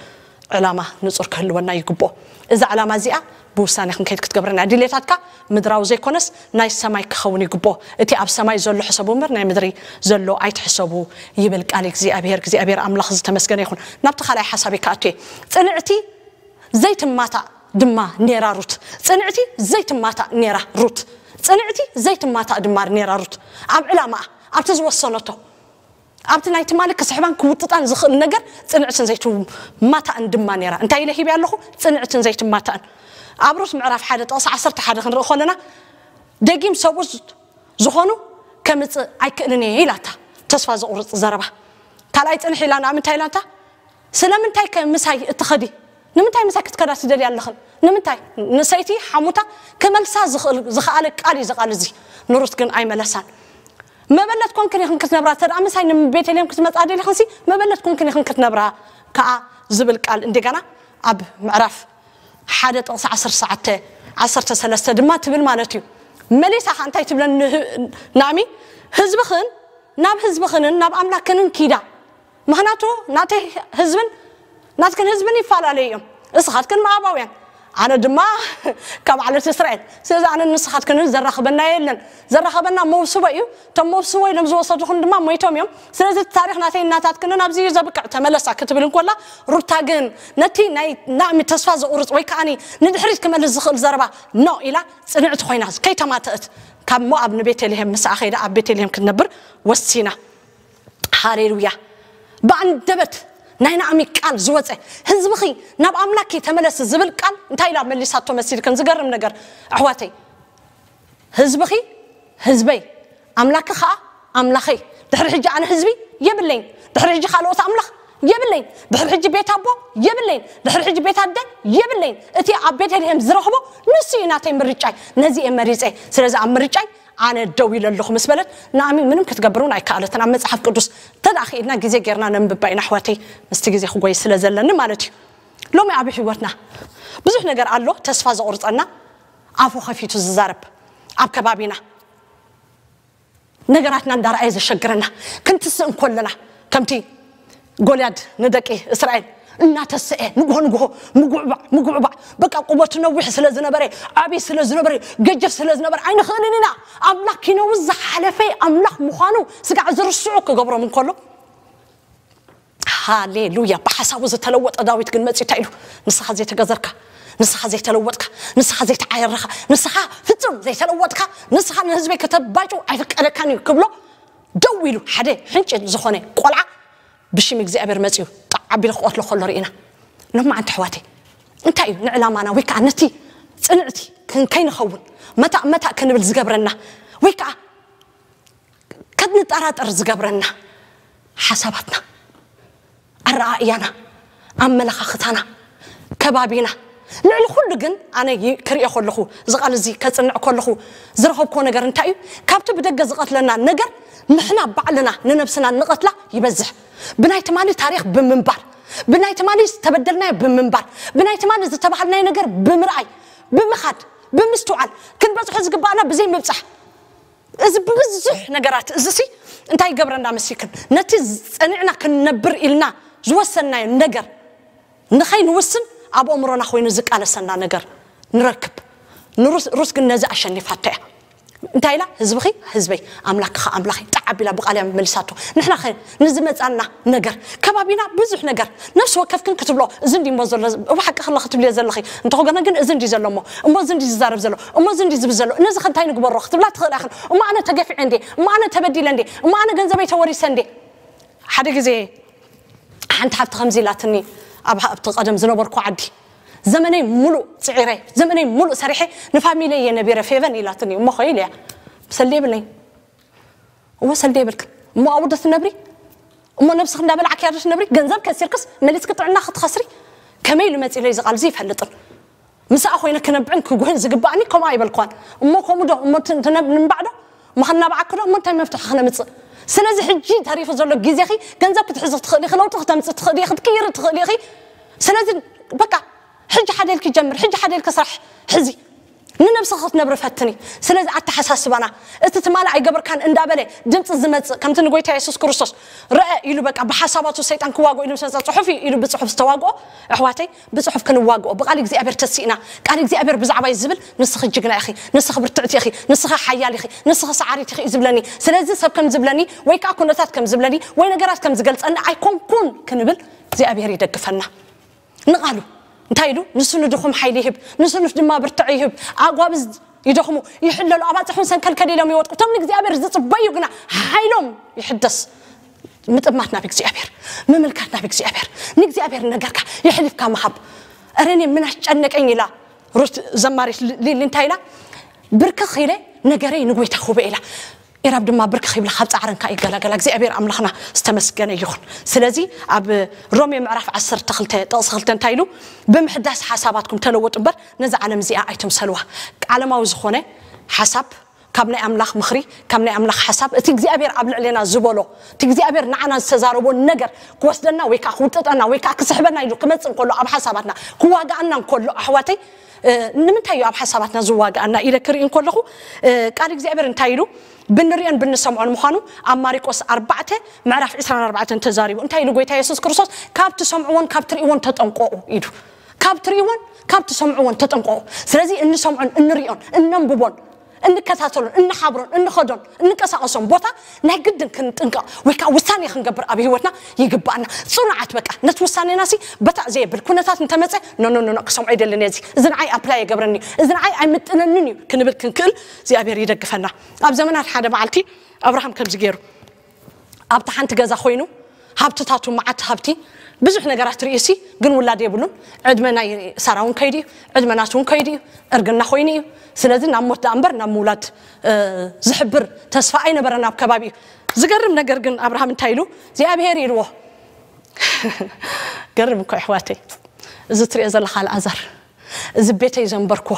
ዕላማ ንጹር ክህልወና ይግብኦ። እዛ ዕላማ እዚኣ ብውሳኔ ክንከይድ ክትገብረና እያ። ድሌታትካ ምድራዊ ዘይኮነስ ናይ ሰማይ ክኸውን ይግብኦ። እቲ ኣብ ሰማይ ዘሎ ሕሰቡ እምበር ናይ ምድሪ ዘሎ ኣይትሕሰቡ ይብል ቃል እግዚኣብሔር። እግዚኣብሔር ኣምላኽ ዝተመስገነ ይኹን። ናብቲ ካልኣይ ሓሳብ ይከኣቱ እየ። ጽንዕቲ ዘይትማታእ ድማ ኔራ ሩት። ጽንዕቲ ዘይትማታእ ኔራ ሩት። ጽንዕቲ ዘይትማታእ ድማ ኔራ ሩት። ኣብ ዕላማኣ ኣብቲ ዝወሰነቶ ኣብቲ ናይ ትማሊ ክስሕባን ክውጥጣን ዝኽእል ነገር ጽንዕትን ዘይትማታእን ድማ ነይራ። እንታይ ኢለ ሂብያ ኣለኹ? ጽንዕትን ዘይትማታእን። ኣብ ሩት ምዕራፍ ሓደ ጥቕሲ ዓሰርተ ሓደ ክንርኢ ከለና ደጊም ሰብኡ ዝኾኑ ከምጽእ ኣይክእልን እየ ኢላታ። ተስፋ ዘቑርጽ ዘረባ። ካልኣይ ጽንሕ ኢላ ንኣምንታይ ኢላታ? ስለምንታይ ከ ምሳይ እትኸዲ? ንምንታይ ምሳይ ክትከዳ ትደልያ ኣለኽን? ንምንታይ? ንሰይቲ ሓሙታ ክመልሳ ዝኽእል ዝኸኣለ ቃል እዩ እዚ ቃል እዚ። ንሩት ግን ኣይመለሳን። መበለት ኮንክን ኢኽን ክትነብራ፣ እንተ ደኣ ምሳይ ንቤተልሔም ክትመጻ ደሊኽንሲ፣ መበለት ኮንክን ኢኽን ክትነብራ ከኣ ዝብል ቃል እንደገና ኣብ ምዕራፍ ሓደ ጥቕሲ ዓሰርተ ትሽዓተ፣ ዓሰርተ ሰለስተ ድማ ትብል ማለት እዩ። መሊሳ ኸኣ እንታይ ትብለን ንህ-፣ ናእሚ? ህዝብኽን ናብ ህዝብኽንን ናብ ኣምላክንን ኪዳ። ምኽንያቱ ናተይ ህዝብን ናትክን ህዝብን ይፈላለዩ እዮም። እስኻትክን መኣባውያን፣ ኣነ ድማ ካብ ዓለት እስራኤል። ስለዚ ኣነ ንስኻትክንን ዘራኽበና የለን። ዘራኸበና መውስቦ እዩ። እቶም መውስቦ ኢሎም ዝወሰዱኽን ድማ ሞይቶም እዮም። ስለዚ እቲ ታሪኽ ናተይ እናታትክንን ኣብዚ እዩ ዘብቅዕ፣ ተመለሳ ክትብል እንኮላ፣ ሩታ ግን ነቲ ናይ ናእሚ ተስፋ ዘቑርጽ ወይ ከኣኒ ንድሕሪት ክመልስ ዝኽእል ዘረባ ኖ ኢላ ጽንዕቲ ኮይና ከይተማተእት ካብ ሞኣብ ንቤተልሔም ምስኣ ኸይዳ ኣብ ቤተልሔም ክትነብር ወሲና። ሃሌሉያ። ብኣንደበት ናይ ናእሚ ቃል ዝወፀ ህዝብኺ ናብ ኣምላኪ ተመለስ ዝብል ቃል እንታይ ኢላ መሊሳቶ መሲልክን? ዝገርም ነገር ኣሕዋተይ፣ ህዝብኺ ህዝበይ ኣምላኪ ከዓ ኣምላኸይ። ድሕሪ ሕጂ ኣነ ህዝቢ የብለይን፣ ድሕሪ ሕጂ ካልኦት ኣምላኽ የብለይን፣ ድሕሪ ሕጂ ቤት ኣቦ የብለይን፣ ድሕሪ ሕጂ ቤት ኣደ የብለይን። እቲ ኣብ ቤተልሔም ዝረኽቦ ንሱ እዩ ናተይ ምርጫይ። ነዚ እየ መሪፀ። ስለዚ ኣብ ምርጫይ ኣነ ደው ኢለ ኣለኹ ምስ በለት፣ ናእሚ ምንም ክትገብር እውን ኣይከኣለትን። ኣብ መጽሓፍ ቅዱስ እንተ ደኣ ክኢልና ግዜ ጌርና ነንብባ ኢና ኣሕዋተይ፣ ምስቲ ግዜ ክጎይ ስለ ዘለኒ ማለት እዩ። ሎሚ ኣብ ህይወትና ብዙሕ ነገር ኣሎ ተስፋ ዘቑርጸና፣ ኣፉ ከፊቱ ዝዛረብ ኣብ ከባቢና ነገራትና እንዳረኣየ ዘሸግረና፣ ክንትስእ እንኮለና ከምቲ ጎልያድ ንደቂ እስራኤል እናተሰኤ ንግሆ ንግሆ ምጉዕባዕ ምጉዕባዕ፣ በቃ ቁመቱ ነዊሕ ስለ ዝነበረ፣ ዓብዪ ስለ ዝነበረ፣ ገጀፍ ስለ ዝነበረ ኣይንኽእልን ኢና። ኣምላክ ኪነውዝ ዝሓለፈ ኣምላክ ምዃኑ ስጋዕ ዝርስዑ ክገብሮም እንከሎ፣ ሃሌሉያ፣ ብሓሳቡ ዝተለወጠ ዳዊት ግን መፂኡ እንታይ ኢሉ? ንስኻ ዘይተገዘርካ፣ ንስኻ ዘይተለወጥካ፣ ንስኻ ዘይተዓየረኻ፣ ንስኻ ፍጹም ዘይተለወጥካ፣ ንስኻ ንህዝበይ ከተባጭው ኣይፍቀደካን እዩ ክብሎ ደው ኢሉ ሓደ ሕንጭ ዝኾነ ቆልዓ ብሽም እግዚኣብሔር መጺኡ ጣዕ ኣቢሉ ክቐትሎ ከሎ ርኢና። ሎማዓንቲ ኣሕዋተይ እንታይ እዩ ንዕላማና ወይ ከዓ ነቲ ጽንዕቲ ክን-፣ ከይንኸውን መታእ መታእ ክንብል ዝገብረና ወይ ከዓ ከንጠራጠር ዝገብረና ሓሳባትና፣ ኣረኣእያና፣ ኣመለኻኽታና፣ ከባቢና፣ ልዕሊ ኩሉ ግን ኣነ ይ-፣ ክርእዮ ከለኹ፣ እዚ ቃል እዚ ከጽንዕ ከለኹ ዝረኸብክዎ ነገር እንታይ እዩ? ካብቲ ብደገ ዝቐትለና ነገር ንሕና ባዕልና ንነብስና ንቐትላ ይበዝሕ። ብናይ ትማሊ ታሪኽ ብምንባር፣ ብናይ ትማሊ ዝተበደልናዮ ብምንባር፣ ብናይ ትማሊ ዝተባህልናዮ ነገር ብምርኣይ፣ ብምኻድ፣ ብምስትውዓል፣ ክንበጽሖ ዝግባኣና ብዘይ ምብጻሕ። እዚ ብብዙሕ ነገራት እዚ ሲ እንታይ ይገብረና መሲክን? ነቲ ጸኒዕና ክንነብር ኢልና ዝወሰንናዮ ነገር ንኸይንውስን ኣብ ኣእምሮና ኮይኑ ዝቃለሰና ነገር ንረክብ። ንሩስ-፣ ሩስ ግን ነዚ ኣሸኒፋቶ እያ። እንታይ ኢላ? ህዝብኺ ህዝበይ፣ ኣምላክኻ ኣምላኸይ። ጣዕ ኣቢላ ብቓል እያ መመሊሳቶ። ንሕና ኸ ንዝመጻና ነገር፣ ከባቢና ብዙሕ ነገር፣ ነፍሲ ወከፍክን ክትብሎ፣ እዚ እንዲ እሞ ዘሎ፣ ብሓቂ ከሎ ክትብልዮ ዘለኺ፣ እንተኾነ ግን እዚ እንዲ ዘሎ እሞ፣ እሞ እዚ እንዲ ዝዛረብ ዘሎ፣ እሞ እዚ እንዲ ዝብል ዘሎ፣ ነዚ ከ እንታይ ንግበሮ ክትብላ ትኽእላ ኢኽን። እሞ ኣነ ተገፊዐ እንዴ? እሞ ኣነ ተበዲለ እንዴ? እሞ ኣነ ገንዘበይ ተወሪሰ እንዴ? ሓደ ግዜ ሓንቲ ሓብቲ ከምዚ ኢላትኒ፣ ኣብ ኣብቲ ቀደም ዝነበርኩ ዓዲ፣ ዘመነይ ሙሉእ ጽዒረ፣ ዘመነይ ሙሉእ ሰሪሐ፣ ንፋሚለይ እየ ነቢረ ፌቨን ኢላትኒ። እሞ ኸይለ እያ፣ ሰልዲ የብለይ። እሞ ሰልዲ የብልክን። እሞ ኣብኡ ዶ ትነብሪ? እሞ ነብስክ እንዳበላዕክያ ዶ ትነብሪ? ገንዘብ ከሲርክስ መሊስክ ጥዕና ክትኸስሪ? ከመይ ኢሉ መጺ ኢለይ ዝቓል እዚ ይፈልጥን። ምስኣ ኮይነ ክነብዕን ክጉህን ዝግባኣኒ ከምኡ ኣይበልኳን። እሞ ከምኡ ዶ? እሞ ትን-፣ ትነብ-፣ ንምባዕ ዶ? እሞ ከናባዓክ ዶ? እሞ እንታይ መፍትሒ ክነምጽእ? ስለዚ ሕጂ ተሪፉ ዘሎ ግዜኺ ገንዘብ ክትሕዚ ትኽእሊ ኢኺ፣ ለውጢ ክተምጽእ ትኽእሊ ኢኺ፣ ክትቅይሪ ትኽእሊ ኢኺ። ስለዚ በቃ ሕጂ ሓደ ኢልኪ ጀምር፣ ሕጂ ሓደ ኢልኪ ስራሕ ሕዚ። ንነብስኺ ክትነብሪ ፈትኒ። ስለዚ ኣተሓሳስባና፣ እቲ ትማሊ ኣይገበርካን እንዳበለ ድምፂ ዝመፅእ፣ ከምቲ ንጎይታ የሱስ ክርስቶስ ረአ ኢሉ በቃ ብሓሳባቱ ሰይጣን ክዋግኦ ኢሉ ምስ መፀ፣ ጽሑፍ እዩ ኢሉ ብጽሑፍ ዝተዋግኦ፣ ኣሕዋተይ፣ ብጽሑፍ ክንዋግኦ፣ ብቃል እግዚኣብሔር ተሲእና፣ ቃል እግዚኣብሔር ብዛዕባይ ዝብል፣ ንስኺ ጅግና ኢኺ፣ ንስኺ ብርትዕቲ ኢኺ፣ ንስኺ ሓያል ኢኺ፣ ንስኺ ሰዓሪት ኢኺ እዩ ዝብለኒ። ስለዚ ሰብ ከም ዝብለኒ፣ ወይ ከዓ ኩነታት ከም ዝብለኒ፣ ወይ ነገራት ከም ዝገልጸኒ ኣይኮንኩን ክንብል እግዚኣብሔር ይደግፈና። ንቓሉ እንታይ ኢሉ? ንሱ ንድኹም ሓይሊ ይህብ፣ ንስኑፍ ድማ ብርትዕ ይህብ። ኣጓብዝ ይደኽሙ፣ ይሕለሉ፣ ኣባጽሕ እውን ሰንከልከል ኢሎም ይወድቁ። እቶም ንእግዚኣብሔር ዝጽበዩ ግና ሓይሎም ይሕደስ። ምጥማት ናብ እግዚኣብሔር፣ ምምልካት ናብ እግዚኣብሔር። ንእግዚኣብሔር ነገርካ የሕሊፍካ ምሃብ። እረ እኔ ምን አስጨነቀኝ ኢላ ሩት ዘማሪት ሊ-፣ ሊሊ እንታይ ኢላ? ብርክኽ ኢለ ነገረይ ንጎይታ ክህቦ ኢላ። ኢራብ ድማ ብርክኽ ይብላ፣ ካብ ጻዕረን ከኣ ይገላገላ። እግዚኣብሔር ኣምላኽና ዝተመስገነ ይኹን። ስለዚ ኣብ ሮሜ ምዕራፍ ዓሰርተ ክልተ ጥቕሲ ክልተ እንታይ ኢሉ? ብምሕዳስ ሓሳባትኩም ተለወጡ እምበር ነዛ ዓለም እዚኣ ኣይትምሰልዋ። ዓለማዊ ዝኾነ ሓሳብ ካብ ናይ ኣምላኽ ምኽሪ፣ ካብ ናይ ኣምላኽ ሓሳብ፣ እቲ እግዚኣብሔር ኣብ ልዕሌና ዝበሎ፣ እቲ እግዚኣብሔር ንዓና ዝተዛረቦ ነገር ክወስደና ወይ ከኣ ክውጥጠና ወይ ከኣ ክስሕበና ኢሉ ክመጽእ እንከሎ፣ ኣብ ሓሳባትና ክዋግኣና እንከሎ፣ ኣሕዋተይ፣ እ፣ ንምንታይ እዩ ኣብ ሓሳባትና ዝዋግኣና ኢለ ክርኢ እንከለኹ፣ እ፣ ቃል እግዚኣብሔር እንታይ ኢሉ? ብንሪኦን ብንሰምዖን ምዃኑ ኣብ ማሪቆስ ኣርባዕተ ምዕራፍ ዕስራን ኣርባዕተን ተዛሪቡ። እንታይ ኢሉ ጎይታ የሱስ ክርስቶስ? ካብ ትሰምዕዎን ካብ ትርእይዎን ተጠንቀቑ ኢሉ። ካብ ትርእይዎን ካብ ትሰምዕዎን ተጠንቀቑ። ስለዚ እንሰምዖን እንሪኦን እነንብቦን እንከታተሎን እንሓብሮን እንኸዶን እንንቀሳቐሶን ቦታ ናይ ግድን ክንጥንቀቕ ወይ ከዓ ውሳኔ ክንገብር ኣብ ህይወትና ይግባኣና። ጽኑዓት በቃ ነቲ ውሳኔና ሲ በታዕ ዘየብል ኩነታት እንተመጸ፣ ኖ፣ ኖ፣ ኖ፣ ኖ፣ ክሰምዖ ኣይደልን እየ፣ እዚ፣ እዚ ንዓይ ኣፕላይ የገብረኒ እዩ፣ እዚ ንዓይ ኣይምጥነንን እዩ ክንብል ክንክእል እግዚኣብሔር ይደግፈና። ኣብ ዘመናት ሓደ መዓልቲ ኣብርሃም ከምዚ ገይሩ፣ ኣብታ ሓንቲ ገዛ ኮይኑ ሃብትታቱ መዓት ሃብቲ ብዙሕ ነገራት ርእዩ ሲ ግን ውላድ የብሉን። ዕድመ ናይ ሳራ እውን ከይዱ እዩ፣ ዕድመ ናቱ እውን ከይዱ እዩ፣ እርግና ኮይኑ እዩ። ስለዚ ናብ ሞት ደኣ እምበር ናብ ምውላድ፣ እ፣ ዝሕብር ተስፋ ኣይነበረን ኣብ ከባቢኡ። ዝገርም ነገር ግን ኣብርሃም እንታይ ኢሉ? እግዚኣብሔር ኢልዎ። ገርም እኮ ኣሕዋተይ፣ እዚ ትሪኦ ዘለኻ ኣልኣዛር፣ እዚ ቤተይ ዘንበርኩዎ፣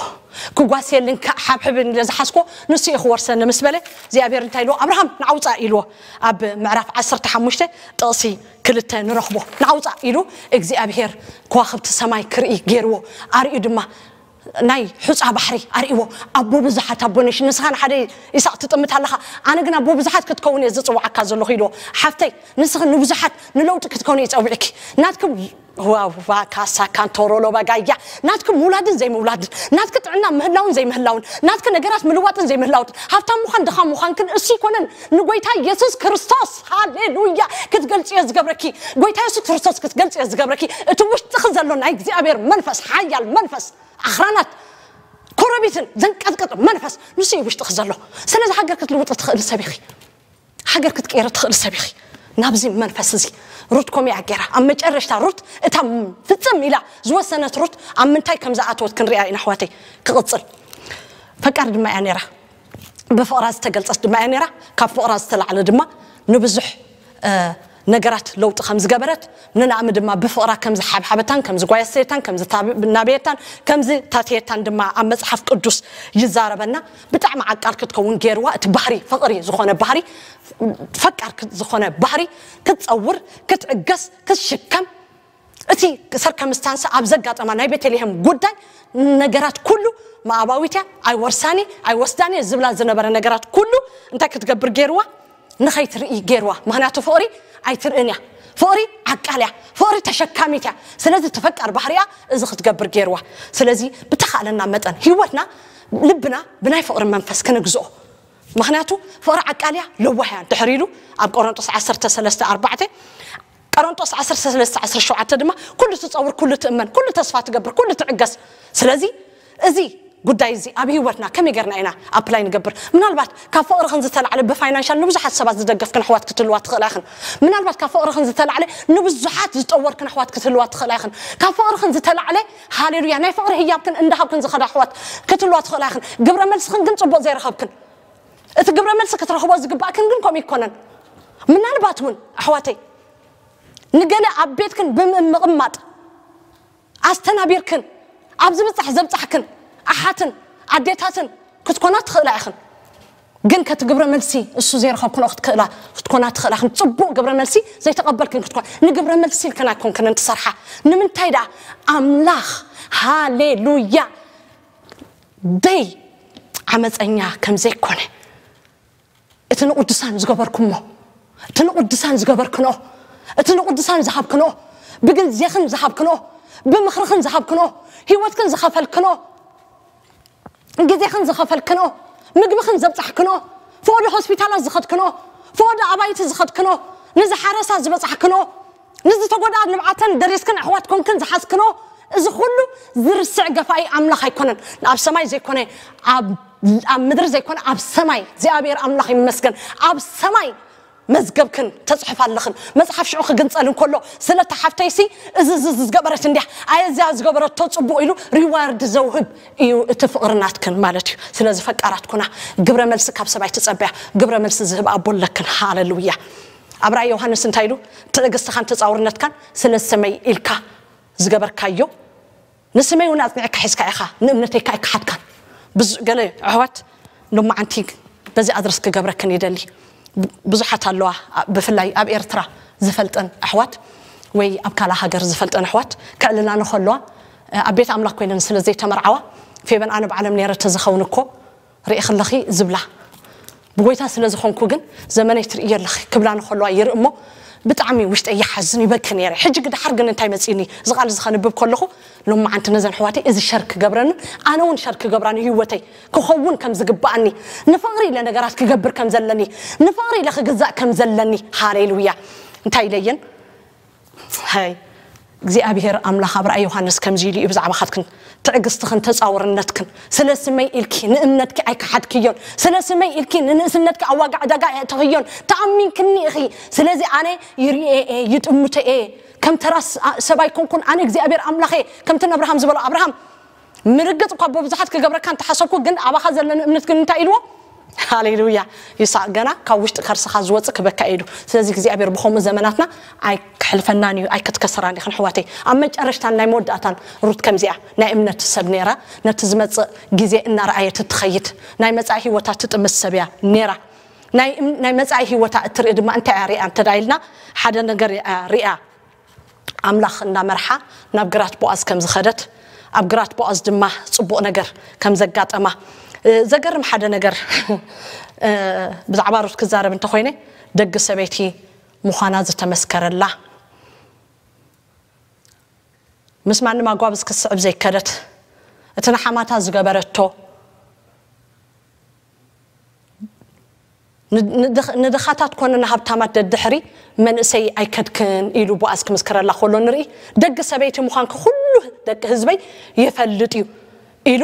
ክጓስየልን ሓብሕብን ኢለ ዝሓዝኩዎ ንሱ እዩ ክወርሰኒ ምስ በለ፣ እግዚኣብሔር እንታይ ኢልዎ? ኣብርሃም ንዓውፃእ ኢልዎ። ኣብ ምዕራፍ ዓሰርተ ሓሙሽተ ጥቕሲ ክልተ ንረኽቦ። ንዓውፃእ ኢሉ እግዚኣብሔር ከዋኽብቲ ሰማይ ክርኢ ገይርዎ፣ ኣርእዩ ድማ ናይ ሑፃ ባሕሪ ኣርእይዎ። ኣቦ ብዙሓት፣ ኣቦ ነሽ፣ ንስኻ ንሓደ ይስሐቅ ትጥምት ኣለኻ፣ ኣነ ግን ኣቦ ብዙሓት ክትከውን እየ ዝፅውዓካ ዘለኹ ኢልዎ። ሓፍተይ፣ ንስኺ ንብዙሓት ንለውጢ ክትከውን እየ ፀዊዕኪ። ናትኩም ዋዋ ካሳ ካንቶሮሎ ባጋያ፣ ናትኩም ምውላድን ዘይምውላድን፣ ናትኪ ጥዕና ምህላውን ዘይምህላውን፣ ናትኪ ነገራት ምልዋጥን ዘይምህላውትን፣ ሃብታም ምዃን ድኻ ምዃንክን እሱ ይኮነን። ንጎይታ ኢየሱስ ክርስቶስ፣ ሃሌሉያ፣ ክትገልጽዮ ዝገብረኪ፣ ጎይታ ኢየሱስ ክርስቶስ ክትገልጽዮ ዝገብረኪ፣ እቲ ውሽጥኺ ዘሎ ናይ እግዚኣብሔር መንፈስ፣ ሓያል መንፈስ፣ ኣኽራናት ኮረቢትን ዘንቀጥቅጥ መንፈስ ንሱ እዩ ውሽጥኺ ዘሎ። ስለዚ ሃገር ክትልውጢ ትኽእሊ ሰብ ኢኺ። ሃገር ክትቀይሪ ትኽእሊ ሰብ ኢኺ። ናብዚ መንፈስ እዚ ሩት ኮሚያ ገይራ፣ ኣብ መጨረሽታ ሩት እታ ፍጽም ኢላ ዝወሰነት ሩት ኣብ ምንታይ ከም ዝኣተወት ክንሪኣ ኢና ኣሕዋተይ። ክቕጽል ፈቃር ድማ እያ ነይራ። ብፍቕራ ዝተገልጸት ድማ እያ ነይራ። ካብ ፍቕራ ዝተላዕለ ድማ ንብዙሕ፣ እ፣ ነገራት ለውጢ ከም ዝገበረት፣ ንናእሚ ድማ ብፍቕራ ከም ዝሓብሓበታን ከም ዝጓየሰየታን ከም ዝናበየታን ከም ዝታተየታን ድማ ኣብ መጽሓፍ ቅዱስ ይዛረበና። ብጣዕሚ ዓቃል ክትከውን ገይርዋ። እቲ ባህሪ ፍቕሪ ዝኾነ ባህሪ፣ ፈቃር ክት-፣ ዝኾነ ባህሪ ክትጸውር፣ ክትዕገስ፣ ክትሽከም፣ እቲ ሰርከምስታንስ ኣብ ዘጋጠማ ናይ ቤተልሔም ጉዳይ ነገራት ኩሉ መኣባዊት እያ፣ ኣይወርሳን እየ፣ ኣይወስዳን እየ ዝብላ ዝነበረ ነገራት ኩሉ እንታይ ክትገብር ገይርዋ? ንኸይትርኢ ገይርዋ። ምኽንያቱ ፍቕሪ ኣይትርእን እያ። ፍቕሪ ዓቃል እያ። ፍቕሪ ተሸካሚት እያ። ስለዚ እቲ ፈቃር ባህሪኣ እዚ ክትገብር ገይርዋ። ስለዚ ብተኻእለና መጠን ህይወትና፣ ልብና ብናይ ፍቕሪ መንፈስ ክንግዝኦ። ምኽንያቱ ፍቕሪ ዓቃልያ ለዋህያን ድሕሪ ኢሉ ኣብ ቆሮንጦስ ዓሰርተ ሰለስተ ኣርባዕተ፣ ቆሮንጦስ ዓሰርተ ሰለስተ ዓሰርተ ሸውዓተ ድማ ኩሉ ትጸውር፣ ኩሉ ትእመን፣ ኩሉ ተስፋ ትገብር፣ ኩሉ ትዕገስ። ስለዚ እዚ ጉዳይ እዚ ኣብ ህይወትና ከመይ ጌርና ኢና ኣፕላይ ንገብር? ምናልባት ካብ ፍቕርኽን ዝተላዕለ ብፋይናንሻል ንብዙሓት ሰባት ዝደገፍክን ኣሕዋት ክትህልዋ ትኽእላ ኢኽን። ምናልባት ካብ ፍቕርኽን ዝተላዕለ ንብዙሓት ዝጠወርክን ኣሕዋት ክትህልዋ ትኽእላ ኢኽን። ካብ ፍቕርኽን ዝተላዕለ ሃሌሉያ ናይ ፍቕሪ ህያብክን እንዳሃብክን ዝኸዳ ኣሕዋት ክትህልዋ ትኽእላ ኢኽን። ግብረ መልስኽን ግን ጽቡቕ ዘይረኸብክን፣ እቲ ግብረ መልሲ ክትረኽቦ ዝግባእክን ግን ከምኡ ይኮነን። ምናልባት እውን ኣሕዋተይ ንገለ ኣብ ቤትክን ብምምቕማጥ ኣስተናቢርክን ኣብ ዝብጻሕ ዘብጻሕክን ኣሓትን ኣዴታትን ክትኮና ትኽእላ ኢኽን። ግን ከቲ ግብረ መልሲ እሱ ዘይረኸብክንኦ ክትክእላ ክትኮና ትኽእላ ኢኽን። ጽቡቕ ግብረ መልሲ ዘይተቐበልክን ክትኮና፣ ንግብረ መልሲ ኢልክን ኣይኮንክንን ትሰርሓ። ንምንታይ ደኣ? ኣምላኽ፣ ሃሌሉያ፣ ደይ ዓመፀኛ ከም ዘይኮነ፣ እቲ ንቕዱሳን ዝገበርኩሞ፣ እቲ ንቕዱሳን ዝገበርክንኦ፣ እቲ ንቕዱሳን ዝሃብክንኦ፣ ብግዜኽን ዝሃብክንኦ፣ ብምኽርኽን ዝሃብክንኦ፣ ህይወትክን ዝኸፈልክንኦ፣ ግዜኽን ዝኸፈልክንኦ፣ ምግብኽን ዘብጻሕክንኦ፣ ፈቐዶ ሆስፒታላት ዝኸድክንኦ፣ ፈቐዶ ኣባይቲ ዝኸድክንኦ፣ ንዝሓረሳ ዝበጻሕክንኦ፣ ንዝተጎድኣ ንብዓተን ደሪስክን ኣሕዋት ኮንክን ዝሓዝክንኦ፣ እዚ ኩሉ ዝርስዕ ገፋኢ ኣምላኽ ኣይኮነን። ኣብ ሰማይ ዘይኮነ፣ ኣብ ኣብ ምድሪ ዘይኮነ ኣብ ሰማይ እግዚኣብሔር ኣምላኽ ይመስገን። ኣብ ሰማይ መዝገብክን ተጽሕፍ ኣለኽን። መጽሓፍ ሽዑ ክግንጸል እንከሎ ስለታ ሓፍተይሲ እዚ እዚ እዚ ዝገበረት እንዲያ፣ ኣየ እዚኣ ዝገበረቶ ጽቡቕ ኢሉ ሪዋርድ ዘውህብ እዩ እቲ ፍቕሪ ናትክን ማለት እዩ። ስለዚ ፈቃራት ኩና። ግብረ መልሲ ካብ ሰብኣይ ትጸበያ። ግብረ መልሲ ዝህብ ኣቦ ኣለክን። ሃሌሉያ። ኣብ ራእይ ዮሃንስ እንታይ ኢሉ? ትዕግስትኻን ተጻውርነትካን ስለ ሰመይ ኢልካ ዝገበርካዮ ንስመይ እውን ኣጽኒዕካ ሒዝካ ኢኻ፣ ንእምነተይ ከኣ ኣይከሓድካን። ብዙ ገለ ኣሕዋት ሎማዓንቲ በዚ ኣድረስ ክገብረክን ይደሊ። ብዙሓት ኣለዋ፣ ብፍላይ ኣብ ኤርትራ ዝፈልጠን ኣሕዋት ወይ ኣብ ካልእ ሃገር ዝፈልጠን ኣሕዋት ከዕልላኒ ከለዋ፣ ኣብ ቤት ኣምላኽ ኮይነን ስለ ዘይተመርዓዋ፣ ፌበን ኣነ ባዕለም ነይረ ተዝኸውን እኮ ርኢ ከለኺ ዝብላ፣ ብጎይታ ስለ ዝኾንኩ ግን ዘመነይ ትርእዮ ኣለኺ ክብላ ንኸለዋ ይርኢ እሞ ብጣዕሚ ውሽጠይ ይሓዝን ይበኪ ነይረ። ሕጂ ግን ደሓር ግን እንታይ መጺእኒ? እዚ ቃል እዚ ከንብብ ከለኹ ሎማዓንቲ ነዘን ኣሕዋተይ እዚ ሸር ክገብረንን ኣነ እውን ሸር ክገብራን ህይወተይ ክኸውን ከም ዝግብኣኒ፣ ንፍቕሪ ኢለ ነገራት ክገብር ከም ዘለኒ፣ ንፍቕሪ ኢለ ክግዛእ ከም ዘለኒ። ሃሌሉያ። እንታይ ኢለየን? ሃይ እግዚኣብሔር ኣምላኽ ኣብ ራእይ ዮሃንስ ከምዚ ኢሉ እዩ ብዛዕባኻትክን ትዕግስትኽን ተጻውርነትክን። ስለ ስመይ ኢልኪ ንእምነትኪ ኣይከሓድክዮን። ስለ ስመይ ኢልኪ ንንእስነትኪ ኣብ ዋጋ ዕዳጋ ኣየእተኽዮን። ተኣሚንክኒ ኢኺ። ስለዚ ኣነ ይርኤ እየ፣ ይጥምቶ እየ። ከም ተራ ስ-፣ ኣ-፣ ሰብ ኣይኮንኩን። ኣነ እግዚኣብሔር ኣምላኽ እየ። ከምቲ ንኣብርሃም ዝበሎ፣ ኣብርሃም ምርግጽ እኳ ብብዙሓት ክገብረካ እንተሓሰብኩ፣ ግን ኣባኻ ዘለኒ እምነት ግን እንታይ ኢልዎ? ሃሌሉያ። ይስሐቅ ገና ካብ ውሽጢ ከርስኻ ዝወጽእ ክበካ ኢሉ። ስለዚ እግዚኣብሔር ብኸምኡ ዘመናትና ኣይክሕልፈናን እዩ፣ ኣይክትከሰራን ኢኽን ኣሕዋተይ። ኣብ መጨረሽታን ናይ መወዳእታን ሩት ከምዚኣ ናይ እምነት ሰብ ነይራ። ነቲ ዝመጽእ ግዜ እናረኣየት እትኸይድ፣ ናይ መጻኢ ህይወታ ትጥምት ሰብ እያ ነይራ። ናይ እም-፣ ናይ መጻኢ ህይወታ እትርኢ ድማ እንታይ እያ ሪኣ እንተ ደኣ ኢልና፣ ሓደ ነገር እያ ሪኣ። ኣምላኽ እናመርሓ ናብ ግራት ቦኣዝ ከም ዝኸደት፣ ኣብ ግራት ቦኣዝ ድማ ጽቡቕ ነገር ከም ዘጋጠማ፣ እ፣ ዘገርም ሓደ ነገር፣ እ፣ ብዛዕባ ሩት ክዛረብ እንተኾይነ፣ ደግ ሰበይቲ ምዃና ዝተመስከረላ፣ ምስ ማንም ኣጓብዝ ክትስዕብ ዘይከደት፣ እቲ ንሓማታ ዝገበረቶ፣ ን-፣ ንድኽ-፣ ንድኻታት ኮነ ንሃብታማት ደድሕሪ መንእሰይ ኣይከድክን ኢሉ ቦኣዝ ክምስክረላ ከሎ ንርኢ። ደግ ሰበይቲ ምዃንኪ ኩሉ ደቂ ህዝበይ ይፈልጥ እዩ ኢሉ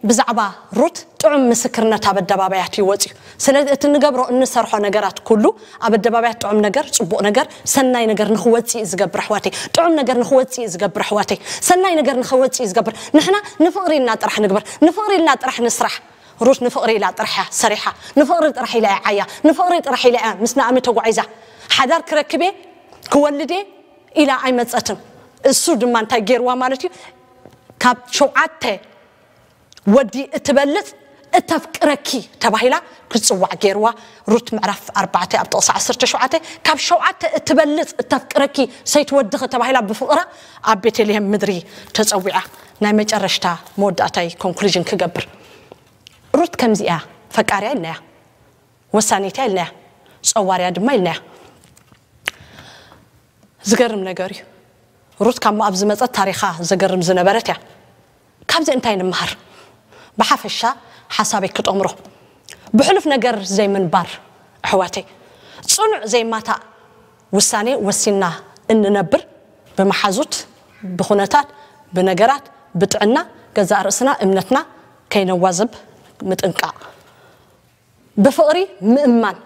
ብዛዕባ ሩት ጥዑም ምስክርነት ኣብ ኣደባባያት እዩ ወፂኡ። ስለዚ እቲ ንገብሮ እንሰርሖ ነገራት ኩሉ ኣብ ኣደባባያት ጥዑም ነገር፣ ፅቡቕ ነገር፣ ሰናይ ነገር ንኽወፅእ እዩ ዝገብር ኣሕዋተይ። ጥዑም ነገር ንኽወፅእ እዩ ዝገብር ኣሕዋተይ። ሰናይ ነገር ንኽወፅእ እዩ ዝገብር። ንሕና ንፍቕሪ ኢልና ጥራሕ ንግበር፣ ንፍቕሪ ኢልና ጥራሕ ንስራሕ። ሩት ንፍቕሪ ኢላ ጥራሕ እያ ሰሪሓ። ንፍቕሪ ጥራሕ ኢላ እያ ዓያ። ንፍቕሪ ጥራሕ ኢላ እያ ምስ ናእሚ ተጓዒዛ። ሓዳር ክረክብ እየ፣ ክወልድ እየ ኢላ ኣይመጸትን። እሱ ድማ እንታይ ገይርዋ ማለት እዩ? ካብ ሸውዓተ ወዲ እትበልጽ እተፍቅረኪ ተባሂላ ክትጽዋዕ ገይርዋ። ሩት ምዕራፍ ኣርባዕተ ኣብ ጥቕሲ ዓሰርተ ሸውዓተ፣ ካብ ሸውዓተ እትበልጽ እተፍቅረኪ ሰይቲ ወድኺ ተባሂላ ብፍቕራ ኣብ ቤተልሔም ምድሪ ተጸዊዓ። ናይ መጨረሽታ መወዳእታይ ኮንክሉዥን ክገብር። ሩት ከምዚ እያ፣ ፈቃሪያ ኢልናያ፣ ወሳኒት እያ ኢልናያ፣ ጸዋርያ ድማ ኢልናያ። ዝገርም ነገር እዩ። ሩት ካብ ሞኣብ ዝመጸት ታሪኻ ዘገርም ዝነበረት እያ። ካብዚ እንታይ ንምሃር? ብሓፈሻ ሓሳበይ ክጠምሮ። ብሕሉፍ ነገር ዘይምንባር። ኣሕዋተይ፣ ጽኑዕ ዘይማታእ ውሳኔ ወሲና እንነብር፣ ብመሓዙት፣ ብኹነታት፣ ብነገራት፣ ብጥዕና፣ ገዛእ ርእስና፣ እምነትና ከይነዋዘብ ምጥንቃቕ። ብፍቕሪ ምእማን።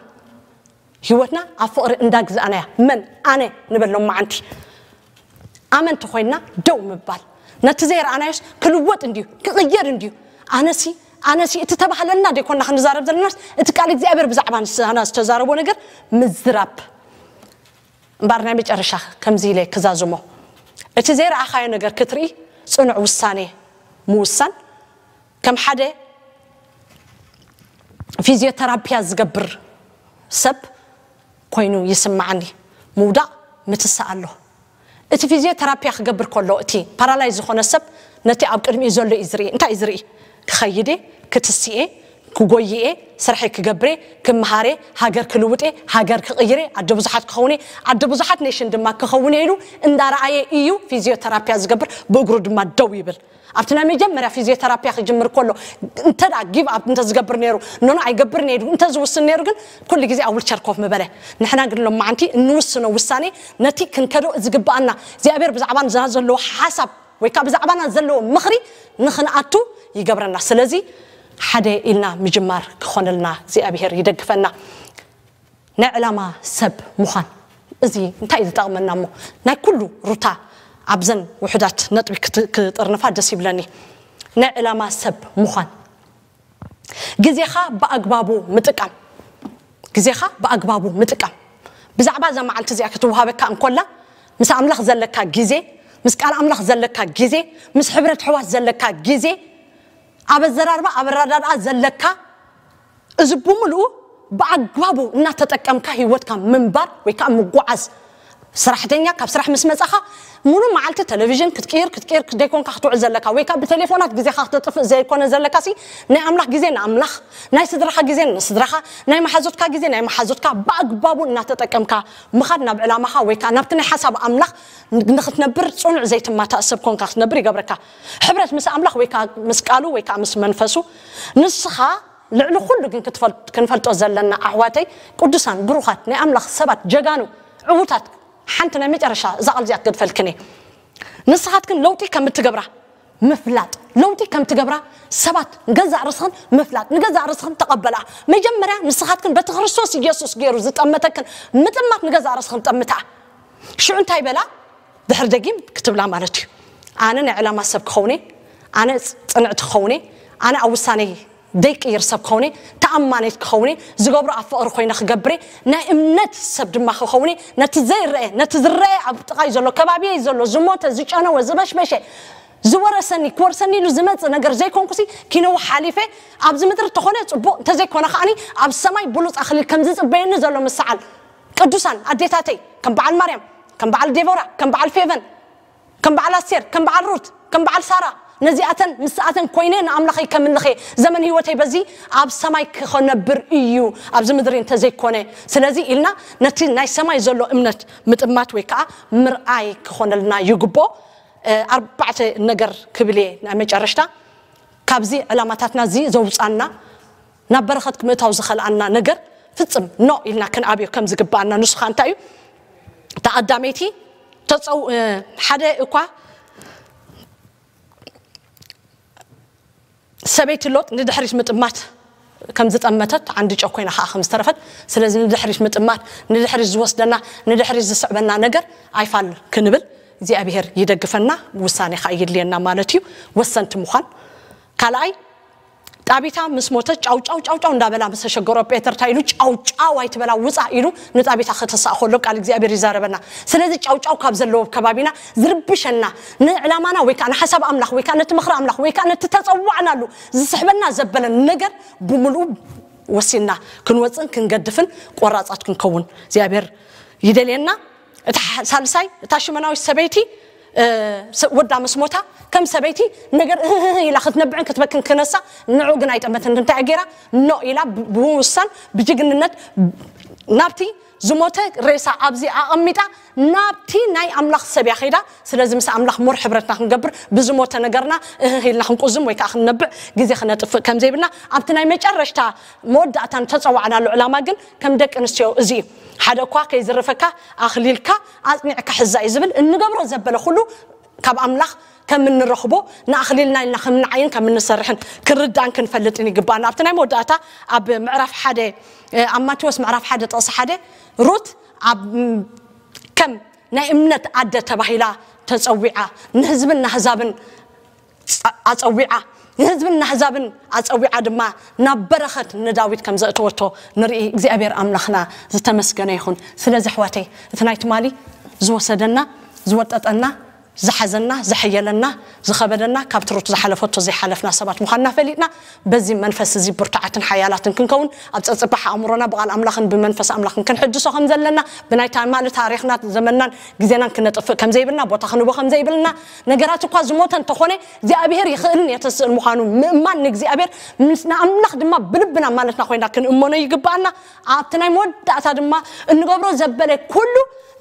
ህይወትና ኣብ ፍቕሪ እንዳግዛእናያ፣ መን ኣነ ንበሎም መዓንቲ ኣመንቲ ኮይና ደው ምባል። ነቲ ዘይረኣናዮስ ክልወጥ እንድዩ፣ ክቕየር እንድዩ። ኣነሲ ኣነሲ እቲ ተባህለልና ደይኮና ክንዛረብ ዘለናስ፣ እቲ ቃል እግዚኣብሔር ብዛዕባ ንስና ዝተዛረቦ ነገር ምዝራብ። እምበኣር ናይ መጨረሻ ከምዚ ኢለ ክዛዝሞ፣ እቲ ዘይረኣኻዮ ነገር ክትርኢ፣ ጽኑዕ ውሳኔ ምውሳን። ከም ሓደ ፊዚዮተራፒያ ዝገብር ሰብ ኮይኑ ይስማዓኒ። ምውዳቕ ምትሳእ ኣሎ። እቲ ፊዚዮተራፒያ ክገብር ከሎ፣ እቲ ፓራላይዝ ዝኾነ ሰብ ነቲ ኣብ ቅድሚኡ ዘሎ እዩ ዝርኢ። እንታይ እዩ ዝርኢ? ክኸይድ እየ፣ ክትስእ እየ፣ ክጎይ እየ፣ ስርሐይ ክገብር እየ፣ ክመሃር እየ፣ ሃገር ክልውጥ እየ፣ ሃገር ክቕይር እየ፣ ኣደ ብዙሓት ክኸውን እየ፣ ኣደ ብዙሓት ኔሽን ድማ ክኸውን እየ ኢሉ እንዳረኣየ እዩ ፊዚዮተራፒያ ዝገብር። ብእግሩ ድማ ደው ይብል። ኣብቲ ናይ መጀመርያ ፊዚዮተራፒያ ክጅምር ከሎ እንተ ደኣ ጊቭ ኣፕ እንተ ዝገብር ነይሩ፣ ኖኖ ኣይገብር ነይሩ እንተ ዝውስን ነይሩ፣ ግን ኩሉ ግዜ ኣብ ዊልቸር ኮፍ ምበለ። ንሕና ግን ሎማዓንቲ እንውስኖ ውሳኔ፣ ነቲ ክንከዶ ዝግብኣና እግዚኣብሔር ብዛዕባ ንዛ ዘለዎ ሓሳብ ወይ ከዓ ብዛዕባና ዘለዎ ምኽሪ ንኽንኣቱ ይገብረና። ስለዚ ሓደ ኢልና ምጅማር ክኾነልና እግዚኣብሔር ይደግፈና። ናይ ዕላማ ሰብ ምዃን፣ እዚ እንታይ እዩ ዝጠቕመና እሞ? ናይ ኩሉ ሩታ ኣብዘን ውሑዳት ነጥቢ ክት- ክጥርንፋ ደስ ይብለኒ። ናይ ዕላማ ሰብ ምዃን፣ ግዜኻ ብኣግባቡ ምጥቃም። ግዜኻ ብኣግባቡ ምጥቃም። ብዛዕባ እዛ መዓልቲ እዚኣ ክትወሃበካ እንኮላ፣ ምስ ኣምላኽ ዘለካ ግዜ፣ ምስ ቃል ኣምላኽ ዘለካ ግዜ፣ ምስ ሕብረት ኣሕዋት ዘለካ ግዜ፣ ኣብ ኣዘራርባ፣ ኣብ ኣረዳድኣ ዘለካ፣ እዚ ብምልኡ ብኣግባቡ እናተጠቀምካ ህይወትካ ምንባር ወይ ከዓ ምጓዓዝ። ሰራሕተኛ ካብ ስራሕ ምስ መጻኻ፣ ሙሉ መዓልቲ ቴሌቪዥን ክትቅይር ክትቅይር ደይኮንካ ክትውዕል ዘለካ፣ ወይ ከዓ ብቴሌፎናት ግዜኻ ክተጥፍእ ዘይኮነ ዘለካ ሲ፣ ናይ ኣምላኽ ግዜ ንኣምላኽ፣ ናይ ስድራኻ ግዜ ንስድራኻ፣ ናይ መሓዙትካ ግዜ ናይ መሓዙትካ ብኣግባቡ እናተጠቀምካ ምኻድ ናብ ዕላማኻ ወይ ከዓ ናብቲ ናይ ሓሳብ ኣምላኽ ንክትነብር፣ ጽኑዕ ዘይትማታእ ሰብ ኮንካ ክትነብር ይገብረካ። ሕብረት ምስ ኣምላኽ ወይ ከዓ ምስ ቃሉ ወይ ከዓ ምስ መንፈሱ። ንስኻ ልዕሊ ኩሉ ግን ክትፈል- ክንፈልጦ ዘለና፣ ኣሕዋተይ ቅዱሳን ብሩኻት ናይ ኣምላኽ ሰባት፣ ጀጋኑ ዕዉታት፣ ሓንቲ ናይ መጨረሻ እዛ ቃል እዚኣ ክገድፈልክን እየ። ንስኻትክን ለውጢ ከም እትገብራ ምፍላጥ፣ ለውጢ ከም ትገብራ ሰባት ንገዛእ ርስኽን ምፍላጥ፣ ንገዛእ ርስኽን ተቐበላ። መጀመርያ ንስኻትክን በቲ ክርስቶስ ኢየሱስ ገይሩ ዝጠመተክን ምጥማት ንገዛእ ርስኽን ጠምታ። ሽዑ እንታይ በላ? ድሕር ደጊም ክትብላ ማለት እዩ። ኣነ ናይ ዕላማ ሰብ ክኸውነ፣ ኣነ ጽንዕቲ ክኸውነ፣ ኣነ ኣብ ውሳኔ ደይቅይር ሰብ ክኸውነ፣ ተኣማኔት ክኸውነ፣ ዝገብሮ ኣብ ፍቕሪ ኮይነ ክገብረ፣ ናይ እምነት ሰብ ድማ ክኸውነ፣ ነቲ ዘይረአ፣ ነቲ ዝረአ ኣብ ጥቓይ ዘሎ፣ ከባቢየይ ዘሎ፣ ዝሞተ፣ ዝጨነወ፣ ዝበሽበሸ፣ ዝወረሰኒ፣ ክወርሰኒ ኢሉ ዝመጽእ ነገር ዘይኮንኩሲ፣ ኪነው ሓሊፈ፣ ኣብዚ ምድሪ እንተኾነ ጽቡቕ፣ እንተዘይኮነ ከዓኒ ኣብ ሰማይ ብሉጽ ኣኽሊል ከም ዝጽበየኒ ዘሎ ምስዓል። ቅዱሳን ኣዴታተይ፣ ከም በዓል ማርያም፣ ከም በዓል ዴቦራ፣ ከም በዓል ፌቨን፣ ከም በዓል ኣስቴር፣ ከም በዓል ሩት፣ ከም በዓል ሳራ፣ ነዚኣተን ምስኣተን ኮይነ ንኣምላኸይ ከምልኸ፣ ዘመን ህይወተይ በዚ ኣብ ሰማይ ክኸነብር እዩ፣ ኣብዚ ምድሪ እንተዘይኮነ። ስለዚ ኢልና ነቲ ናይ ሰማይ ዘሎ እምነት ምጥማት ወይ ከዓ ምርኣይ ክኾነልና ይግቦ። እ፣ ኣርባዕተ ነገር ክብል እየ ናይ መጨረሽታ። ካብዚ ዕላማታትና እዚ ዘውፃና፣ ናብ በረኸት ክምእታው ዝኸልኣና ነገር ፍጽም ኖ ኢልና ክንኣብዮ ከም ዝግብኣና። ንሱ ኸኣ እንታይ እዩ? እታ ቀዳመይቲ ተጸው-፣ እ፣ ሓደ እኳ ሰበይቲ ሎጥ ንድሕሪት ምጥማት ከም ዝጠመተት፣ ዓንዲ ጨው ኮይና ኸኣ ከም ዝተረፈት፣ ስለዚ ንድሕሪት ምጥማት፣ ንድሕሪት ዝወስደና፣ ንድሕሪት ዝስዕበና ነገር ኣይፋል ክንብል እግዚኣብሔር ይደግፈና፣ ውሳኔ ኸኣ የድልየና ማለት እዩ። ወሰንቲ ምዃን። ካልኣይ፣ ጣቢታ ምስ ሞተት ጫው ጫው ጫው ጫው እንዳበላ ምስ ተሸገሮ፣ ጴተር እንታይ ኢሉ? "ጫው ጫው ኣይትበላ፣ ውጻእ" ኢሉ ንጣቢታ ከተስኣ ከሎ ቃል እግዚኣብሔር ይዛረበና። ስለዚ ጫው ጫው ካብ ዘለዎ ከባቢና ዝርብሸና፣ ንዕላማና ወይ ከዓ ንሓሳብ ኣምላኽ ወይ ከዓ ነቲ ምኽሪ ኣምላኽ ወይ ከዓ ነቲ ተጸዋዕናሉ ዝስሕበና ዘበለ ነገር ብምልኡ ወሲንና ክንወጽእን ክንገድፍን ቆራጻት ክንከውን እግዚኣብሔር ይደልየና። እታ ሕ-፣ ሳልሳይ፣ እታ ሽመናዊት ሰበይቲ፣ እ፣ ስ-፣ ወዳ ምስ ሞታ፣ ከም ሰበይቲ ነገር እህህህ ኢላ ክትነብዕን ክትበክን ክነሳ፣ ንዑ ግን ኣይጠመትን። እንታይ ገይራ? ኖ ኢላ ብ-፣ ብምውሳን፣ ብጅግንነት ናብቲ ዝሞተ ሬሳ ኣብዚ ኣቐሚጣ ናብቲ ናይ ኣምላኽ ሰብ እያ ከይዳ። ስለዚ ምስ ኣምላኽ ሞር ሕብረትና ክንገብር ብዝሞተ ነገርና እህህ ኢልና ክንቁዝም ወይ ከዓ ክንነብዕ ግዜ ክነጥፍእ ከም ዘይብልና ኣብቲ ናይ መጨረሽታ መወዳእታ ንተፀዋዕናሉ ዕላማ ግን ከም ደቂ ኣንስትዮ እዚ እዩ። ሓደ እኳ ከይዝርፈካ ኣኽሊልካ ኣጽኒዕካ ሕዛ እዩ ዝብል። እንገብሮ ዘበለ ኩሉ ካብ ኣምላኽ ከም እንረኽቦ ንኣኽሊልና ኢልና ከም ንዓይን ከም እንሰርሕን ክንርዳእን ክንፈልጥን ይግባና። ኣብቲ ናይ መወዳእታ ኣብ ምዕራፍ ሓደ ኣብ ማቴዎስ ምዕራፍ ሓደ ጥቕሲ ሓደ ሩት ኣብ ከም ናይ እምነት ኣደ ተባሂላ ተጸዊዓ ንህዝብን ናህዛብን ኣጸዊዓ ንህዝብን ናህዛብን ኣጸዊዓ ድማ ናብ በረኸት ንዳዊት ከም ዘእተወቶ ንርኢ። እግዚኣብሔር ኣምላኽና ዝተመስገነ ይኹን። ስለዚ ኣሕዋተይ እቲ ናይ ትማሊ ዝወሰደና ዝወጠጠና ዝሓዘና ዘሐየለና ዝኸበደና ካብ ትሩት ዝሓለፈቶ ዘይሓለፍና ሰባት ምዃንና ፈሊጥና በዚ መንፈስ እዚ ብርቱዓትን ሓያላትን ክንከውን ኣብ ጸጽባሕ ኣእምሮና ብቓል ኣምላኽን ብመንፈስ ኣምላኽን ክንሕድሶ ከም ዘለና ብናይ ትማሊ ታሪኽና ዘመንናን ግዜናን ክነጥፍእ ከም ዘይብልና ቦታ ክንቦ ከም ዘይብልና ነገራት እኳ ዝሞተ እንተኾነ እግዚኣብሔር ይኽእልን የተስእል ምዃኑ ምእማን ንእግዚኣብሔር ምስ ንኣምላኽ ድማ ብልብና ማለትና ኮይና ክንእመኖ ይግባኣና። ኣብቲ ናይ መወዳእታ ድማ እንገብሮ ዘበለ ኩሉ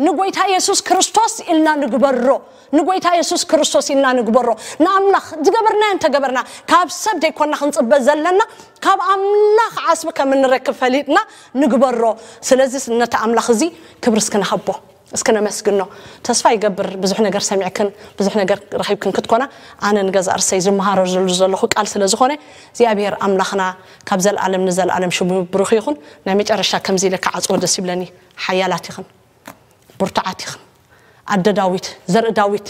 ንጎይታ የሱስ ክርስቶስ ኢልና ንግበሮ። ንጎይታ የሱስ ክርስቶስ ኢልና ንግበሮ። ንኣምላኽ ዝገበርናዮ እንተገበርና ካብ ሰብ ዘይኮና ክንፅበ ዘለና ካብ ኣምላኽ ዓስቢ ከም እንረክብ ፈሊጥና ንግበሮ። ስለዚ ነቲ ኣምላኽ እዚ ክብሪ እስክንሃቦ እስክነመስግኖ። ተስፋ ይገብር ብዙሕ ነገር ሰሚዕክን ብዙሕ ነገር ረኺብክን ክትኮና። ኣነ ንገዛ እርሰይ ዝመሃረሉ ዘለኹ ቃል ስለ ዝኾነ እግዚኣብሔር ኣምላኽና ካብ ዘለኣለም ንዘለኣለም ሽሙ ብሩኽ ይኹን። ናይ መጨረሻ ከምዚ ኢለ ክዓፅዎ ደስ ይብለኒ። ሓያላት ኢኽን፣ ብርቱዓት ኢኽን። ኣደ ዳዊት፣ ዘርኢ ዳዊት፣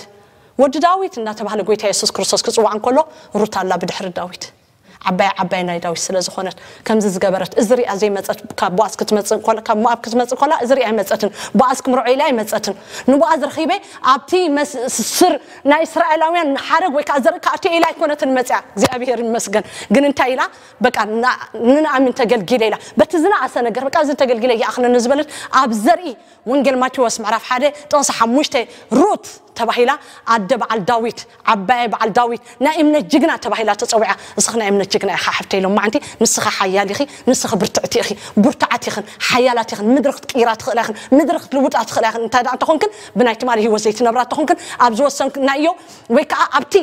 ወዲ ዳዊት እናተባህለ ጎይታ የሱስ ክርስቶስ ክፅዋዕ እንከሎ ሩት ኣላ ብድሕሪ ዳዊት። ዓባይ ዓባይ ናይ ዳዊት ስለ ዝኾነት ከምዚ ዝገበረት እዚ ሪኣ ዘይመፀት ካብ ቦኣዝ ክትመፅእ እንኮላ ካብ ሞኣብ ክትመፅእ እንኮላ እዚ ሪኣ ኣይመፀትን። ቦኣዝ ክምርዖ ኢላ ኣይመፀትን። ንቦኣዝ ረኺበ ኣብቲ መስ- ስር ናይ እስራኤላውያን ሓረግ ወይ ከዓ ዘርኢ ክኣቱ ኢላ ኣይኮነትን መፅያ። እግዚኣብሔር ይመስገን። ግን እንታይ ኢላ በቃ ንንኣሚን ተገልጊለ ኢላ በቲ ዝነኣሰ ነገር በቃ እዚ ተገልጊለ ይኣኽለኒ ዝበለት ኣብ ዘርኢ ወንጌል ማቴዎስ ምዕራፍ ሓደ ጥቕሲ ሓሙሽተ ሩት ተባሂላ ኣደ በዓል ዳዊት ዓባይ በዓል ዳዊት ናይ እምነት ጅግና ተባሂላ ተፀዊዓ። ንስኺ ናይ እምነት ጅግና ኢኻ ሓብተይ ሎማዓንቲ። ንስኺ ሓያል ኢኺ፣ ንስኺ ብርትዕቲ ኢኺ፣ ብርቱዓት ኢኽን፣ ሓያላት ኢኽን። ምድሪ ክትቅይራ ትኽእላ ኢኽን፣ ምድሪ ክትልውጣ ትኽእላ ኢኽን። እንታይ ደኣ እንተኾንክን ብናይ ትማሊ ህይወት ዘይትነብራ እንተኾንክን ኣብ ዝወሰንክናዮ ወይ ከዓ ኣብቲ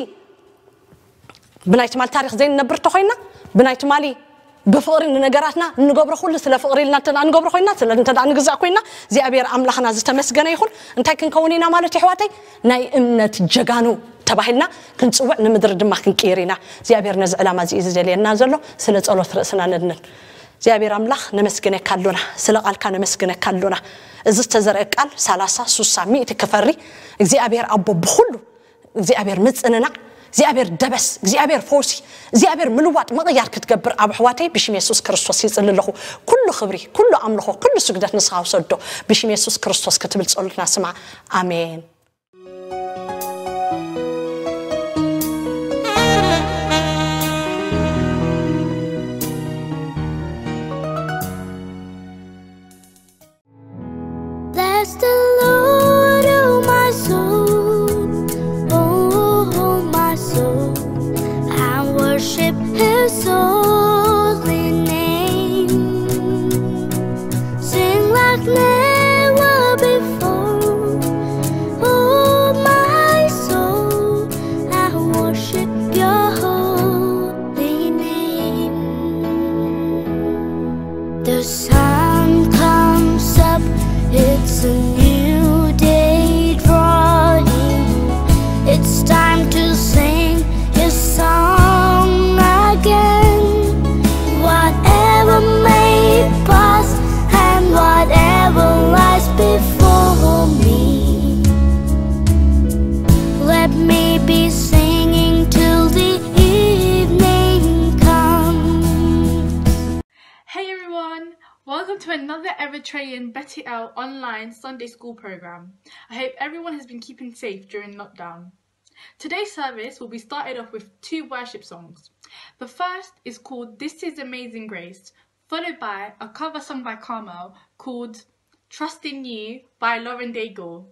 ብናይ ትማሊ ታሪኽ ዘይንነብር ተኾይና ብናይ ትማሊ ብፍቕሪ ንነገራትና እንገብሮ ኩሉ ስለ ፍቕሪ ኢልና እንተ ንገብሮ ኮይና ስለ እንተ ንግዛእ ኮይና እግዚኣብሔር ኣምላኽና ዝተመስገነ ይኹን። እንታይ ክንከውን ኢና ማለት ይሕዋተይ? ናይ እምነት ጀጋኑ ተባሂልና ክንፅውዕ ንምድሪ ድማ ክንቅይር ኢና። እግዚኣብሔር ነዚ ዕላማ እዚ እዩ ዝደልየና ዘሎ። ስለ ጸሎት ርእስና ነድንን። እግዚኣብሔር ኣምላኽ ነመስግነካ ኣሎና፣ ስለ ቃልካ ነመስግነካ ኣሎና። እዚ ዝተዘርአ ቃል ሰላሳ ሱሳ ሚእቲ ክፈሪ እግዚኣብሔር ኣቦ ብኹሉ እግዚኣብሔር ምጽንናዕ እግዚኣብሔር ደበስ እግዚኣብሔር ፈውሲ እግዚኣብሔር ምልዋጥ ምቕያር ክትገብር ኣብ ኣሕዋተይ ብሽም የሱስ ክርስቶስ ይጽሊ ኣለኹ። ኩሉ ክብሪ ኩሉ ኣምልኾ ኩሉ ስግደት ንስኻ ውሰዶ። ብሽም የሱስ ክርስቶስ ክትብል ጸሎትና ስማዕ። ኣሜን። Bless the Lord, oh my soul, oh my soul, and worship his holy name. Sing like never before, oh my soul, I worship your holy name. The sun comes up, it's a new day drawing. It's time to sing his song again. Whatever may pass and whatever lies before me, let me be singing till the evening comes. Hey everyone, welcome to another Eritrean Beti El online Sunday school program. I hope everyone has been keeping safe during lockdown. Today's service will be started off with two worship songs. The first is called This Is Amazing Grace, followed by a cover song by Carmel called Trust in You by Lauren Daigle.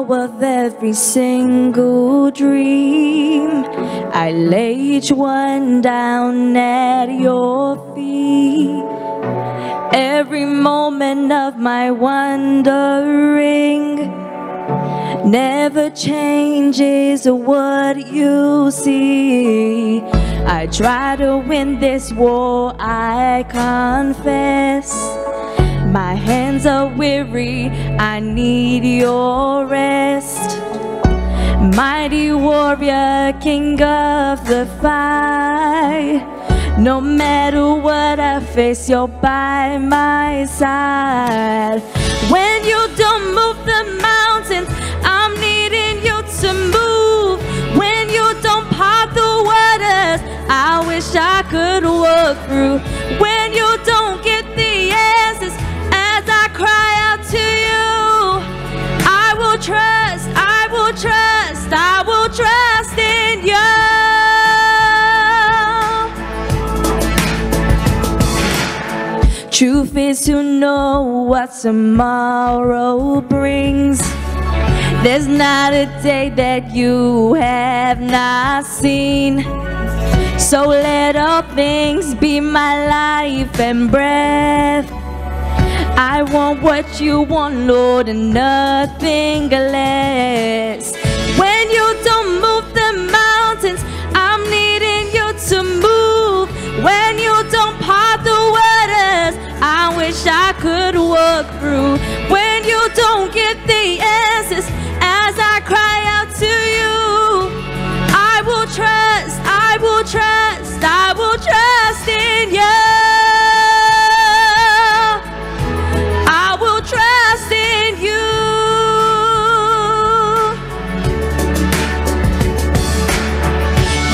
Of every single dream, I lay each one down at your feet. Every moment of my wandering never changes what you see. I try to win this war, I confess. My hands are weary, I need your rest. Mighty warrior, king of the fight. No matter what I face, you're by my side. When you don't move the mountains, I'm needing you to move. When you don't part the waters, I wish I could walk through. When you don't get the answers as I cry out to you, I will trust, I will trust, I will trust in you. Truth is to know what tomorrow brings. There's not a day that you have not seen. So let all things be my life and breath. I want what you want, Lord, and nothing less. When you don't move the mountains, I'm needing you to move. When you don't part the waters, I wish I could walk through. When you don't get the answers as I cry out to you, I will trust, I will trust, I will trust in you. I will trust in you.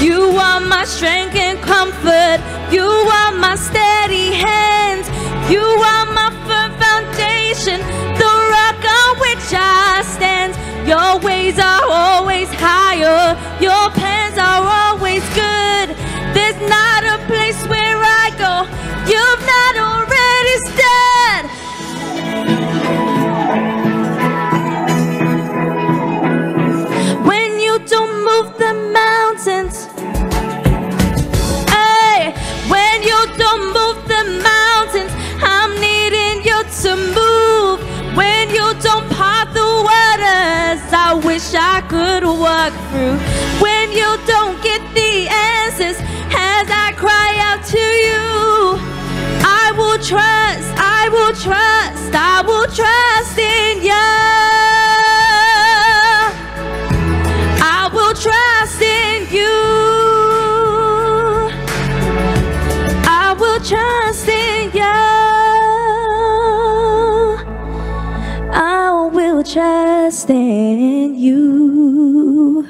You are my strength and comfort. You are my steady hand. You are my firm foundation, the rock on which I stand. Your ways are always higher. Your plans are always good. There's not a place where I go you've not already stood. When you don't move the mountains, hey, when you don't move the mountains, I'm needing you to move. When you don't part the waters, I wish I could walk through. When you don't get the answers as I cry out to you, I will trust, I will trust, I will trust in you. I will trust in you. I will trust in you. I will trust in you.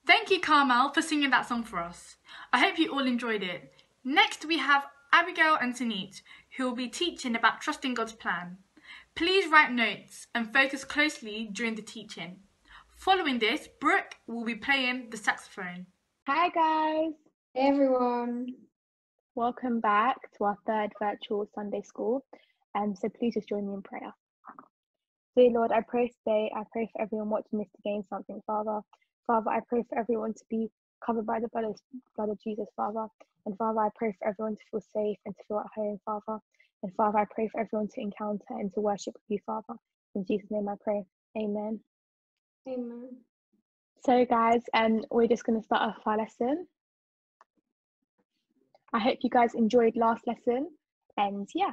Thank you, Carmel, for singing that song for us. I hope you all enjoyed it. Next, we have Abigail and Sanit, who will be teaching about trusting God's plan. Please write notes and focus closely during the teaching. Following this, Brooke will be playing the saxophone. Hi, guys. Hey, everyone. Welcome back to our third virtual Sunday school. Um, so please just join me in prayer. Dear Lord, I pray today, I pray for everyone watching this to gain something, Father. Father, I pray for everyone to be covered by the blood of, blood of Jesus, Father. And Father, I pray for everyone to feel safe and to feel at home, Father. And Father, I pray for everyone to encounter and to worship with you, Father. In Jesus' name I pray. Amen. Amen. So, guys, um, we're just going to start off our lesson. I hope you guys enjoyed last lesson. And yeah.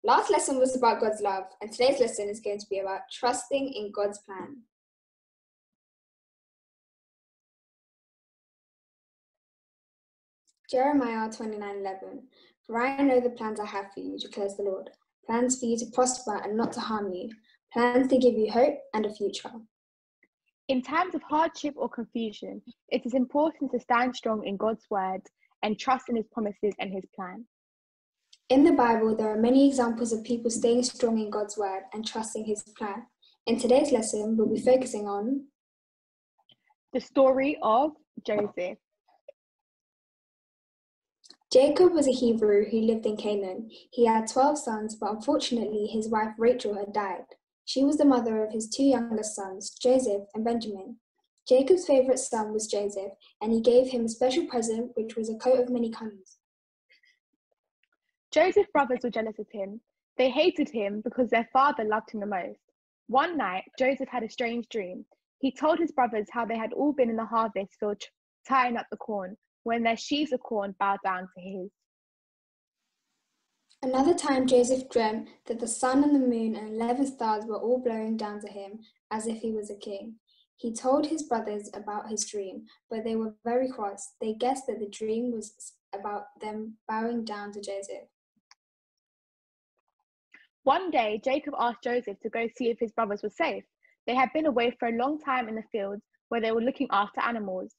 Last lesson was about God's love, and today's lesson is going to be about trusting in God's plan. Jeremiah twenty-nine eleven. For I know the plans I have for you, declares the Lord. Plans for you to prosper and not to harm you. Plans to give you hope and a future. In times of hardship or confusion, it is important to stand strong in God's word and trust in his promises and his plan. In the Bible, there are many examples of people staying strong in God's word and trusting his plan. In today's lesson, we'll be focusing on the story of Joseph. Jacob was a Hebrew who lived in Canaan. He had twelve sons, but unfortunately, his wife Rachel had died. She was the mother of his two youngest sons, Joseph and Benjamin. Jacob's favorite son was Joseph, and he gave him a special present, which was a coat of many colors. Joseph's brothers were jealous of him. They hated him because their father loved him the most. One night, Joseph had a strange dream. He told his brothers how they had all been in the harvest field tying up the corn when their sheaves of corn bowed down to his. Another time, Joseph dreamt that the sun and the moon and eleven stars were all blowing down to him as if he was a king. He told his brothers about his dream, but they were very cross. They guessed that the dream was about them bowing down to Joseph. One day, Jacob asked Joseph to go see if his brothers were safe. They had been away for a long time in the fields where they were looking after animals.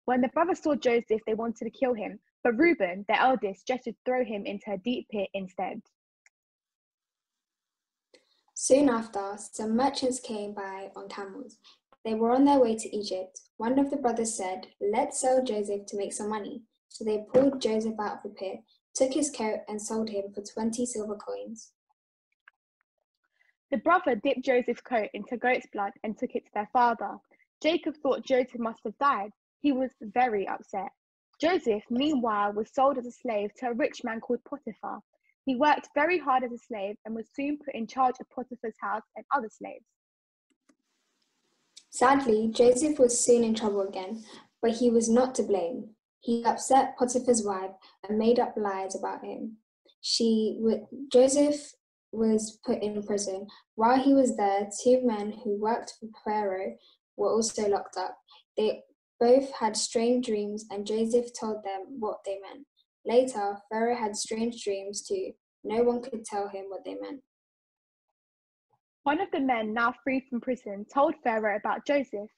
When the brothers saw Joseph, they wanted to kill him, but Reuben, their eldest, gestured to throw him into a deep pit instead. Soon after, some merchants came by on camels. They were on their way to Egypt. One of the brothers said, "Let's sell Joseph to make some money." So they pulled Joseph out of the pit, took his coat, and sold him for twenty silver coins. The brother dipped Joseph's coat into goat's blood and took it to their father. Jacob thought Joseph must have died. He was very upset. Joseph, meanwhile, was sold as a slave to a rich man called Potiphar. He worked very hard as a slave and was soon put in charge of Potiphar's house and other slaves. Sadly, Joseph was soon in trouble again, but he was not to blame. He upset Potiphar's wife and made up lies about him. She, Joseph was put in prison. While he was there, two men who worked for Pharaoh were also locked up. They both had strange dreams, and Joseph told them what they meant. Later, Pharaoh had strange dreams too. No one could tell him what they meant. One of the men, now free from prison, told Pharaoh about Joseph.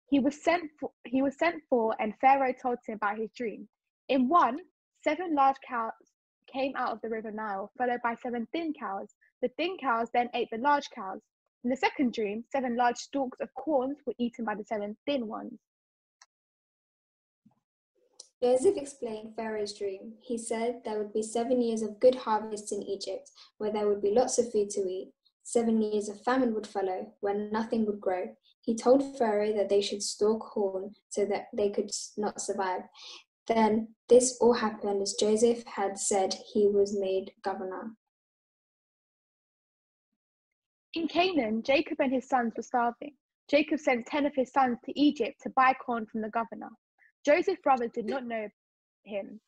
He was sent for, he was sent for, and Pharaoh told him about his dream. In one, seven large cows came out of the river Nile, followed by seven thin cows. The thin cows then ate the large cows. In the second dream, seven large stalks of corns were eaten by the seven thin ones. Joseph explained Pharaoh's dream. He said there would be seven years of good harvests in Egypt, where there would be lots of food to eat. Seven years of famine would follow, where nothing would grow. He told Pharaoh that they should store corn so that they could not survive. Then this all happened as Joseph had said he was made governor. In Canaan, Jacob and his sons were starving. Jacob sent ten of his sons to Egypt to buy corn from the governor. Joseph's brothers did not know him.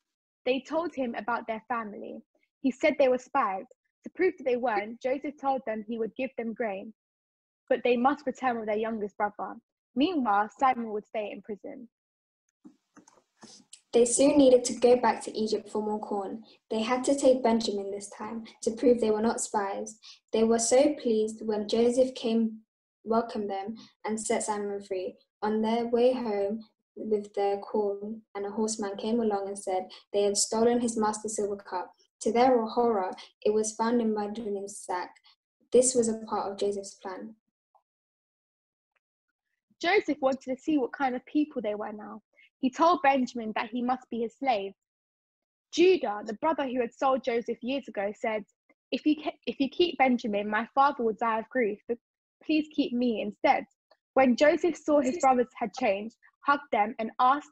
They told him about their family. He said they were spies. To prove that they weren't, Joseph told them he would give them grain, but they must return with their youngest brother. Meanwhile, Samuel would stay in prison. They soon needed to go back to Egypt for more corn. They had to take Benjamin this time to prove they were not spies. They were so pleased when Joseph came, welcomed them, and set Samuel free. On their way home with their corn, and a horseman came along and said they had stolen his master's silver cup. To their horror, it was found in Benjamin's sack. This was a part of Joseph's plan. Joseph wanted to see what kind of people they were now. He told Benjamin that he must be his slave. Judah, the brother who had sold Joseph years ago, said, "If you, if you keep Benjamin, my father will die of grief, but please keep me instead." When Joseph saw his brothers had changed, hugged them and asked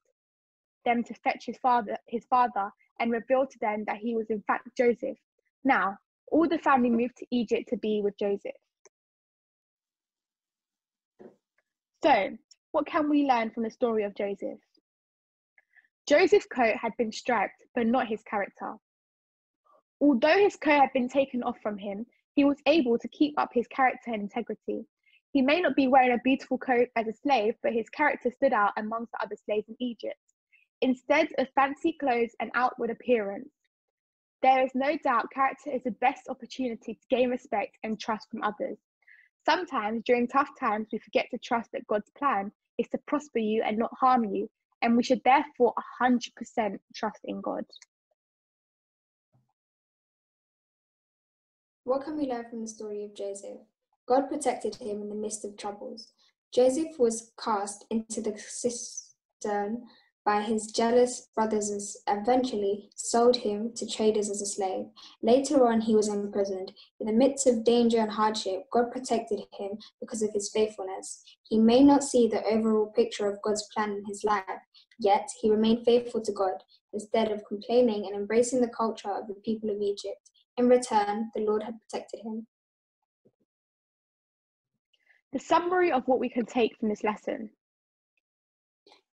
them to fetch his father, his father and revealed to them that he was in fact Joseph. Now, all the family moved to Egypt to be with Joseph. So, what can we learn from the story of Joseph? Joseph's coat had been striped, but not his character. Although his coat had been taken off from him, he was able to keep up his character and integrity. He may not be wearing a beautiful coat as a slave, but his character stood out amongst the other slaves in Egypt. Instead of fancy clothes and outward appearance, there is no doubt character is the best opportunity to gain respect and trust from others. Sometimes, during tough times, we forget to trust that God's plan is to prosper you and not harm you, and we should therefore one hundred percent trust in God. What can we learn from the story of Joseph? God protected him in the midst of troubles. Joseph was cast into the cistern by his jealous brothers and s- eventually sold him to traders as a slave. Later on, he was imprisoned. In the midst of danger and hardship, God protected him because of his faithfulness. He may not see the overall picture of God's plan in his life, yet he remained faithful to God instead of complaining and embracing the culture of the people of Egypt. In return, the Lord had protected him. The summary of what we can take from this lesson.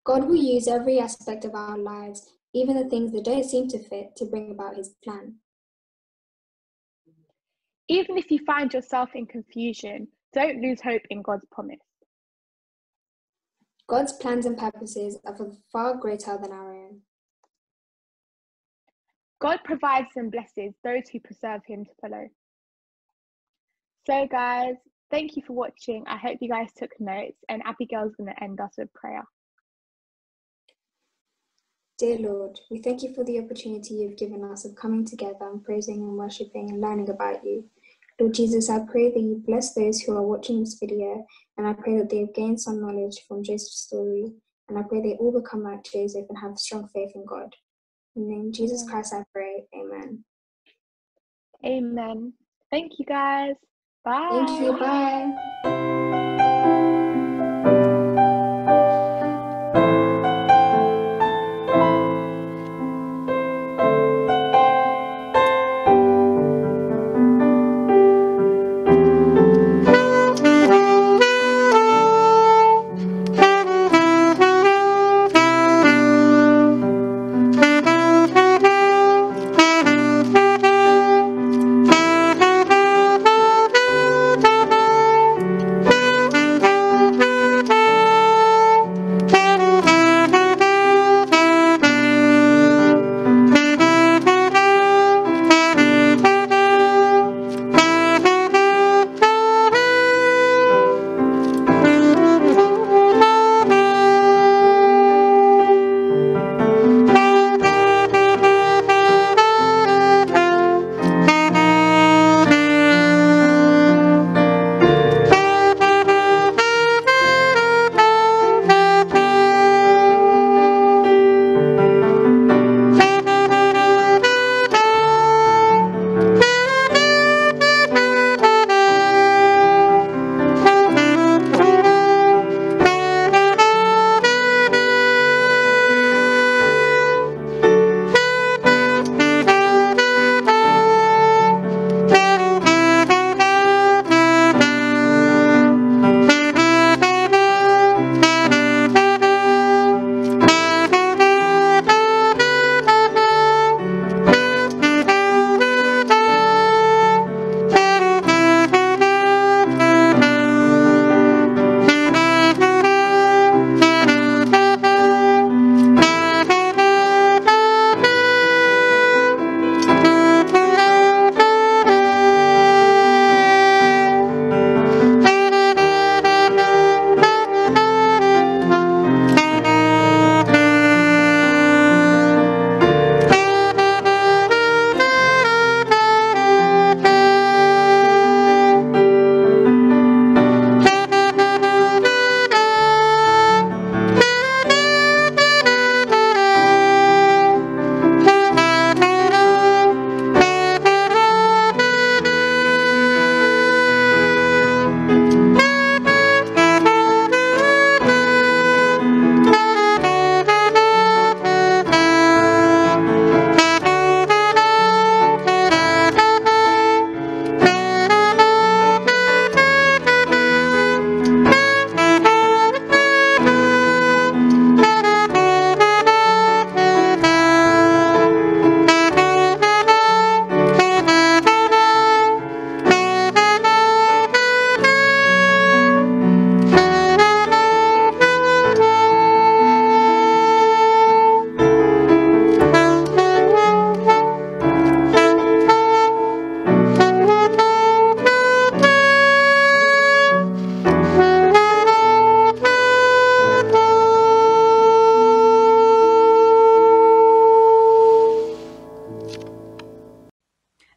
God will use every aspect of our lives, even the things that don't seem to fit, to bring about his plan. Even if you find yourself in confusion, don't lose hope in God's promise. God's plans and purposes are far greater than our own. God provides and blesses those who preserve him to follow. So, guys, thank you for watching. I hope you guys took notes, and Abigail's going to end us with prayer. Dear Lord, we thank you for the opportunity you've given us of coming together and praising and worshipping and learning about you. Lord Jesus, I pray that you bless those who are watching this video, and I pray that they have gained some knowledge from Joseph's story, and I pray they all become like Joseph and have strong faith in God. In the name of Jesus Christ, I pray. Amen. Amen. Thank you, guys. Bye. Thank you. Bye.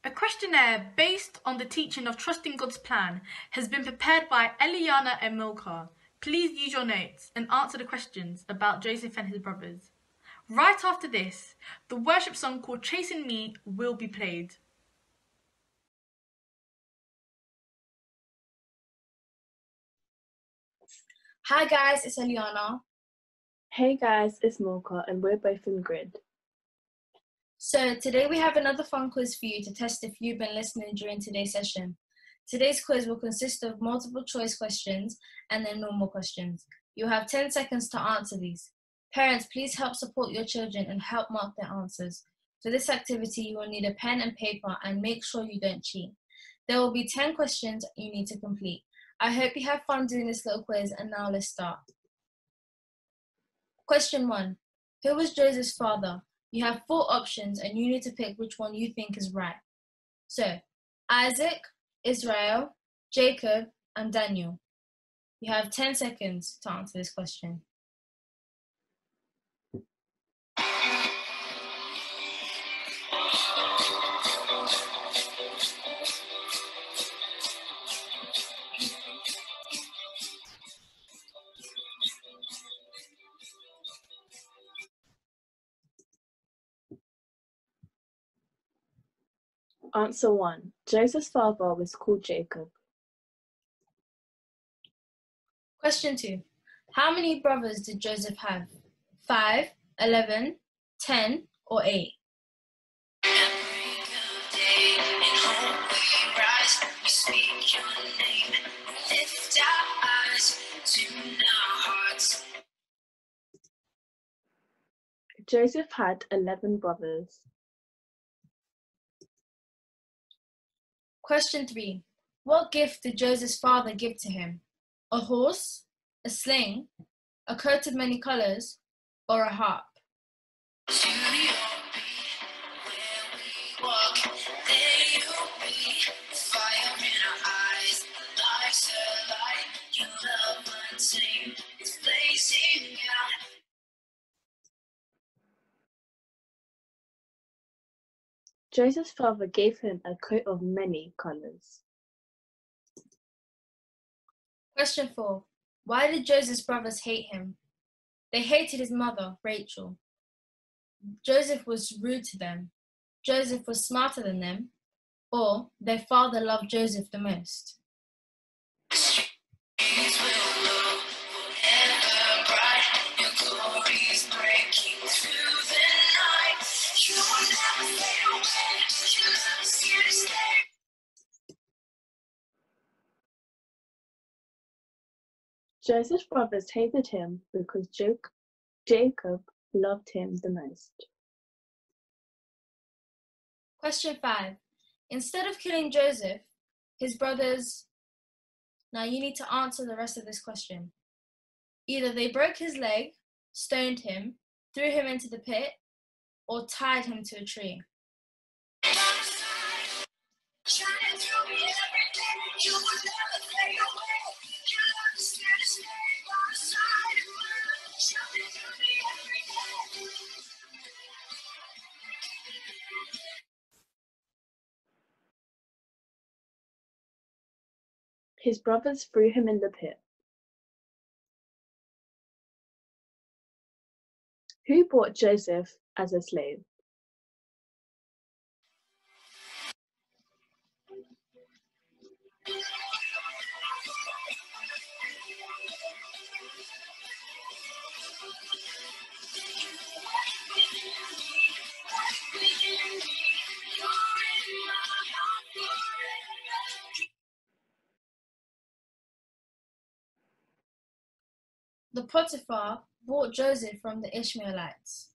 A questionnaire based on the teaching of trusting God's plan has been prepared by Eliana Emilcar. Please use your notes and answer the questions about Joseph and his brothers. Right after this, the worship song called Chasing Me will be played. Hi guys, it's Eliana. Hey guys, it's Mocha and we're both in Grid. So today we have another fun quiz for you to test if you've been listening during today's session. Today's quiz will consist of multiple choice questions and then normal questions. You'll have ten seconds to answer these. Parents, please help support your children and help mark their answers. For this activity, you will need a pen and paper and make sure you don't cheat. There will be ten questions you need to complete. I hope you have fun doing this little quiz, and now let's start. Question one. Who was Joseph's father? You have four options and you need to pick which one you think is right. So, Isaac, Israel, Jacob, and Daniel. You have ten seconds to answer this question. Answer one. Joseph's father was called Jacob. Question two. How many brothers did Joseph have? Five, eleven, ten, or eight? Joseph had eleven brothers. Question three. What gift did Joseph's father give to him? A horse, a sling, a coat of many colors, or a harp? Joseph's father gave him a coat of many colors. Question four. Why did Joseph's brothers hate him? They hated his mother, Rachel. Joseph was rude to them. Joseph was smarter than them. Or their father loved Joseph the most. Joseph's brothers hated him because Jacob loved him the most. Question five. Instead of killing Joseph, his brothers. Now you need to answer the rest of this question. Either they broke his leg, stoned him, threw him into the pit, or tied him to a tree. His brothers threw him in the pit. Who bought Joseph as a slave? The Potiphar bought Joseph from the Ishmaelites.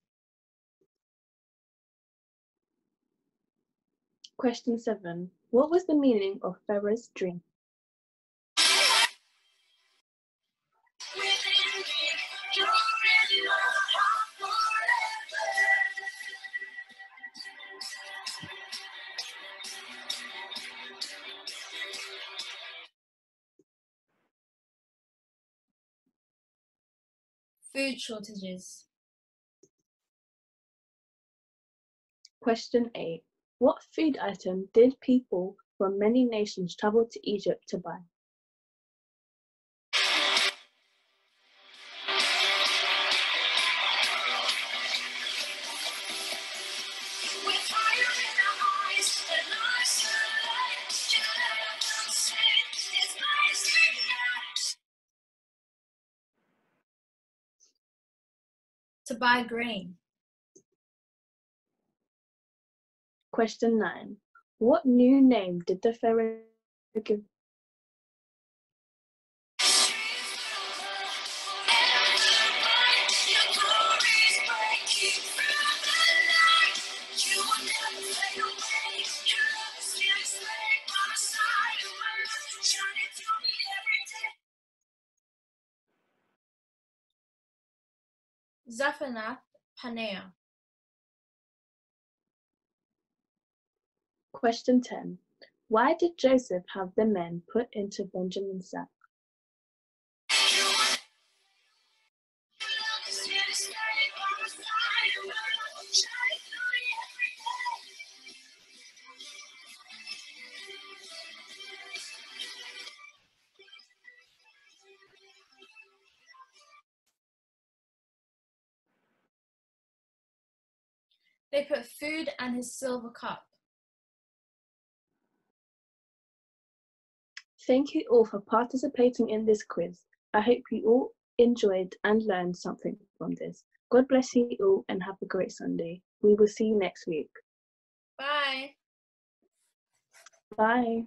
Question seven. What was the meaning of Pharaoh's dream? Food shortages. Question eight. What food item did people from many nations travel to Egypt to buy? to buy grain. Question nine. What new name did the Pharaoh give? Zaphanath Paneah. Question ten. Why did Joseph have the men put into Benjamin's sack? They put food and his silver cup. Thank you all for participating in this quiz. I hope you all enjoyed and learned something from this. God bless you all and have a great Sunday. We will see you next week. Bye. Bye.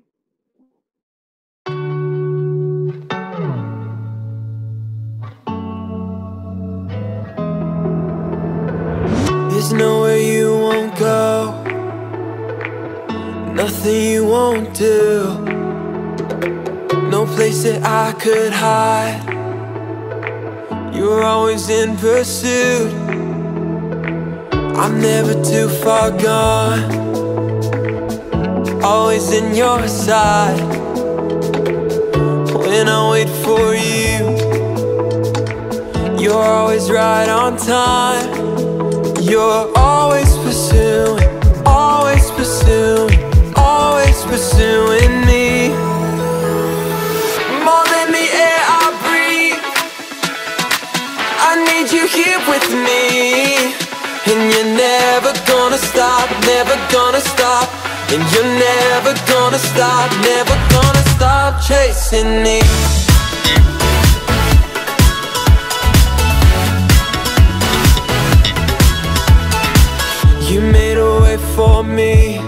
There's nowhere you won't go, nothing you won't do, no place that I could hide. You're always in pursuit. I'm never too far gone. Always in your side. When I wait for you, you're always right on time. You're always pursuing, always pursuing, always pursuing me. More than the air I breathe, I need you here with me. And you're never gonna stop, never gonna stop. And you're never gonna stop, never gonna stop chasing me. You made a way for me,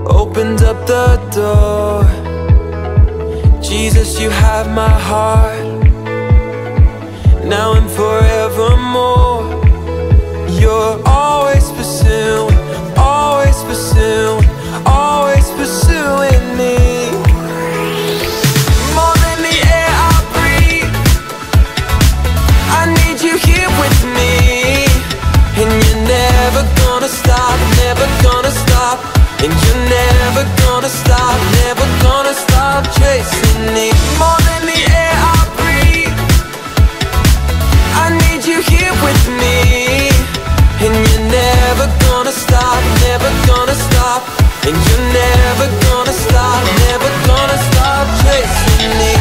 opened up the door. Jesus, you have my heart, now and forevermore. You're always pursuing, always pursuing, always pursuing me. More than the air I breathe, I need you here with me. And you're never gonna stop, never gonna stop. And you're never gonna stop, never gonna stop chasing me. More than the air I breathe, I need you here with me. And you're never gonna stop, never gonna stop. And you're never gonna stop, never gonna stop chasing me.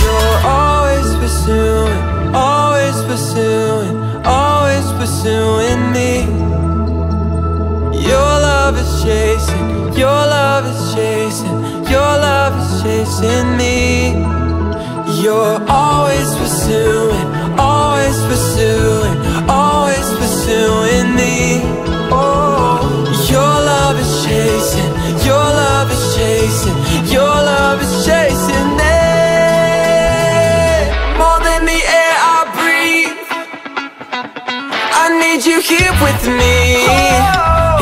You're always pursuing, always pursuing, always pursuing me. Your love is chasing, your love is chasing, your love is chasing me. You're always pursuing, always pursuing, always pursuing me. Oh, your love is chasing, your love is chasing, your love is chasing me. More than the air I breathe, I need you here with me.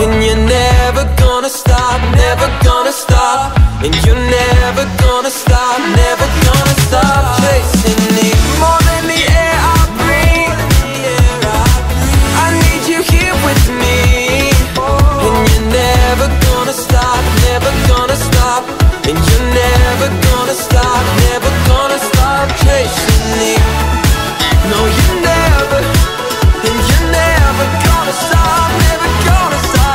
And you're never gonna stop, never gonna stop. And you're never gonna stop, never gonna stop chasing me. More than the air I breathe, I need you here with me. And you're never gonna stop, never gonna stop. And you're never gonna stop, never gonna stop chasing me. No, you're never, and you're never gonna stop, never gonna stop.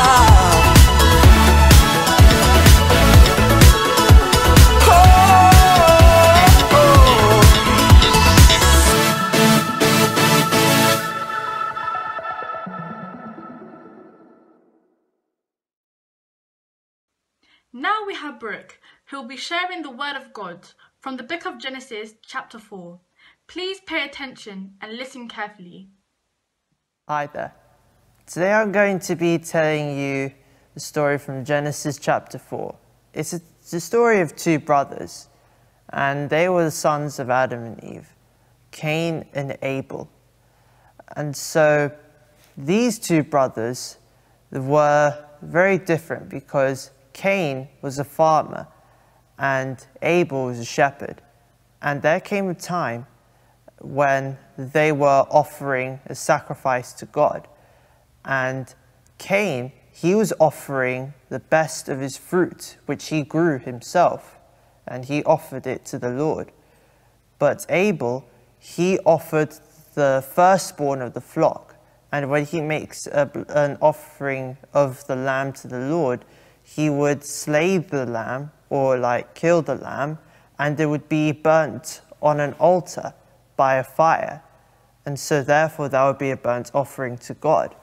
Oh, oh. Now we have Brooke. He'll be sharing the Word of God from the book of Genesis, chapter four. Please pay attention and listen carefully. Hi there. Today I'm going to be telling you the story from Genesis chapter four. It's a, the story of two brothers, and they were the sons of Adam and Eve, Cain and Abel. And so these two brothers were very different because Cain was a farmer and Abel was a shepherd. And there came a time when they were offering a sacrifice to God. And Cain, he was offering the best of his fruit, which he grew himself, and he offered it to the Lord. But Abel, he offered the firstborn of the flock. And when he makes a, an offering of the lamb to the Lord, he would slay the lamb or like kill the lamb, and it would be burnt on an altar by a fire. And so, therefore, that would be a burnt offering to God.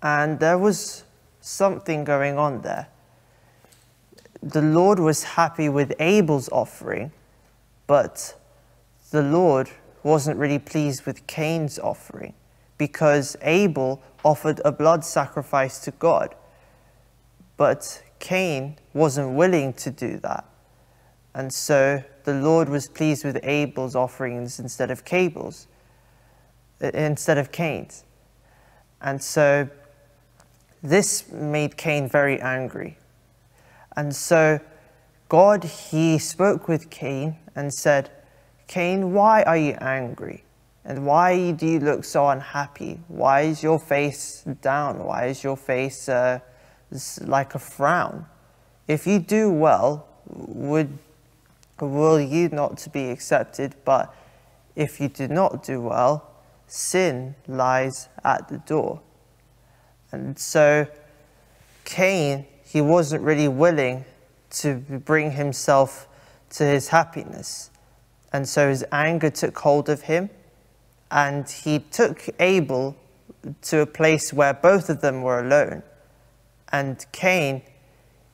And there was something going on there. The Lord was happy with Abel's offering, but the Lord wasn't really pleased with Cain's offering because Abel offered a blood sacrifice to God, but Cain wasn't willing to do that. And so the Lord was pleased with Abel's offerings instead of Cable's, uh, instead of Cain's. And so this made Cain very angry. And so God, he spoke with Cain and said, "Cain, why are you angry? And why do you look so unhappy? Why is your face down? Why is your face uh, s- like a frown? If you do well, would will you not to be accepted? But if you do not do well, sin lies at the door." And so Cain, he wasn't really willing to bring himself to his happiness. And so his anger took hold of him, and he took Abel to a place where both of them were alone. And Cain,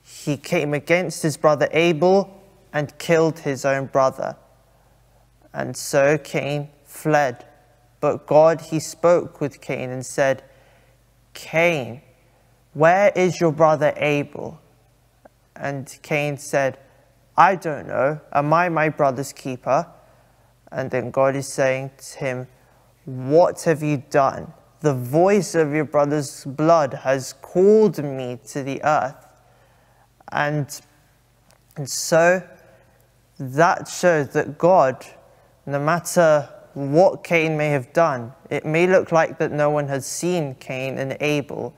he came against his brother Abel and killed his own brother. And so Cain fled. But God, he spoke with Cain and said, "Cain, where is your brother Abel?" And Cain said, "I don't know. Am I my brother's keeper?" And then God is saying to him, "What have you done? The voice of your brother's blood has called me to the earth." And, and so that shows that God, no matter what Cain may have done, it may look like that no one has seen Cain and Abel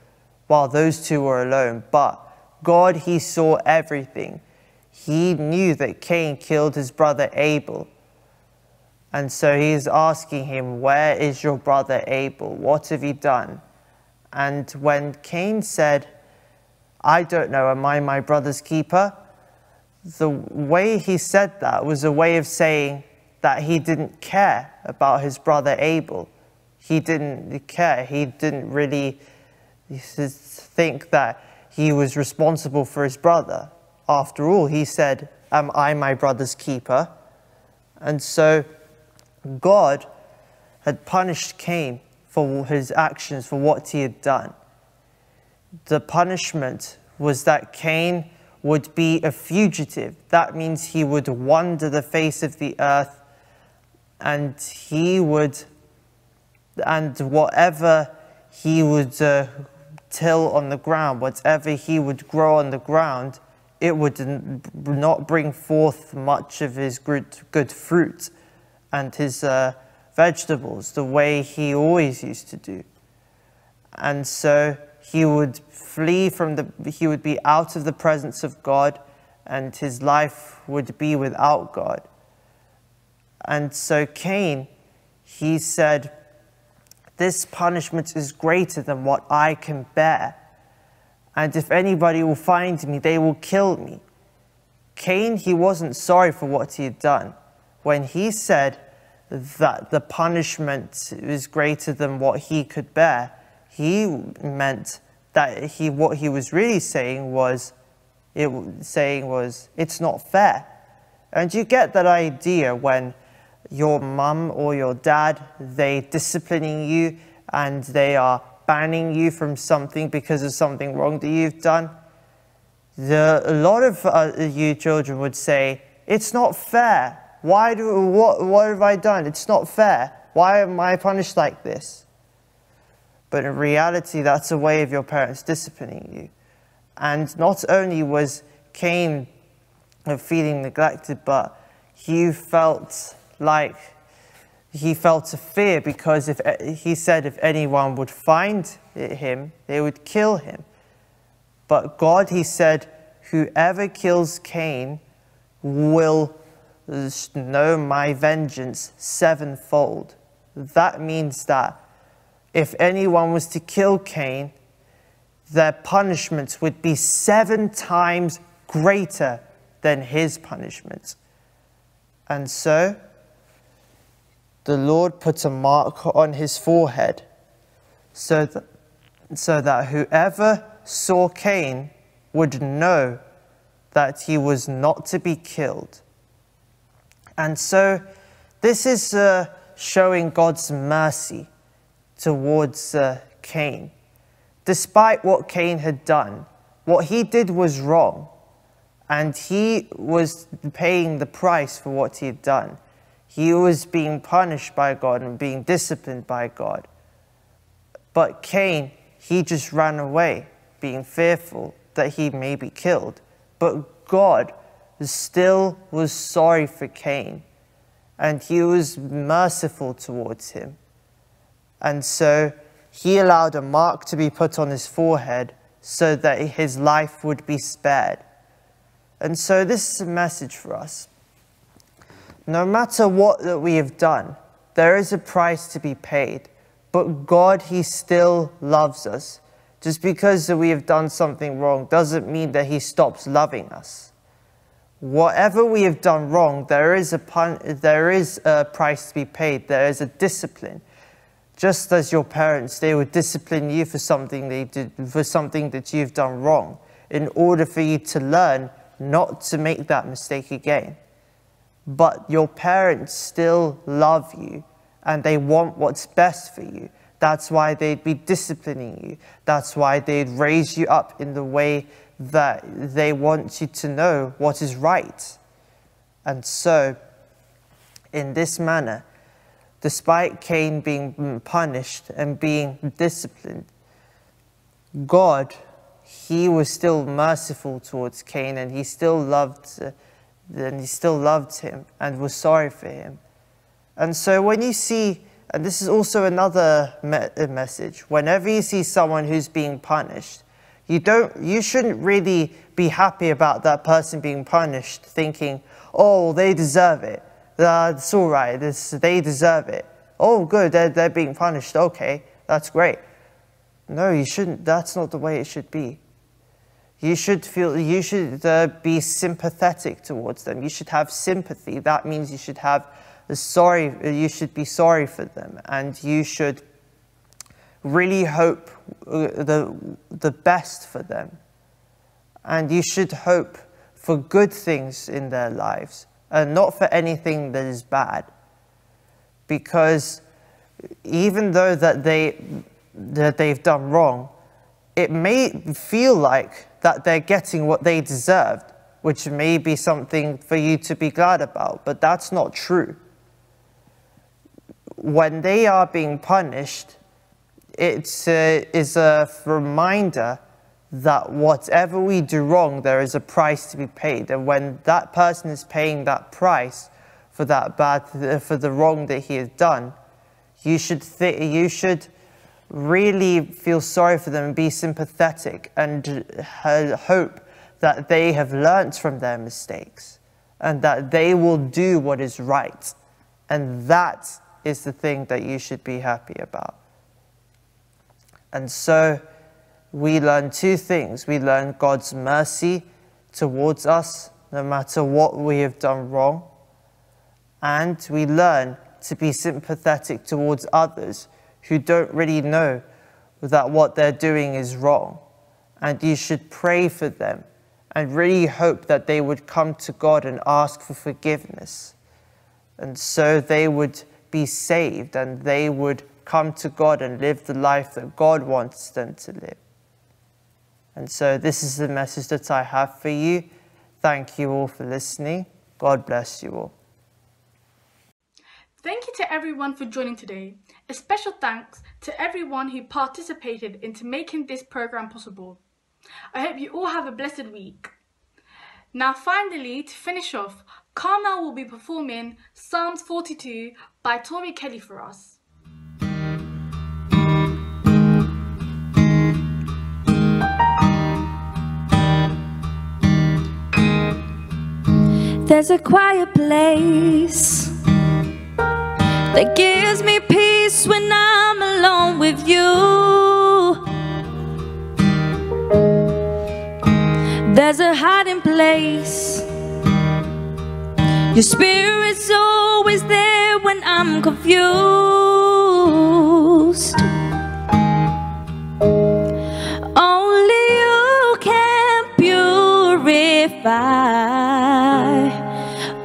while those two were alone, but God, he saw everything. He knew that Cain killed his brother Abel. And so he's asking him, "Where is your brother Abel? What have you done?" And when Cain said, "I don't know, am I my brother's keeper?" The way he said that was a way of saying that he didn't care about his brother Abel. He didn't care. He didn't really think that he was responsible for his brother. After all, he said, "Am I my brother's keeper?" And so God had punished Cain for his actions, for what he had done. The punishment was that Cain would be a fugitive. That means he would wander the face of the earth, and he would, and whatever he would uh, till on the ground, whatever he would grow on the ground, it would n- not bring forth much of his good, good fruit and his uh, vegetables the way he always used to do. And so he would flee from the, he would be out of the presence of God, and his life would be without God. And so Cain, he said, "This punishment is greater than what I can bear. And if anybody will find me, they will kill me." Cain, he wasn't sorry for what he had done. When he said that the punishment is greater than what he could bear, he meant that he, what he was really saying was, It saying was, "It's not fair." And you get that idea when your mum or your dad, they disciplining you and they are banning you from something because of something wrong that you've done. The, a lot of uh, you children would say, "It's not fair. Why do what what have I done? It's not fair. Why am I punished like this?" But in reality, that's a way of your parents disciplining you. And not only was Cain uh, feeling neglected, but he felt like he felt a fear because if he said if anyone would find him, they would kill him. But God, he said, "Whoever kills Cain will know my vengeance sevenfold." That means that if anyone was to kill Cain, their punishment would be seven times greater than his punishment. And so the Lord put a mark on his forehead so that, so that whoever saw Cain would know that he was not to be killed. And so this is uh, showing God's mercy towards uh, Cain. Despite what Cain had done, what he did was wrong, and he was paying the price for what he had done. He was being punished by God and being disciplined by God. But Cain, he just ran away, being fearful that he may be killed. But God still was sorry for Cain, and he was merciful towards him. And so he allowed a mark to be put on his forehead so that his life would be spared. And so this is a message for us. No matter what that we have done, there is a price to be paid. But God, he still loves us. Just because that we have done something wrong doesn't mean that he stops loving us. Whatever we have done wrong, there is a pun- there is a price to be paid. There is a discipline. Just as your parents, they would discipline you for something they did, for something that you've done wrong, in order for you to learn not to make that mistake again. But your parents still love you and they want what's best for you. That's why they'd be disciplining you. That's why they'd raise you up in the way that they want you to know what is right. And so, in this manner, despite Cain being punished and being disciplined, God, he was still merciful towards Cain, and he still loved, uh, and he still loved him and was sorry for him. And so when you see, and this is also another me- message, whenever you see someone who's being punished, you don't, you shouldn't really be happy about that person being punished, thinking, "Oh, they deserve it. That's all right. This, they deserve it. Oh, good, they're, they're being punished. Okay, that's great." No, you shouldn't. That's not the way it should be. You should feel. You should uh, be sympathetic towards them. You should have sympathy. That means you should have sorry. You should be sorry for them, and you should really hope uh, the the best for them. And you should hope for good things in their lives, and not for anything that is bad. Because even though that they that they've done wrong, it may feel like that they're getting what they deserved, which may be something for you to be glad about, but that's not true. When they are being punished, it uh, is a reminder that whatever we do wrong, there is a price to be paid. And when that person is paying that price for that bad, for the wrong that he has done, you should th- you should really feel sorry for them and be sympathetic and uh, hope that they have learnt from their mistakes and that they will do what is right. And that is the thing that you should be happy about. And so we learn two things. We learn God's mercy towards us, no matter what we have done wrong. And we learn to be sympathetic towards others who don't really know that what they're doing is wrong. And you should pray for them and really hope that they would come to God and ask for forgiveness. And so they would be saved and they would come to God and live the life that God wants them to live. And so this is the message that I have for you. Thank you all for listening. God bless you all. Thank you to everyone for joining today. A special thanks to everyone who participated into making this program possible. I hope you all have a blessed week. Now, finally, to finish off, Carmel will be performing Psalms forty-two by Tori Kelly for us. There's a quiet place that gives me peace when I'm alone with you. There's a hiding place. Your spirit's always there when I'm confused. Only you can purify.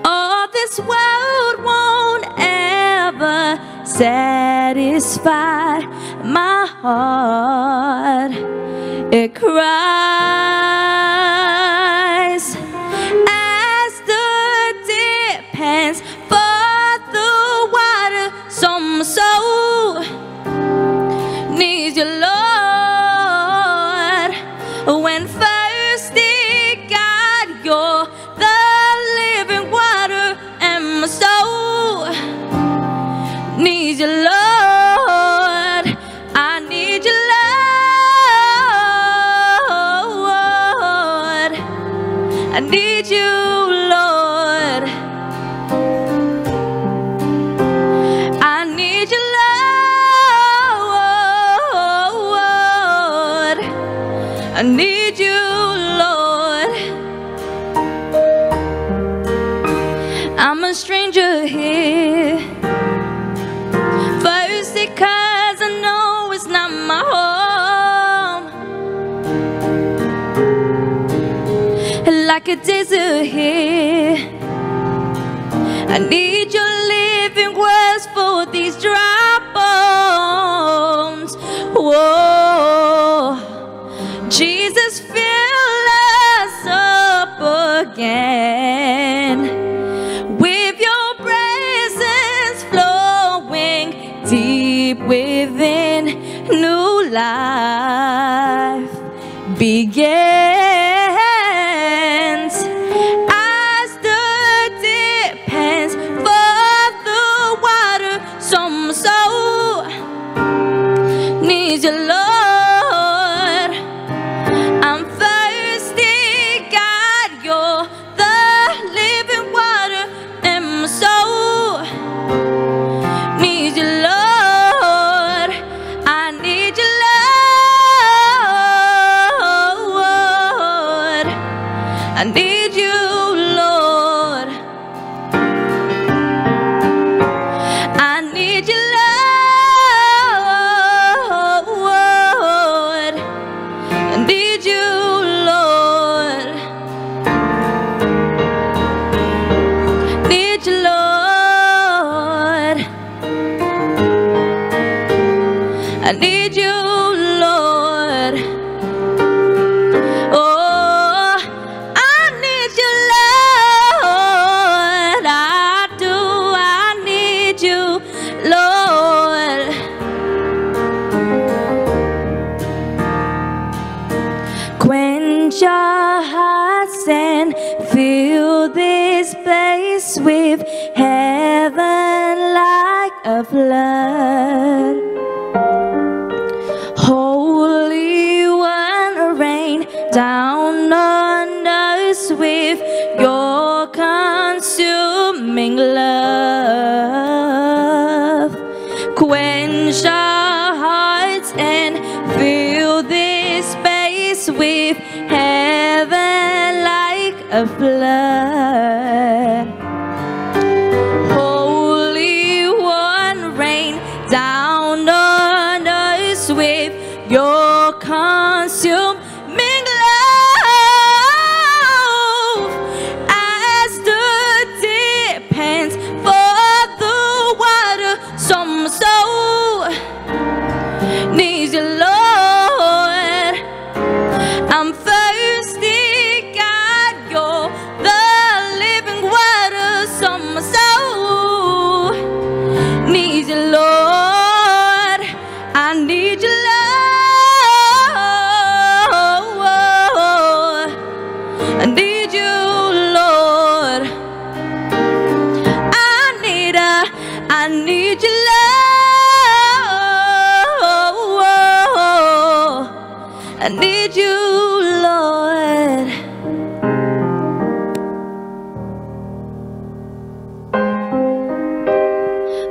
All this world won't ever satisfy my heart. It cries as the deep pants for the water. So my soul needs you, Lord. When thirsty, God, you're the living water, and my soul needs you, Lord. I need you, Lord. I need you, Lord. I need you, Lord. I need you, Lord. I'm a stranger here. First, because I know it's not my home. Like a desert here. I need your living words for these dry bones. Whoa. Jesus, fill us up again with your presence flowing deep within. New life begins as the deep pants for the water. So my soul needs you, Lord. I'm thirsty, God, you're the living water, and my soul needs you, Lord. I need you, Lord. I need you, Lord. I need you, Lord. I need you, Lord. Need you, Lord. I need you, Lord. Oh, I need you, Lord. I do. I need you, Lord. Quench our hearts and fill this place with heaven like a flood. Holy One, rain down on us with your consuming love. Quench our hearts and fill this space with heaven like a flood. Holy One, rain down on us with your consuming love.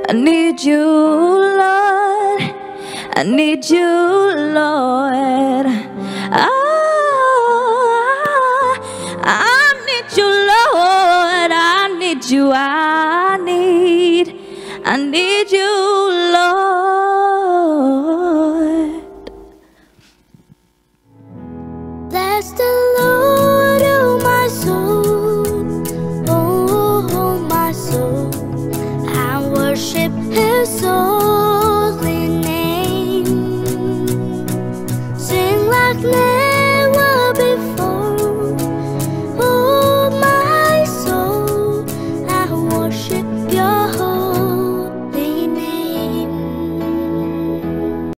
I need you, Lord. I need you, Lord. Ah, I need you, Lord. I need you. I need, I need you, Lord. Bless the Lord, oh my soul, oh my soul, and worship His holy name. Sing like